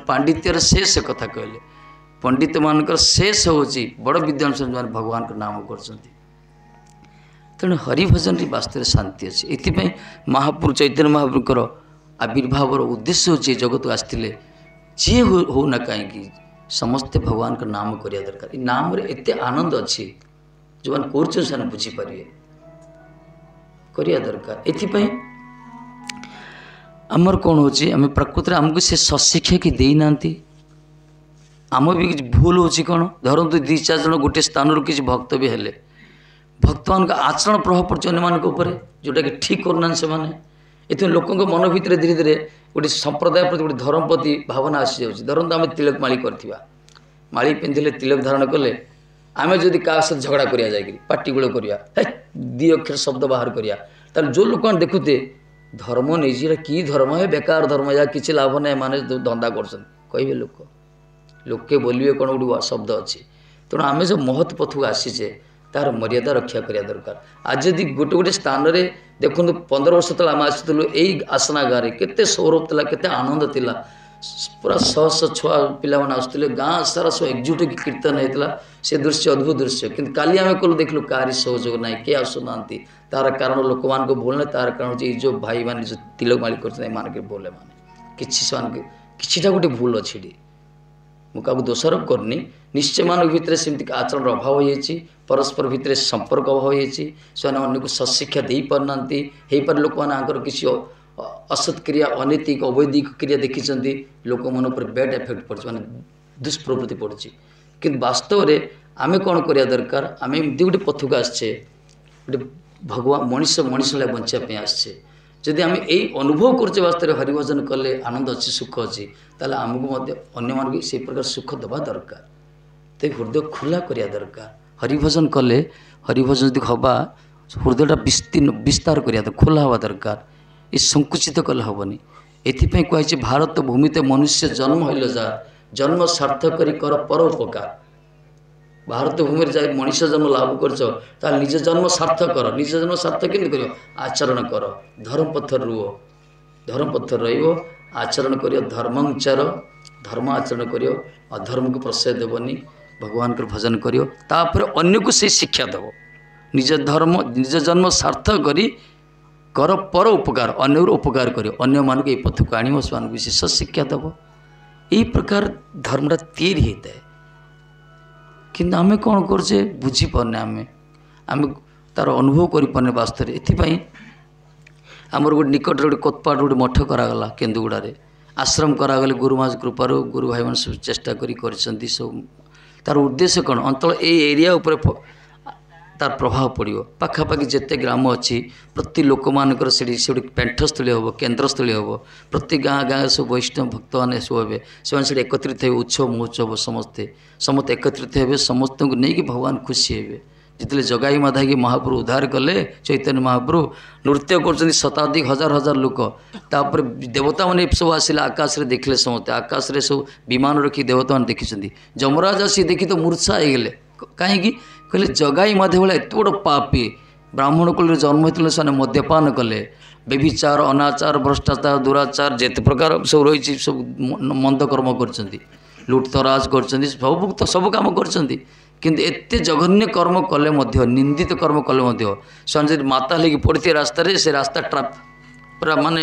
ପାଣ୍ଡିତ୍ୟର ଶେଷ କଥା କହିଲେ। ପଣ୍ଡିତମାନଙ୍କର ଶେଷ ହେଉଛି ବଡ଼ ବିଦ୍ୱାନ ସେମାନେ ଭଗବାନଙ୍କ ନାମ କରୁଛନ୍ତି। ତେଣୁ ହରିଭଜନରେ ବାସ୍ତବରେ ଶାନ୍ତି ଅଛି। ଏଥିପାଇଁ ମହାପ୍ରଭୁ ଚୈତନ୍ୟ ମହାପ୍ରଭୁଙ୍କର ଆବିର୍ଭାବର ଉଦ୍ଦେଶ୍ୟ ହେଉଛି, ଜଗତକୁ ଆସିଥିଲେ, ଯିଏ ହେଉନା କାହିଁକି ସମସ୍ତେ ଭଗବାନଙ୍କ ନାମ କରିବା ଦରକାର। ଏ ନାମରେ ଏତେ ଆନନ୍ଦ ଅଛି, ଯେଉଁମାନେ କରୁଛନ୍ତି ସେମାନେ ବୁଝିପାରିବେ, କରିବା ଦରକାର। ଏଥିପାଇଁ ଆମର କ'ଣ ହେଉଛି, ଆମେ ପ୍ରକୃତରେ ଆମକୁ ସେ ସଶିକ୍ଷା କି ଦେଇନାହାନ୍ତି, ଆମ ବି କିଛି ଭୁଲ ହେଉଛି। କ'ଣ ଧରନ୍ତୁ ଦୁଇ ଚାରି ଜଣ ଗୋଟିଏ ସ୍ଥାନରୁ କିଛି ଭକ୍ତ ବି ହେଲେ, ଭକ୍ତମାନଙ୍କ ଆଚରଣ ପ୍ରଭାବ ପଡ଼ୁଛି ଅନ୍ୟମାନଙ୍କ ଉପରେ, ଯେଉଁଟାକି ଠିକ୍ କରୁନାହାନ୍ତି ସେମାନେ। ଏଥିପାଇଁ ଲୋକଙ୍କ ମନ ଭିତରେ ଧୀରେ ଧୀରେ ଗୋଟେ ସମ୍ପ୍ରଦାୟ ପ୍ରତି, ଗୋଟେ ଧର୍ମ ପ୍ରତି ଭାବନା ଆସିଯାଉଛି। ଧରନ୍ତୁ ଆମେ ତିଲକ ମାଳି କରିଥିବା, ମାଳି ପିନ୍ଧିଲେ, ତିଲକ ଧାରଣ କଲେ, ଆମେ ଯଦି କାହା ସହିତ ଝଗଡ଼ା କରିବା, ଯାଇକରି ପାଟିଗୋଳ କରିବା, ହେ ଦୁଇ ଅକ୍ଷର ଶବ୍ଦ ବାହାର କରିବା, ତାହେଲେ ଯେଉଁ ଲୋକମାନେ ଦେଖୁଥିବେ, ଧର୍ମ ନେଇଛି, ଏଇଟା କି ଧର୍ମ ହେ, ବେକାର ଧର୍ମ, ଏହା କିଛି ଲାଭ ନାହିଁ, ଏମାନେ ଧନ୍ଦା କରୁଛନ୍ତି କହିବେ ଲୋକ। ଲୋକେ ବୋଲିବେ କ'ଣ ଗୋଟେ ଶବ୍ଦ ଅଛି। ତେଣୁ ଆମେ ଯେଉଁ ମହତ୍ ପଥକୁ ଆସିଛେ, ତାର ମର୍ଯ୍ୟାଦା ରକ୍ଷା କରିବା ଦରକାର। ଆଜି ଯଦି ଗୋଟେ ଗୋଟେ ସ୍ଥାନରେ ଦେଖନ୍ତୁ, ପନ୍ଦର ବର୍ଷ ତଳେ ଆମେ ଆସିଥିଲୁ ଏଇ ଆସନା ଗାଁରେ, କେତେ ସୌରଭ ଥିଲା, କେତେ ଆନନ୍ଦ ଥିଲା, ପୁରା ଶହ ଶହ ଛୁଆ ପିଲାମାନେ ଆସୁଥିଲେ, ଗାଁ ସାରା ସବୁ ଏକଜୁଟ ହେଇକି କୀର୍ତ୍ତନ ହେଇଥିଲା। ସେ ଦୃଶ୍ୟ ଅଦ୍ଭୁତ ଦୃଶ୍ୟ। କିନ୍ତୁ କାଲି ଆମେ କଲୁ, ଦେଖିଲୁ କାହାରି ସହଯୋଗ ନାହିଁ, କିଏ ଆସୁନାହାନ୍ତି। ତାର କାରଣ ଲୋକମାନଙ୍କ ଭୁଲ ନାହିଁ, ତାର କାରଣ ହେଉଛି ଏଇ ଯେଉଁ ଭାଇମାନେ ଯେଉଁ ତିଲକ ମାଳି କରିଛନ୍ତି, ଏମାନଙ୍କ ଭୁଲ। ଏମାନେ କିଛି ସେମାନଙ୍କୁ କିଛିଟା ଗୋଟେ ଭୁଲ ଅଛି ଏଠି। ମୁଁ କାହାକୁ ଦୋଷାରୋପ କରୁନି। ନିଶ୍ଚୟ ମାନଙ୍କ ଭିତରେ ସେମିତି ଆଚରଣର ଅଭାବ ହୋଇଯାଇଛି, ପରସ୍ପର ଭିତରେ ସମ୍ପର୍କ ଅଭାବ ହୋଇଯାଇଛି, ସେମାନେ ଅନ୍ୟକୁ ସତ୍ଶିକ୍ଷା ଦେଇପାରୁନାହାନ୍ତି। ହେଇପାରେ ଲୋକମାନଙ୍କର କିଛି ଅସତ୍ କ୍ରିୟା, ଅନୈତିକ ଅବୈଦିକ କ୍ରିୟା ଦେଖିଛନ୍ତି, ଲୋକମାନଙ୍କ ଉପରେ ବ୍ୟାଡ୍ ଏଫେକ୍ଟ ପଡ଼ୁଛି, ମାନେ ଦୁଷ୍ପ୍ରବୃତ୍ତି ପଡ଼ୁଛି। କିନ୍ତୁ ବାସ୍ତବରେ ଆମେ କ'ଣ କରିବା ଦରକାର? ଆମେ ଏମିତି ଗୋଟେ ପଥକୁ ଆସିଛେ, ଗୋଟେ ଭଗବାନ ମଣିଷ ମଣିଷ ଭଳିଆ ବଞ୍ଚିବା ପାଇଁ ଆସିଛେ। ଯଦି ଆମେ ଏଇ ଅନୁଭବ କରୁଛେ ବାସ୍ତବରେ ହରିଭଜନ କଲେ ଆନନ୍ଦ ଅଛି, ସୁଖ ଅଛି, ତାହେଲେ ଆମକୁ ମଧ୍ୟ ଅନ୍ୟମାନଙ୍କୁ ସେଇ ପ୍ରକାର ସୁଖ ଦେବା ଦରକାର। ତ ହୃଦୟ ଖୋଲା କରିବା ଦରକାର। ହରିଭଜନ କଲେ, ହରିଭଜନ ଯଦି ହେବା, ହୃଦୟଟା ବିସ୍ତୀର୍ଣ୍ଣ ବିସ୍ତାର କରିବା ଦରକାର, ଖୋଲା ହେବା ଦରକାର। ଏ ସଙ୍କୁଚିତ କଲେ ହେବନି। ଏଥିପାଇଁ କୁହାଯାଇଛି ଭାରତ ଭୂମିତେ ମନୁଷ୍ୟ ଜନ୍ମ ହେଲ ଯାହା, ଜନ୍ମ ସାର୍ଥକ କରି କର ପର ଉପକାର। ଭାରତ ଭୂମିରେ ଯାଇ ମଣିଷ ଜନ୍ମ ଲାଭ କରିଛ, ତାହେଲେ ନିଜ ଜନ୍ମ ସାର୍ଥକ କର। ନିଜ ଜନ୍ମ ସାର୍ଥକ କେମିତି କରିବ? ଆଚରଣ କର, ଧର୍ମ ପଥରେ ରୁହ, ଧର୍ମ ପଥରେ ରହିବ, ଆଚରଣ କରିବ, ଧର୍ମାଚାର, ଧର୍ମ ଆଚରଣ କରିବ, ଅଧର୍ମକୁ ପ୍ରଶ୍ରୟ ଦେବନି, ଭଗବାନଙ୍କର ଭଜନ କରିବ, ତାପରେ ଅନ୍ୟକୁ ସେଇ ଶିକ୍ଷା ଦେବ। ନିଜ ଧର୍ମ ନିଜ ଜନ୍ମ ସାର୍ଥକ କରି କର ପର ଉପକାର, ଅନ୍ୟର ଉପକାର କରିବ, ଅନ୍ୟମାନଙ୍କୁ ଏଇ ପଥକୁ ଆଣିବ, ସେମାନଙ୍କୁ ବିଶେଷ ଶିକ୍ଷା ଦେବ। ଏଇ ପ୍ରକାର ଧର୍ମଟା ତିଆରି ହେଇଥାଏ। କିନ୍ତୁ ଆମେ କ'ଣ କରୁଛେ ବୁଝିପାରୁନେ, ଆମେ ଆମେ ତା'ର ଅନୁଭବ କରିପାରୁନେ ବାସ୍ତବରେ। ଏଥିପାଇଁ ଆମର ଗୋଟେ ନିକଟରେ ଗୋଟେ କୋତପାଟ ଗୋଟେ ମଠ କରାଗଲା କେନ୍ଦୁଗୁଡ଼ାରେ, ଆଶ୍ରମ କରାଗଲେ ଗୁରୁମାଜ କୃପାରୁ ଗୁରୁ ଭାଇମାନେ ସବୁ ଚେଷ୍ଟା କରି କରିଛନ୍ତି ସବୁ। ତା'ର ଉଦ୍ଦେଶ୍ୟ କ'ଣ? ଅନ୍ତଳ ଏଇ ଏରିଆ ଉପରେ ତାର ପ୍ରଭାବ ପଡ଼ିବ। ପାଖାପାଖି ଯେତେ ଗ୍ରାମ ଅଛି ପ୍ରତି ଲୋକମାନଙ୍କର ସେଠି ସେଠି ପେଣ୍ଠସ୍ଥଳୀ ହେବ, କେନ୍ଦ୍ରସ୍ଥଳୀ ହେବ। ପ୍ରତି ଗାଁ ଗାଁରେ ସବୁ ବୈଷ୍ଣବ ଭକ୍ତମାନେ ସବୁ ହେବେ, ସେମାନେ ସେଠି ଏକତ୍ରିତ ହେବେ, ଉତ୍ସବ ମହୋତ୍ସବ ସମସ୍ତେ ସମସ୍ତେ ଏକତ୍ରିତ ହେବେ, ସମସ୍ତଙ୍କୁ ନେଇକି ଭଗବାନ ଖୁସି ହେବେ। ଯେତେବେଳେ ଜଗାଇ ମାଧାଇକି ମହାପ୍ରଭୁ ଉଦ୍ଧାର କଲେ, ଚୈତନ୍ୟ ମହାପ୍ରଭୁ ନୃତ୍ୟ କରୁଛନ୍ତି ଶତାଧିକ ହଜାର ହଜାର ଲୋକ। ତାପରେ ଦେବତାମାନେ ସବୁ ଆସିଲେ, ଆକାଶରେ ଦେଖିଲେ ସମସ୍ତେ, ଆକାଶରେ ସବୁ ବିମାନ ରଖି ଦେବତାମାନେ ଦେଖିଛନ୍ତି। ଯମରାଜ ଆସି ଦେଖି ତ ମୂର୍ଚ୍ଛା ହେଇଗଲେ। କାହିଁକି? କହିଲେ ଜଗାଇ ମାଧବ ଭଳିଆ ଏତେ ବଡ଼ ପାପୀ, ବ୍ରାହ୍ମଣ କୁଳରେ ଜନ୍ମ ହୋଇଥିଲେ, ସେମାନେ ମଦ୍ୟପାନ କଲେ, ବ୍ୟଭିଚାର, ଅନାଚାର, ଭ୍ରଷ୍ଟାଚାର, ଦୁରାଚାର ଯେତେ ପ୍ରକାର ସବୁ ରହିଛି ସବୁ ମନ୍ଦ କର୍ମ କରିଛନ୍ତି, ଲୁଟତରାଜ କରିଛନ୍ତି, ସବୁ ତ ସବୁ କାମ କରିଛନ୍ତି। କିନ୍ତୁ ଏତେ ଜଘନ୍ୟ କର୍ମ କଲେ ମଧ୍ୟ, ନିନ୍ଦିତ କର୍ମ କଲେ ମଧ୍ୟ, ସେମାନେ ଯଦି ମାତା ହେଇକି ପଡ଼ିଥିବେ ରାସ୍ତାରେ, ସେ ରାସ୍ତା ଟ୍ରାଫ୍ ପୁରା ମାନେ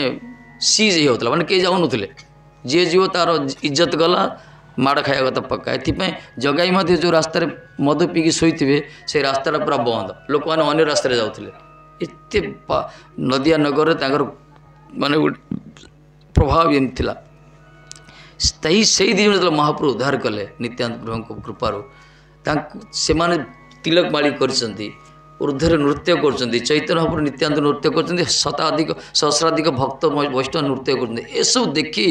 ସିଜ୍ ହେଇଯାଉଥିଲା, ମାନେ କେହି ଯାଉନଥିଲେ। ଯିଏ ଯିବ ତା'ର ଇଜ୍ଜତ ଗଲା, ମାଡ଼ ଖାଇବା କଥା ପକ୍କା। ଏଥିପାଇଁ ଜଗାଇ ମଧ୍ୟ ଯେଉଁ ରାସ୍ତାରେ ମଦ ପିଇକି ଶୋଇଥିବେ, ସେ ରାସ୍ତାଟା ପୁରା ବନ୍ଦ, ଲୋକମାନେ ଅନ୍ୟ ରାସ୍ତାରେ ଯାଉଥିଲେ। ଏତେ ନଦିଆ ନଗରରେ ତାଙ୍କର ମାନେ ଗୋଟେ ପ୍ରଭାବ ଏମିତି ଥିଲା। ସେଇ ସେଇ ଦୁଇ ଜଣ ଯେତେବେଳେ ମହାପ୍ରଭୁ ଉଦ୍ଧାର କଲେ ନିତ୍ୟାନନ୍ଦ ପ୍ରଭୁଙ୍କ କୃପାରୁ, ତାଙ୍କୁ ସେମାନେ ତିଲକ ମାଳି କରିଛନ୍ତି, ଉର୍ଦ୍ଧ୍ୱରେ ନୃତ୍ୟ କରୁଛନ୍ତି, ଚୈତନ୍ୟ ମହାପ୍ରଭୁ ନିତ୍ୟାନନ୍ଦ ନୃତ୍ୟ କରୁଛନ୍ତି, ଶତାଧିକ ସହସ୍ରାଧିକ ଭକ୍ତ ବୈଷ୍ଣବ ନୃତ୍ୟ କରୁଛନ୍ତି। ଏସବୁ ଦେଖି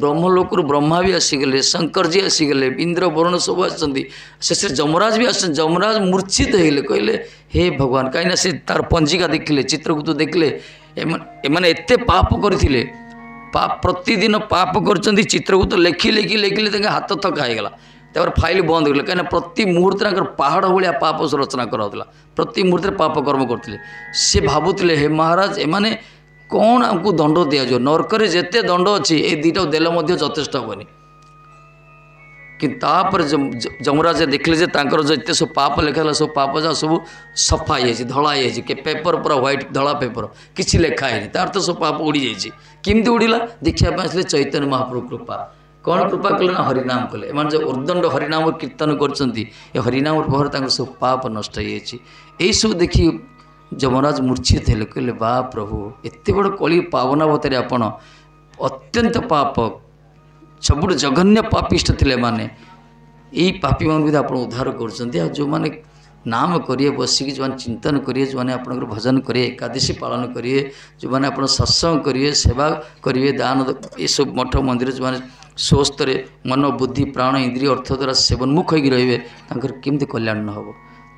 ବ୍ରହ୍ମଲୋକରୁ ବ୍ରହ୍ମା ବି ଆସିଗଲେ, ଶଙ୍କରଜୀ ଆସିଗଲେ, ଇନ୍ଦ୍ର ବରୁଣ ସବୁ ଆସିଛନ୍ତି, ଶେଷରେ ଯମରାଜ ବି ଆସିଛନ୍ତି। ଯମରାଜ ମୂର୍ଚ୍ଛିତ ହେଇଗଲେ, କହିଲେ ହେ ଭଗବାନ, କାହିଁକିନା ସେ ତାର ପଞ୍ଜିକା ଦେଖିଲେ, ଚିତ୍ରଗୁପ୍ତ ଦେଖିଲେ, ଏମାନେ ଏମାନେ ଏତେ ପାପ କରିଥିଲେ, ପାପ ପ୍ରତିଦିନ ପାପ କରିଛନ୍ତି। ଚିତ୍ରଗୁପ୍ତ ଲେଖି ଲେଖି ଲେଖିଲେ ତାଙ୍କ ହାତ ଥକା ହେଇଗଲା, ତାପରେ ଫାଇଲ୍ ବନ୍ଦ କଲେ। କାହିଁକିନା ପ୍ରତି ମୁହୂର୍ତ୍ତରେ ତାଙ୍କର ପାହାଡ଼ ଭଳିଆ ପାପ ରଚନା କରାହେଉଥିଲା, ପ୍ରତି ମୁହୂର୍ତ୍ତରେ ପାପ କର୍ମ କରୁଥିଲେ। ସେ ଭାବୁଥିଲେ ହେ ମହାରାଜ, ଏମାନେ କ'ଣ ଆମକୁ ଦଣ୍ଡ ଦିଆଯିବ, ନର୍କରେ ଯେତେ ଦଣ୍ଡ ଅଛି ଏ ଦୁଇଟାକୁ ଦେଲେ ମଧ୍ୟ ଯଥେଷ୍ଟ ହେବନି। କିନ୍ତୁ ତାପରେ ଯମରାଜ ଦେଖିଲେ ଯେ ତାଙ୍କର ଯେତେ ସବୁ ପାପ ଲେଖା ହେଲା, ସବୁ ପାପ ଯାହା ସବୁ ସଫା ହେଇଯାଇଛି, ଧଳା ହେଇଯାଇଛି, ପେପର ପୁରା ହ୍ୱାଇଟ୍ ଧଳା ପେପର, କିଛି ଲେଖା ହେଇନି, ତାର ତ ସବୁ ପାପ ଉଡ଼ିଯାଇଛି। କେମିତି ଉଡ଼ିଲା ଦେଖିବା ପାଇଁ ଆସିଲେ ଚୈତନ୍ୟ ମହାପ୍ରଭୁ କୃପା। କ'ଣ କୃପା କଲେ ନା ହରିନାମ କଲେ। ଏମାନେ ଯେଉଁ ଉର୍ଦ୍ଦଣ୍ଡ ହରିନାମ କୀର୍ତ୍ତନ କରୁଛନ୍ତି, ଏ ହରିନାମ ପ୍ରଭାବରେ ତାଙ୍କର ସବୁ ପାପ ନଷ୍ଟ ହେଇଯାଇଛି। ଏଇସବୁ ଦେଖି ଯମରାଜ ମୂର୍ଚ୍ଛିତ ହେଲେ, କହିଲେ ବା ପ୍ରଭୁ, ଏତେ ବଡ଼ କଳି ପାବନାବତାରୀ ଆପଣ, ଅତ୍ୟନ୍ତ ପାପ, ସବୁଠୁ ଜଘନ୍ୟ ପାପିଷ୍ଠ ଥିଲେ ଏମାନେ, ଏଇ ପାପୀମାନଙ୍କୁ ଯଦି ଆପଣ ଉଦ୍ଧାର କରୁଛନ୍ତି, ଆଉ ଯେଉଁମାନେ ନାମ କରିବେ ବସିକି, ଯେଉଁମାନେ ଚିନ୍ତନ କରିବେ, ଯେଉଁମାନେ ଆପଣଙ୍କର ଭଜନ କରିବେ, ଏକାଦଶୀ ପାଳନ କରିବେ, ଯେଉଁମାନେ ଆପଣ ସତ୍ସଙ୍ଗ କରିବେ, ସେବା କରିବେ, ଦାନ, ଏସବୁ ମଠ ମନ୍ଦିର ଯେଉଁମାନେ ସ୍ୱସ୍ଥରେ ମନ ବୁଦ୍ଧି ପ୍ରାଣ ଇନ୍ଦ୍ରିୟ ଅର୍ଥ ଦ୍ୱାରା ସେବନ୍ମୁଖ ହେଇକି ରହିବେ, ତାଙ୍କର କେମିତି କଲ୍ୟାଣ ନ ହେବ।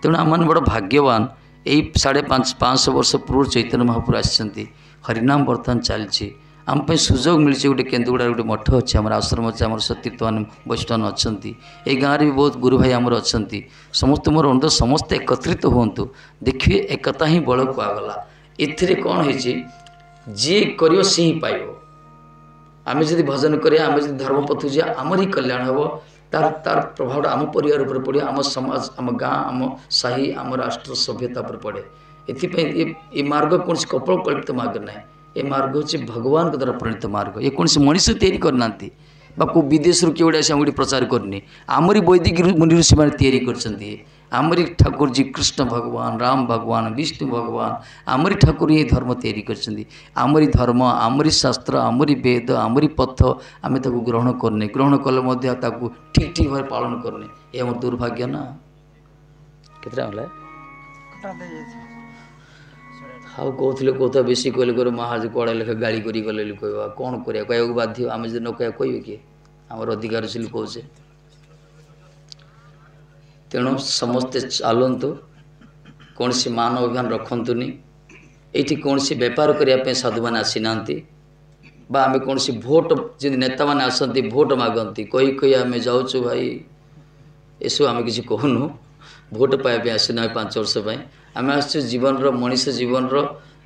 ତେଣୁ ଆମମାନେ ବଡ଼ ଭାଗ୍ୟବାନ। ଏଇ ସାଢ଼େ ପାଞ୍ଚ ପାଞ୍ଚଶହ ବର୍ଷ ପୂର୍ବରୁ ଚୈତନ୍ୟ ମହାପ୍ରଭୁ ଆସିଛନ୍ତି, ହରିନାମ ବର୍ତ୍ତମାନ ଚାଲିଛି, ଆମ ପାଇଁ ସୁଯୋଗ ମିଳିଛି। ଗୋଟେ କେନ୍ଦୁଗୁଡ଼ାରେ ଗୋଟେ ମଠ ଅଛି, ଆମର ଆଶ୍ରମ ଅଛି, ଆମର ସତୀର୍ଥମାନେ ବୈଷ୍ଣବ ଅଛନ୍ତି, ଏଇ ଗାଁରେ ବି ବହୁତ ଗୁରୁ ଭାଇ ଆମର ଅଛନ୍ତି। ସମସ୍ତେ ମୋର ଅନୁରୋଧ, ସମସ୍ତେ ଏକତ୍ରିତ ହୁଅନ୍ତୁ, ଦେଖିବେ ଏକତା ହିଁ ବଳ କୁହାଗଲା। ଏଥିରେ କ'ଣ ହେଇଛି, ଯିଏ କରିବ ସିଏ ହିଁ ପାଇବ। ଆମେ ଯଦି ଭଜନ କରିବା, ଆମେ ଯଦି ଧର୍ମ ପଥକୁ ଯିବା, ଆମର ହିଁ କଲ୍ୟାଣ ହେବ। ତାର ତାର ପ୍ରଭାବଟା ଆମ ପରିବାର ଉପରେ ପଡ଼ିବ, ଆମ ସମାଜ, ଆମ ଗାଁ, ଆମ ସାହି, ଆମ ରାଷ୍ଟ୍ର ସଭ୍ୟତା ଉପରେ ପଡ଼େ। ଏଥିପାଇଁ ଏ ଏ ମାର୍ଗ କୌଣସି କପୋଳ କଳ୍ପିତ ମାର୍ଗ ନାହିଁ, ଏ ମାର୍ଗ ହେଉଛି ଭଗବାନଙ୍କ ଦ୍ୱାରା ପ୍ରଣୀତ ମାର୍ଗ। ଏ କୌଣସି ମଣିଷ ତିଆରି କରିନାହାନ୍ତି ବା କେଉଁ ବିଦେଶରୁ କିଏ ଗୋଟେ ଆସି ଆମକୁ ଏଠି ପ୍ରଚାର କରିନି। ଆମରି ବୈଦିକ ମୁନି ଋଷିମାନେ ତିଆରି କରିଛନ୍ତି। ଆମରି ଠାକୁରଜୀ କୃଷ୍ଣ ଭଗବାନ, ରାମ ଭଗବାନ, ବିଷ୍ଣୁ ଭଗବାନ, ଆମରି ଠାକୁର ହିଁ ଧର୍ମ ତିଆରି କରିଛନ୍ତି। ଆମରି ଧର୍ମ, ଆମରି ଶାସ୍ତ୍ର, ଆମରି ବେଦ, ଆମରି ପଥ, ଆମେ ତାକୁ ଗ୍ରହଣ କରୁନେ। ଗ୍ରହଣ କଲେ ମଧ୍ୟ ତାକୁ ଠିକ୍ ଠିକ୍ ଭାବରେ ପାଳନ କରୁନେ। ଏ ଆମର ଦୁର୍ଭାଗ୍ୟ ନା। କେତେଟା ହେଲା? ଆଉ କହୁଥିଲେ କହୁଥିବା ବେଶୀ କହିଲେ କହିଲେ ମହାରାଜ କୁଆଡ଼େ ଲେଖା ଗାଳି କରି ଗଲେ ବୋଲି କହିବା। କ'ଣ କରିବା, କହିବାକୁ ବାଧ୍ୟ। ଆମେ ଯଦି ନ କହିବା କହିବେ କିଏ? ଆମର ଅଧିକାର ଅଛି ବୋଲି କହୁଛେ। ତେଣୁ ସମସ୍ତେ ଚାଲନ୍ତୁ, କୌଣସି ମାନ ଅଭିମାନ ରଖନ୍ତୁନି। ଏଇଠି କୌଣସି ବେପାର କରିବା ପାଇଁ ସାଧୁମାନେ ଆସିନାହାନ୍ତି ବା ଆମେ କୌଣସି ଭୋଟ, ଯେମିତି ନେତାମାନେ ଆସନ୍ତି ଭୋଟ ମାଗନ୍ତି କହି କହି ଆମେ ଯାଉଛୁ ଭାଇ, ଏସବୁ ଆମେ କିଛି କହୁନୁ। ଭୋଟ ପାଇବା ପାଇଁ ଆସିନୁ ଆମେ ପାଞ୍ଚ ବର୍ଷ ପାଇଁ। ଆମେ ଆସିଛୁ ଜୀବନର, ମଣିଷ ଜୀବନର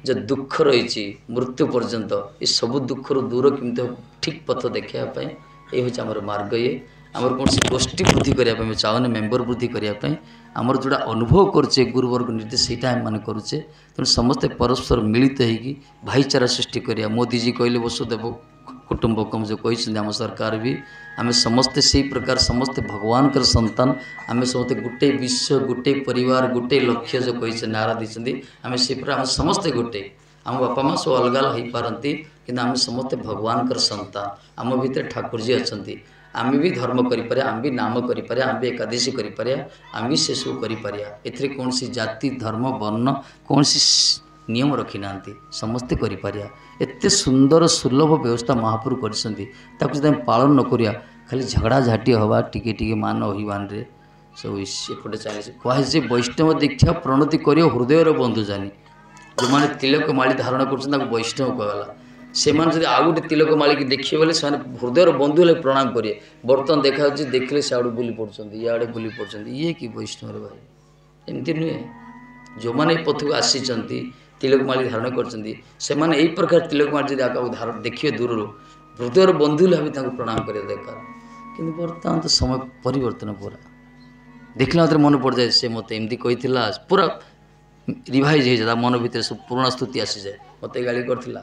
ଯେଉଁ ଦୁଃଖ ରହିଛି ମୃତ୍ୟୁ ପର୍ଯ୍ୟନ୍ତ, ଏ ସବୁ ଦୁଃଖରୁ ଦୂର କେମିତି ହେବ ଠିକ୍ ପଥ ଦେଖାଇବା ପାଇଁ ଏଇ ହେଉଛି ଆମର ମାର୍ଗ। ଇଏ ଆମର କୌଣସି ଗୋଷ୍ଠୀ ବୃଦ୍ଧି କରିବା ପାଇଁ ଆମେ ଚାହୁଁନି, ମେମ୍ବର ବୃଦ୍ଧି କରିବା ପାଇଁ। ଆମର ଯେଉଁଟା ଅନୁଭବ କରୁଛେ ଗୁରୁବର୍ଗ ନିର୍ଦ୍ଦେଶ, ସେଇଟା ଆମେମାନେ କରୁଛେ। ତେଣୁ ସମସ୍ତେ ପରସ୍ପର ମିଳିତ ହେଇକି ଭାଇଚାରା ସୃଷ୍ଟି କରିବା। ମୋଦିଜୀ କହିଲେ ବସୁଦେବ କୁଟୁମ୍ବକମ୍ ଯେଉଁ କହିଛନ୍ତି ଆମ ସରକାର ବି, ଆମେ ସମସ୍ତେ ସେଇ ପ୍ରକାର ସମସ୍ତେ ଭଗବାନଙ୍କର ସନ୍ତାନ। ଆମେ ସମସ୍ତେ ଗୋଟେ ବିଶ୍ୱ, ଗୋଟେ ପରିବାର, ଗୋଟେ ଲକ୍ଷ୍ୟ ଯେଉଁ କହିଛନ୍ତି, ନାରା ଦେଇଛନ୍ତି, ଆମେ ସେଇ ପ୍ରକାର ଆମେ ସମସ୍ତେ ଗୋଟେ। ଆମ ବାପା ମା' ସବୁ ଅଲଗା ଅଲଗା ହେଇପାରନ୍ତି, କିନ୍ତୁ ଆମେ ସମସ୍ତେ ଭଗବାନଙ୍କର ସନ୍ତାନ। ଆମ ଭିତରେ ଠାକୁରଜୀ ଅଛନ୍ତି। ଆମେ ବି ଧର୍ମ କରିପାରିବା, ଆମେ ବି ନାମ କରିପାରିବା, ଆମେ ବି ଏକାଦଶୀ କରିପାରିବା, ଆମେ ବି ସେସବୁ କରିପାରିବା। ଏଥିରେ କୌଣସି ଜାତି, ଧର୍ମ, ବର୍ଣ୍ଣ କୌଣସି ନିୟମ ରଖିନାହାନ୍ତି, ସମସ୍ତେ କରିପାରିବା। ଏତେ ସୁନ୍ଦର ସୁଲଭ ବ୍ୟବସ୍ଥା ମହାପ୍ରଭୁ କରିଛନ୍ତି, ତାକୁ ଯଦି ଆମେ ପାଳନ ନ କରିବା ଖାଲି ଝଗଡ଼ାଝାଟି ହେବା, ଟିକେ ଟିକେ ମାନ ଅଭିମାନରେ ସବୁ ଏପଟେ ଚାଲିଛି। କୁହାଯାଇଛି ବୈଷ୍ଣବ ଦୀକ୍ଷା ପ୍ରଣତି କରିବ ହୃଦୟର ବନ୍ଧୁ ଜାନି। ଯେଉଁମାନେ ତିଲକ ମାଳି ଧାରଣ କରୁଛନ୍ତି ତାଙ୍କୁ ବୈଷ୍ଣବ କୁହାଗଲା। ସେମାନେ ଯଦି ଆଉ ଗୋଟେ ତିଲକ ମାଳିକି ଦେଖିବେ ବୋଲେ ସେମାନେ ହୃଦୟର ବନ୍ଧୁ ହେଲେ ପ୍ରଣାମ କରିବେ। ବର୍ତ୍ତମାନ ଦେଖାଯାଉଛି ଦେଖିଲେ ସିଆଡ଼ୁ ବୁଲି ପଡ଼ୁଛନ୍ତି, ଇଆଡ଼େ ବୁଲି ପଡ଼ୁଛନ୍ତି। ଇଏ କି ବୈଷ୍ଣବରେ ଭାଇ? ଏମିତି ନୁହେଁ। ଯେଉଁମାନେ ଏ ପଥକୁ ଆସିଛନ୍ତି, ତିଲକ ମାଳି ଧାରଣ କରିଛନ୍ତି, ସେମାନେ ଏଇ ପ୍ରକାର ତିଲକ ମାଳି ଯଦି ଆଗକୁ ଧାରଣ ଦେଖିବେ ଦୂରରୁ, ହୃଦୟର ବନ୍ଧୁ ହେଲେ ଭାବି ତାଙ୍କୁ ପ୍ରଣାମ କରିବା ଦରକାର। କିନ୍ତୁ ବର୍ତ୍ତମାନ ତ ସମୟ ପରିବର୍ତ୍ତନ ପୁରା ଦେଖିଲା ମାତ୍ରେ ମନେ ପଡ଼ିଯାଏ ସେ ମୋତେ ଏମିତି କହିଥିଲା, ପୁରା ରିଭାଇଜ୍ ହେଇଯାଏ ତା ମନ ଭିତରେ, ସବୁ ପୁରୁଣା ସ୍ତୁତି ଆସିଯାଏ, ମୋତେ ଗାଳି କରିଥିଲା।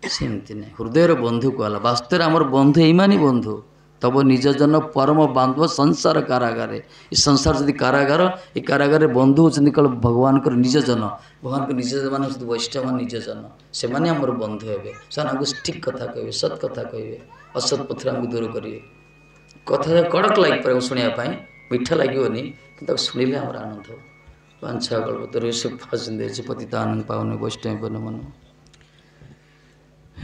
ସେମିତି ନାହିଁ। ହୃଦୟର ବନ୍ଧୁ କୁହାଗଲା। ବାସ୍ତବରେ ଆମର ବନ୍ଧୁ ଏଇମାନେ ବନ୍ଧୁ। ତବ ନିଜ ଜନ ପରମ ବାନ୍ଧବ ସଂସାର କାରାଗାରେ। ଏ ସଂସାର ଯଦି କାରାଗାର, ଏ କାରାଗାରରେ ବନ୍ଧୁ ହେଉଛନ୍ତି କେବଳ ଭଗବାନଙ୍କର ନିଜ ଜନ। ଭଗବାନଙ୍କ ନିଜ ମାନେ ହେଉଛନ୍ତି ବୈଷ୍ଣବ ନିଜ ଜନ। ସେମାନେ ଆମର ବନ୍ଧୁ ହେବେ। ସେମାନେ ଆମକୁ ଠିକ୍ କଥା କହିବେ, ସତ୍ କଥା କହିବେ, ଅସତ୍ ପଥରେ ଆମକୁ ଦୂର କରିବେ। କଥା କଡ଼କ ଲାଗିପାରିବ ଶୁଣିବା ପାଇଁ, ମିଠା ଲାଗିବନି, କିନ୍ତୁ ତାକୁ ଶୁଣିଲେ ଆମର ଆନନ୍ଦ ହେବ। ବାଞ୍ଛା କଳ୍ପତରୁ ପତିତାନଂ ପାବନ ବୈଷ୍ଣବ ନମଃ।